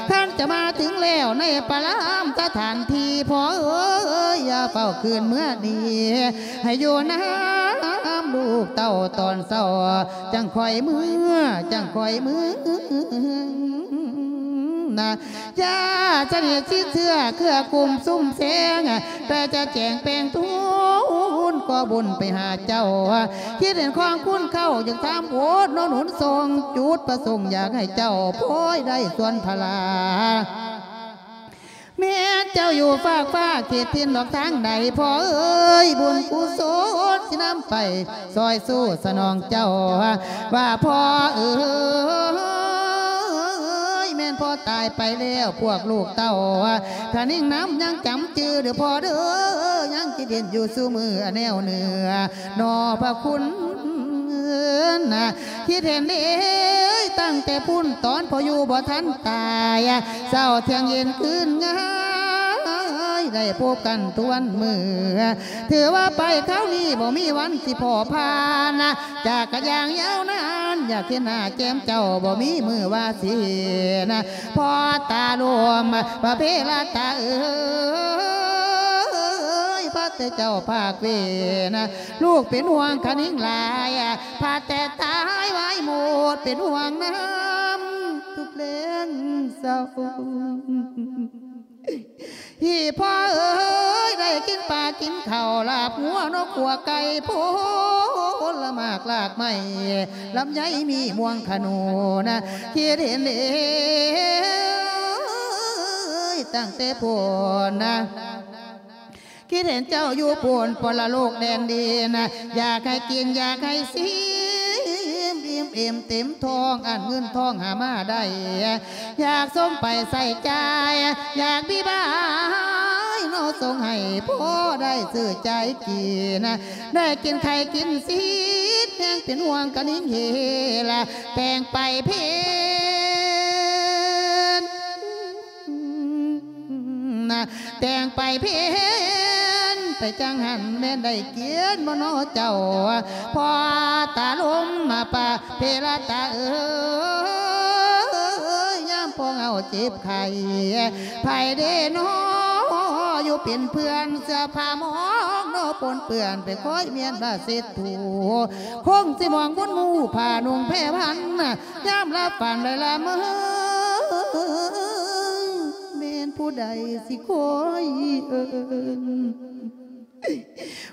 ຄັນຈະມາເຖິງແລ້ວໃນປະລາມສະຖານທີ່ ພໍ່ເອີຍ ຢ່າເຝົ້າຄືນເມືອນີ້ ໃຫ້ຢູ່ນຳລູກເຕົ້າຕອນເຊົ້າ ຈັ່ງຄ່ອຍເມືອ ຈັ່ງຄ່ອຍເມືອນະ ຢ່າສະໜິດຊິດເຊື່ອເຄືອກຸ່ມຊຸມແສງ ແຕ່ຈະແຈງແປງທູນ ຂໍບຸນໄປຫາເຈົ້າ ຄິດເຫັນຂອງຄຸນເຂົ້າ ຢາກຖາມໂອດໜູນສົງ ຈຸດປະສົງຢາກໃຫ້ເຈົ້າ ພອຍໄດ້ສ່ວນພະລາ ແມ່ນເຈົ້າຢູ່ຟາກຟ້າເຂດຖິ່ນດອກທາງໃດ ພໍ່ເອີຍ ບຸນກຸສົນຊິນຳໄປ ຊ່ອຍຊູສະໜອງເຈົ້າ ວ່າພໍ່ເອີຍ ແມ່ນພໍ່ຕາຍໄປແລ້ວ ພວກລູກເຕົ້າ ຄະນິງນຳຍັງຈຳຈື່ເດີພໍ່ເດີ ຍັງຄິດເຫັນຢູ່ສູ່ມື້ແນວເໜືອ ໜໍ່ພະຄຸນນະ ຄິດເຫັນເດ້ ຕັ້ງແຕ່ພຸ້ນຕອນພໍ່ຢູ່ບໍ່ທັນຕາຍ ເຊົ້າທ່ຽງເຢັນຄືນງາຍ ໄດ້ພົບກັນທຸກວັນມື້ ຖືວ່າໄປຄາວນີ້ບໍ່ມີວັນຊິພໍຜ່ານ ຈາກກະຢ່າງຍາວນານ ຢາກເຫັນໜ້າແກ້ມເຈົ້າ ບໍ່ມີມື້ວ່າຊິເຫັນ ພໍ່ຕາຫຼວງພະເພລະຕາເອີຍ ພາແຕ່ເຈົ້າພາກເວນ ລູກເປັນຫ່ວງຄະນິງຫຼາຍ ພາແຕ່ຕາຍວາຍໂມດ ເປັນຫ່ວງນຳທຸກແລງເສົ້າ. ອີ່ພໍ່ເອີຍ ໄດ້ກິນປາກິນເຂົ້າ ລາບງົວນົກຂົ້ວໄກ່ ຜົນລະໝາກລາກໄມ້ ລຳໄຍມີມ່ວງຂະໜູນ ຄິດເຫັນເອງຕັ້ງແຕ່ພຸ້ນ ຄິດເຫັນເຈົ້າຢູ່ພຸ້ນປະລະໂລກແດນດິນ ຢາກໃຫ້ກິນຢາກໃຫ້ຊີມ ອີ່ມເອມເຕັມທ້ອງ ອັນເງິນທອງຫາມາໄດ້ ຢາກສົ່ງໄປໃຊ້ຈ່າຍ ຢາກມີບາຍເນາະ ສົ່ງໃຫ້ພໍໄດ້ຊື້ຈ່າຍກິນ ໄດ້ກິນໄຂ່ກິນຊີດ ແຮງເປັນຫ່ວງກະນິງເຮລະ ແຕ່ງໄປເພັນ ແຕ່ງໄປເພັນ ໄປຈັ່ງຫັ້ນແມ່ນໄດ້ກິນບໍ່ເນາະເຈົ້າ ພໍ່ຕາລົມມາປະເພລະຕາເອີຍ ຍາມພວກເຮົາເຈັບໄຂ້ ໃຜເດເນາະຢູ່ເປັນເພື່ອນ ເສື້ອຜ້າໝອງເນາະປົນເປື້ອນ ໄປຄອຍມ້ຽນບາເຊັດຖູ ຄົງຊິມອງບຸນໝູ່ຜ້ານຸ່ງແພພັນ ຍາມລະຝັນໄດ້ລະເມີ ແມ່ນຜູ້ໃດຊິຄອຍເອີ້ນ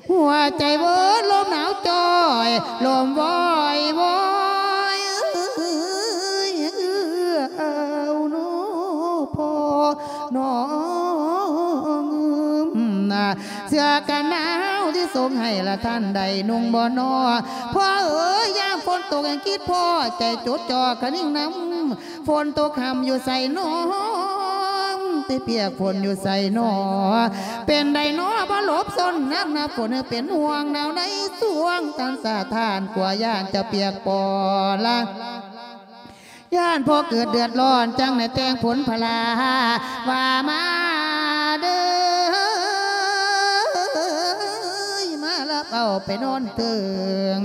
ຫົວໃຈເວີນລົມໜາວຈ່ອຍ ລົມວອຍວອຍ ເອື້ອຍເອື້ອເອົາເນາະພໍ່ນ້ອງ ເສື້ອກັນໜາວທີ່ສົ່ງໃຫ້ລະທ່ານໄດ້ນຸ່ງບໍ່ນໍ ພໍ່ເອີຍ ຍາມຝົນຕົກຍັງຄິດພໍ້ ໃຈຈົດຈ່ອກະນິງນຳ ຝົນຕົກຄ່ຳຢູ່ໃສນໍ ໄປປຽກຝົນຢູ່ໃສນໍ ເປັນໃດນໍບໍ່ຫຼົບຊົນ ໜັກໜາຝົນເປັນຫ່ວງ ໜາວໃນຊ່ວງທັນສະທ້ານ ກົວຢ້ານຈະປຽກປໍລະ ຢ້ານພໍ່ເກີດເດືອດຮ້ອນ ຈັ່ງໄດ້ແຕ່ງຜົນພະລາ ວ່າມາເດີ ມາຮັບເອົາໄປນອນເທິງ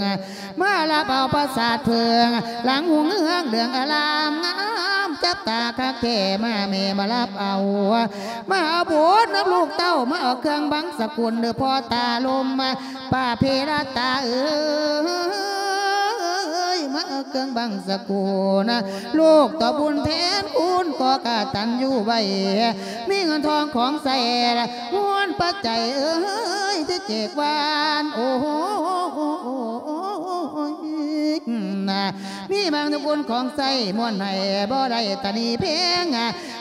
ມາຮັບເອົາປາສາດເຜິ້ງ ຫຼັງຮຸ່ງເຮືອງເຫຼືອງອາລາມງາມ ຈັບຕາຄັກແທ້ ມາແມ່ມາຮັບເອົາ ມາເອົາບຸດນຳລູກເຕົ້າ ມາເອົາເຄື່ອງບັງສະກຸນ ເດີພໍ່ຕາລົມ ປະເພລະຕາເອີຍ ມາເອົາເຄື່ອງບັງສະກຸນ ລູກຕອບບຸນແທນຄຸນ ກໍກະຕັນຢູ່ໄວ້ ມີເງິນທອງຂອງໃຊ້ ຮວນປັດໄຈເອີຍ ທີ່ແຈກຫວານ ໂອ້ຍ ນະ ມີບາງສະກຸນຂອງໃຊ້ ມ້ວນໃຫ້ບໍ່ໄດ້ຕະໜີເພງ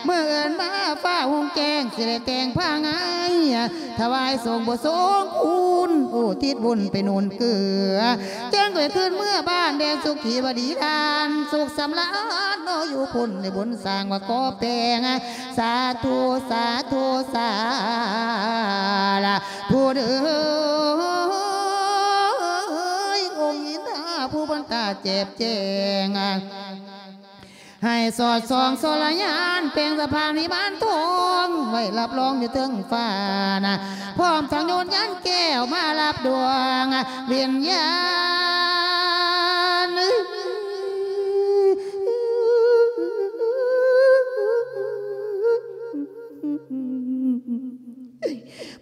ມື້ອື່ນມາຟ້າຮຸ່ງແຈ້ງ ຊິໄດ້ແຕ່ງຜ້າງາຍ ຖວາຍສົງບໍ່ສົງຄຸນ ອຸທິດບຸນໄປໜູນເກືອ ຈຶ່ງໄດ້ຄືນເມືອບ້ານ ແດນສຸຂີວະດີລານ ສຸກສຳລານເນາະ ຢູ່ພຸ້ນໄດ້ບຸນສ້າງວ່າກໍແປງ ສາທຸ ສາທຸ ສາທຸເດີ ອົງອິນທາຜູ້ບັນດາແຈບແຈງ ໃຫ້ສອດສ່ອງໂສລະຍານ ເປັ່ງສະພານວິມານທອງ ໄວ້ຮັບຮອງຢູ່ເທິງຟ້ານະ ພ້ອມທັງໂຍນຍານແກ້ວ ມາຮັບດວງວິນຍານ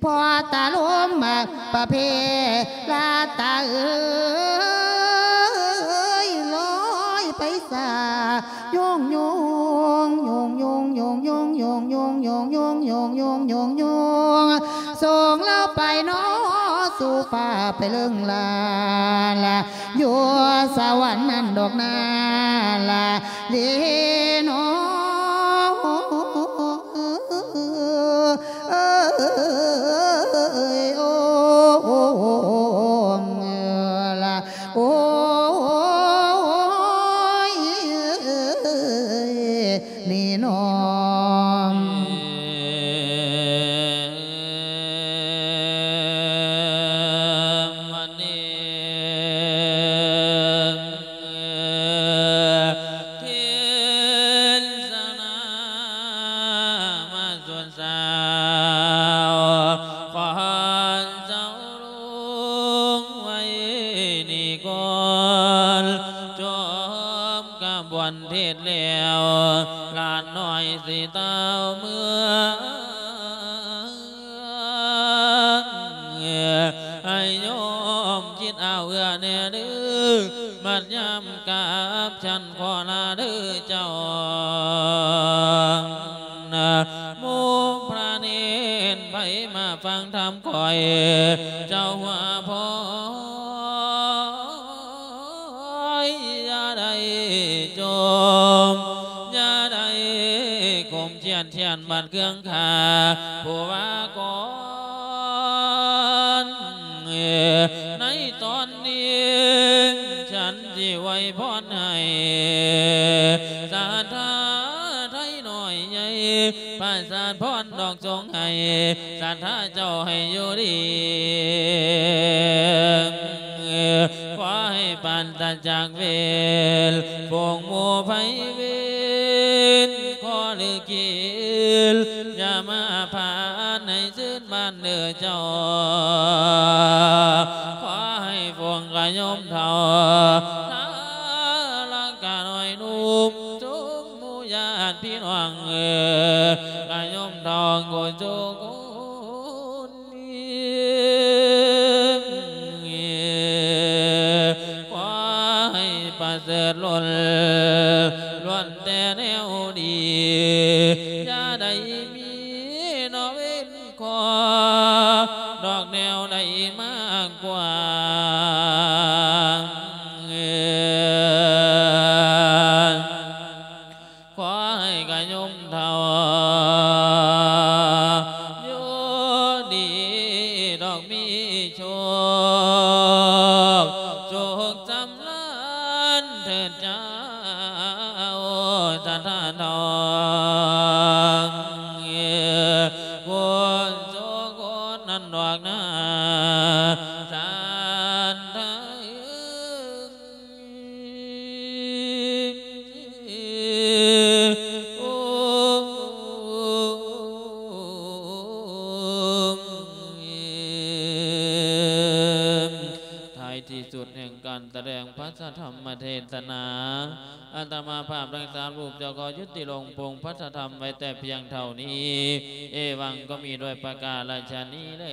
ພໍ່ຕາລົມປະເພລະຕາເອີຍ ລອຍໄປສາ ໂຍງໂຍງ ໂຍງໂຍງ ໂຍງໂຍງ ໂຍງໂຍງ ໂຍງໂຍງ ໂຍງໂຍງ ໂຍງໂຍງ ໂຍງ ສົ່ງລາວໄປເນາະສູ່ຟ້າ ໄປເລີງລາລາ ຢູ່ສະຫວັນນັ້ນດອກນາລາເດເນາະ ເອີຍ ໂອ້ ໂອ້ ໂອ້ ລະ ໂອ້ຍ ນີ້ນ້ອງ ເທດສະນາມາສຸດສາວ ຂໍເຈົ້າລຸງໄວ້ນີ້ກ່ອນ ຈົບຂະບວນເທດແລ້ວ ຫຼານນ້ອຍຊິຕາວເມືອ ໃຫ້ໂຍມຄິດເອົາເອື້ອແດ່ເດີ ບັດຍາມກັບສັນຂໍລາເດີເຈົ້າ ໝູ່ພະເນນໄພມາຟັງທຳ ເຈົ້າຫົວພອຍ ຢ່າໄດ້ຈົ່ມ ຢ່າໄດ້ກົ້ມຄຽນ ຄຽນບັດເຄື່ອງຂ້າ ຜູ້ວ່າກ່ອນ ໃນຕອນນີ້ ສັນຊິອວຍພອນໃຫ້ ສັດທາໄທນ້ອຍໃຫຍ່ ປະສາດພອນດອກ ຈົ່ງໃຫ້ສັດທາເຈົ້າໃຫ້ຢູ່ດີ ຂໍໃຫ້ປາສະຈາກເວນ ພວກໝູ່ໄພເວນ ຂໍຫຼືກິນ ຢ່າມາຜ່ານໃຫ້ຊື່ນບ້ານເດີເຈົ້າ ຂໍໃຫ້ພວກກະໂຍມເຖົ້າ ລະກະນ້ອຍໜຸ່ມ ຊຸມໝູ່ຍາດພີ່ນ້ອງເອີຍ ກະໂຍມເຖົ້າ ໂກໂຈໂກ ຂໍໃຫ້ປະເສີດລົ້ນ ລ້ວນແຕ່ແນວດີ ຢ່າໄດ້ມີນອກເວນຂໍ ດອກແນວໃດມາກກວ່າ ຂໍໃຫ້ກະໂຍມເຖົ້າ ຢູ່ດີດອກມີໂຊກ ໂຊກສຳລານເທີດເຈົ້າ ສັດທາທອງ ໂຄນໂຊໂຄນນັ້ນດອກນາ ສັດທາ ທ້າຍທີ່ສຸດແຫ່ງການສະແດງພະທຳມະເທດສະໜາ ອາດຕະມາພາບທັງສາມຮູບ ຈະຂໍຍຸຕິລົງໂປງພະທຳໄວ້ແຕ່ພຽງເທົ່ານີ້ ເອວັງ ກໍມີດ້ວຍປະກາລະຊະນີ້ແລ.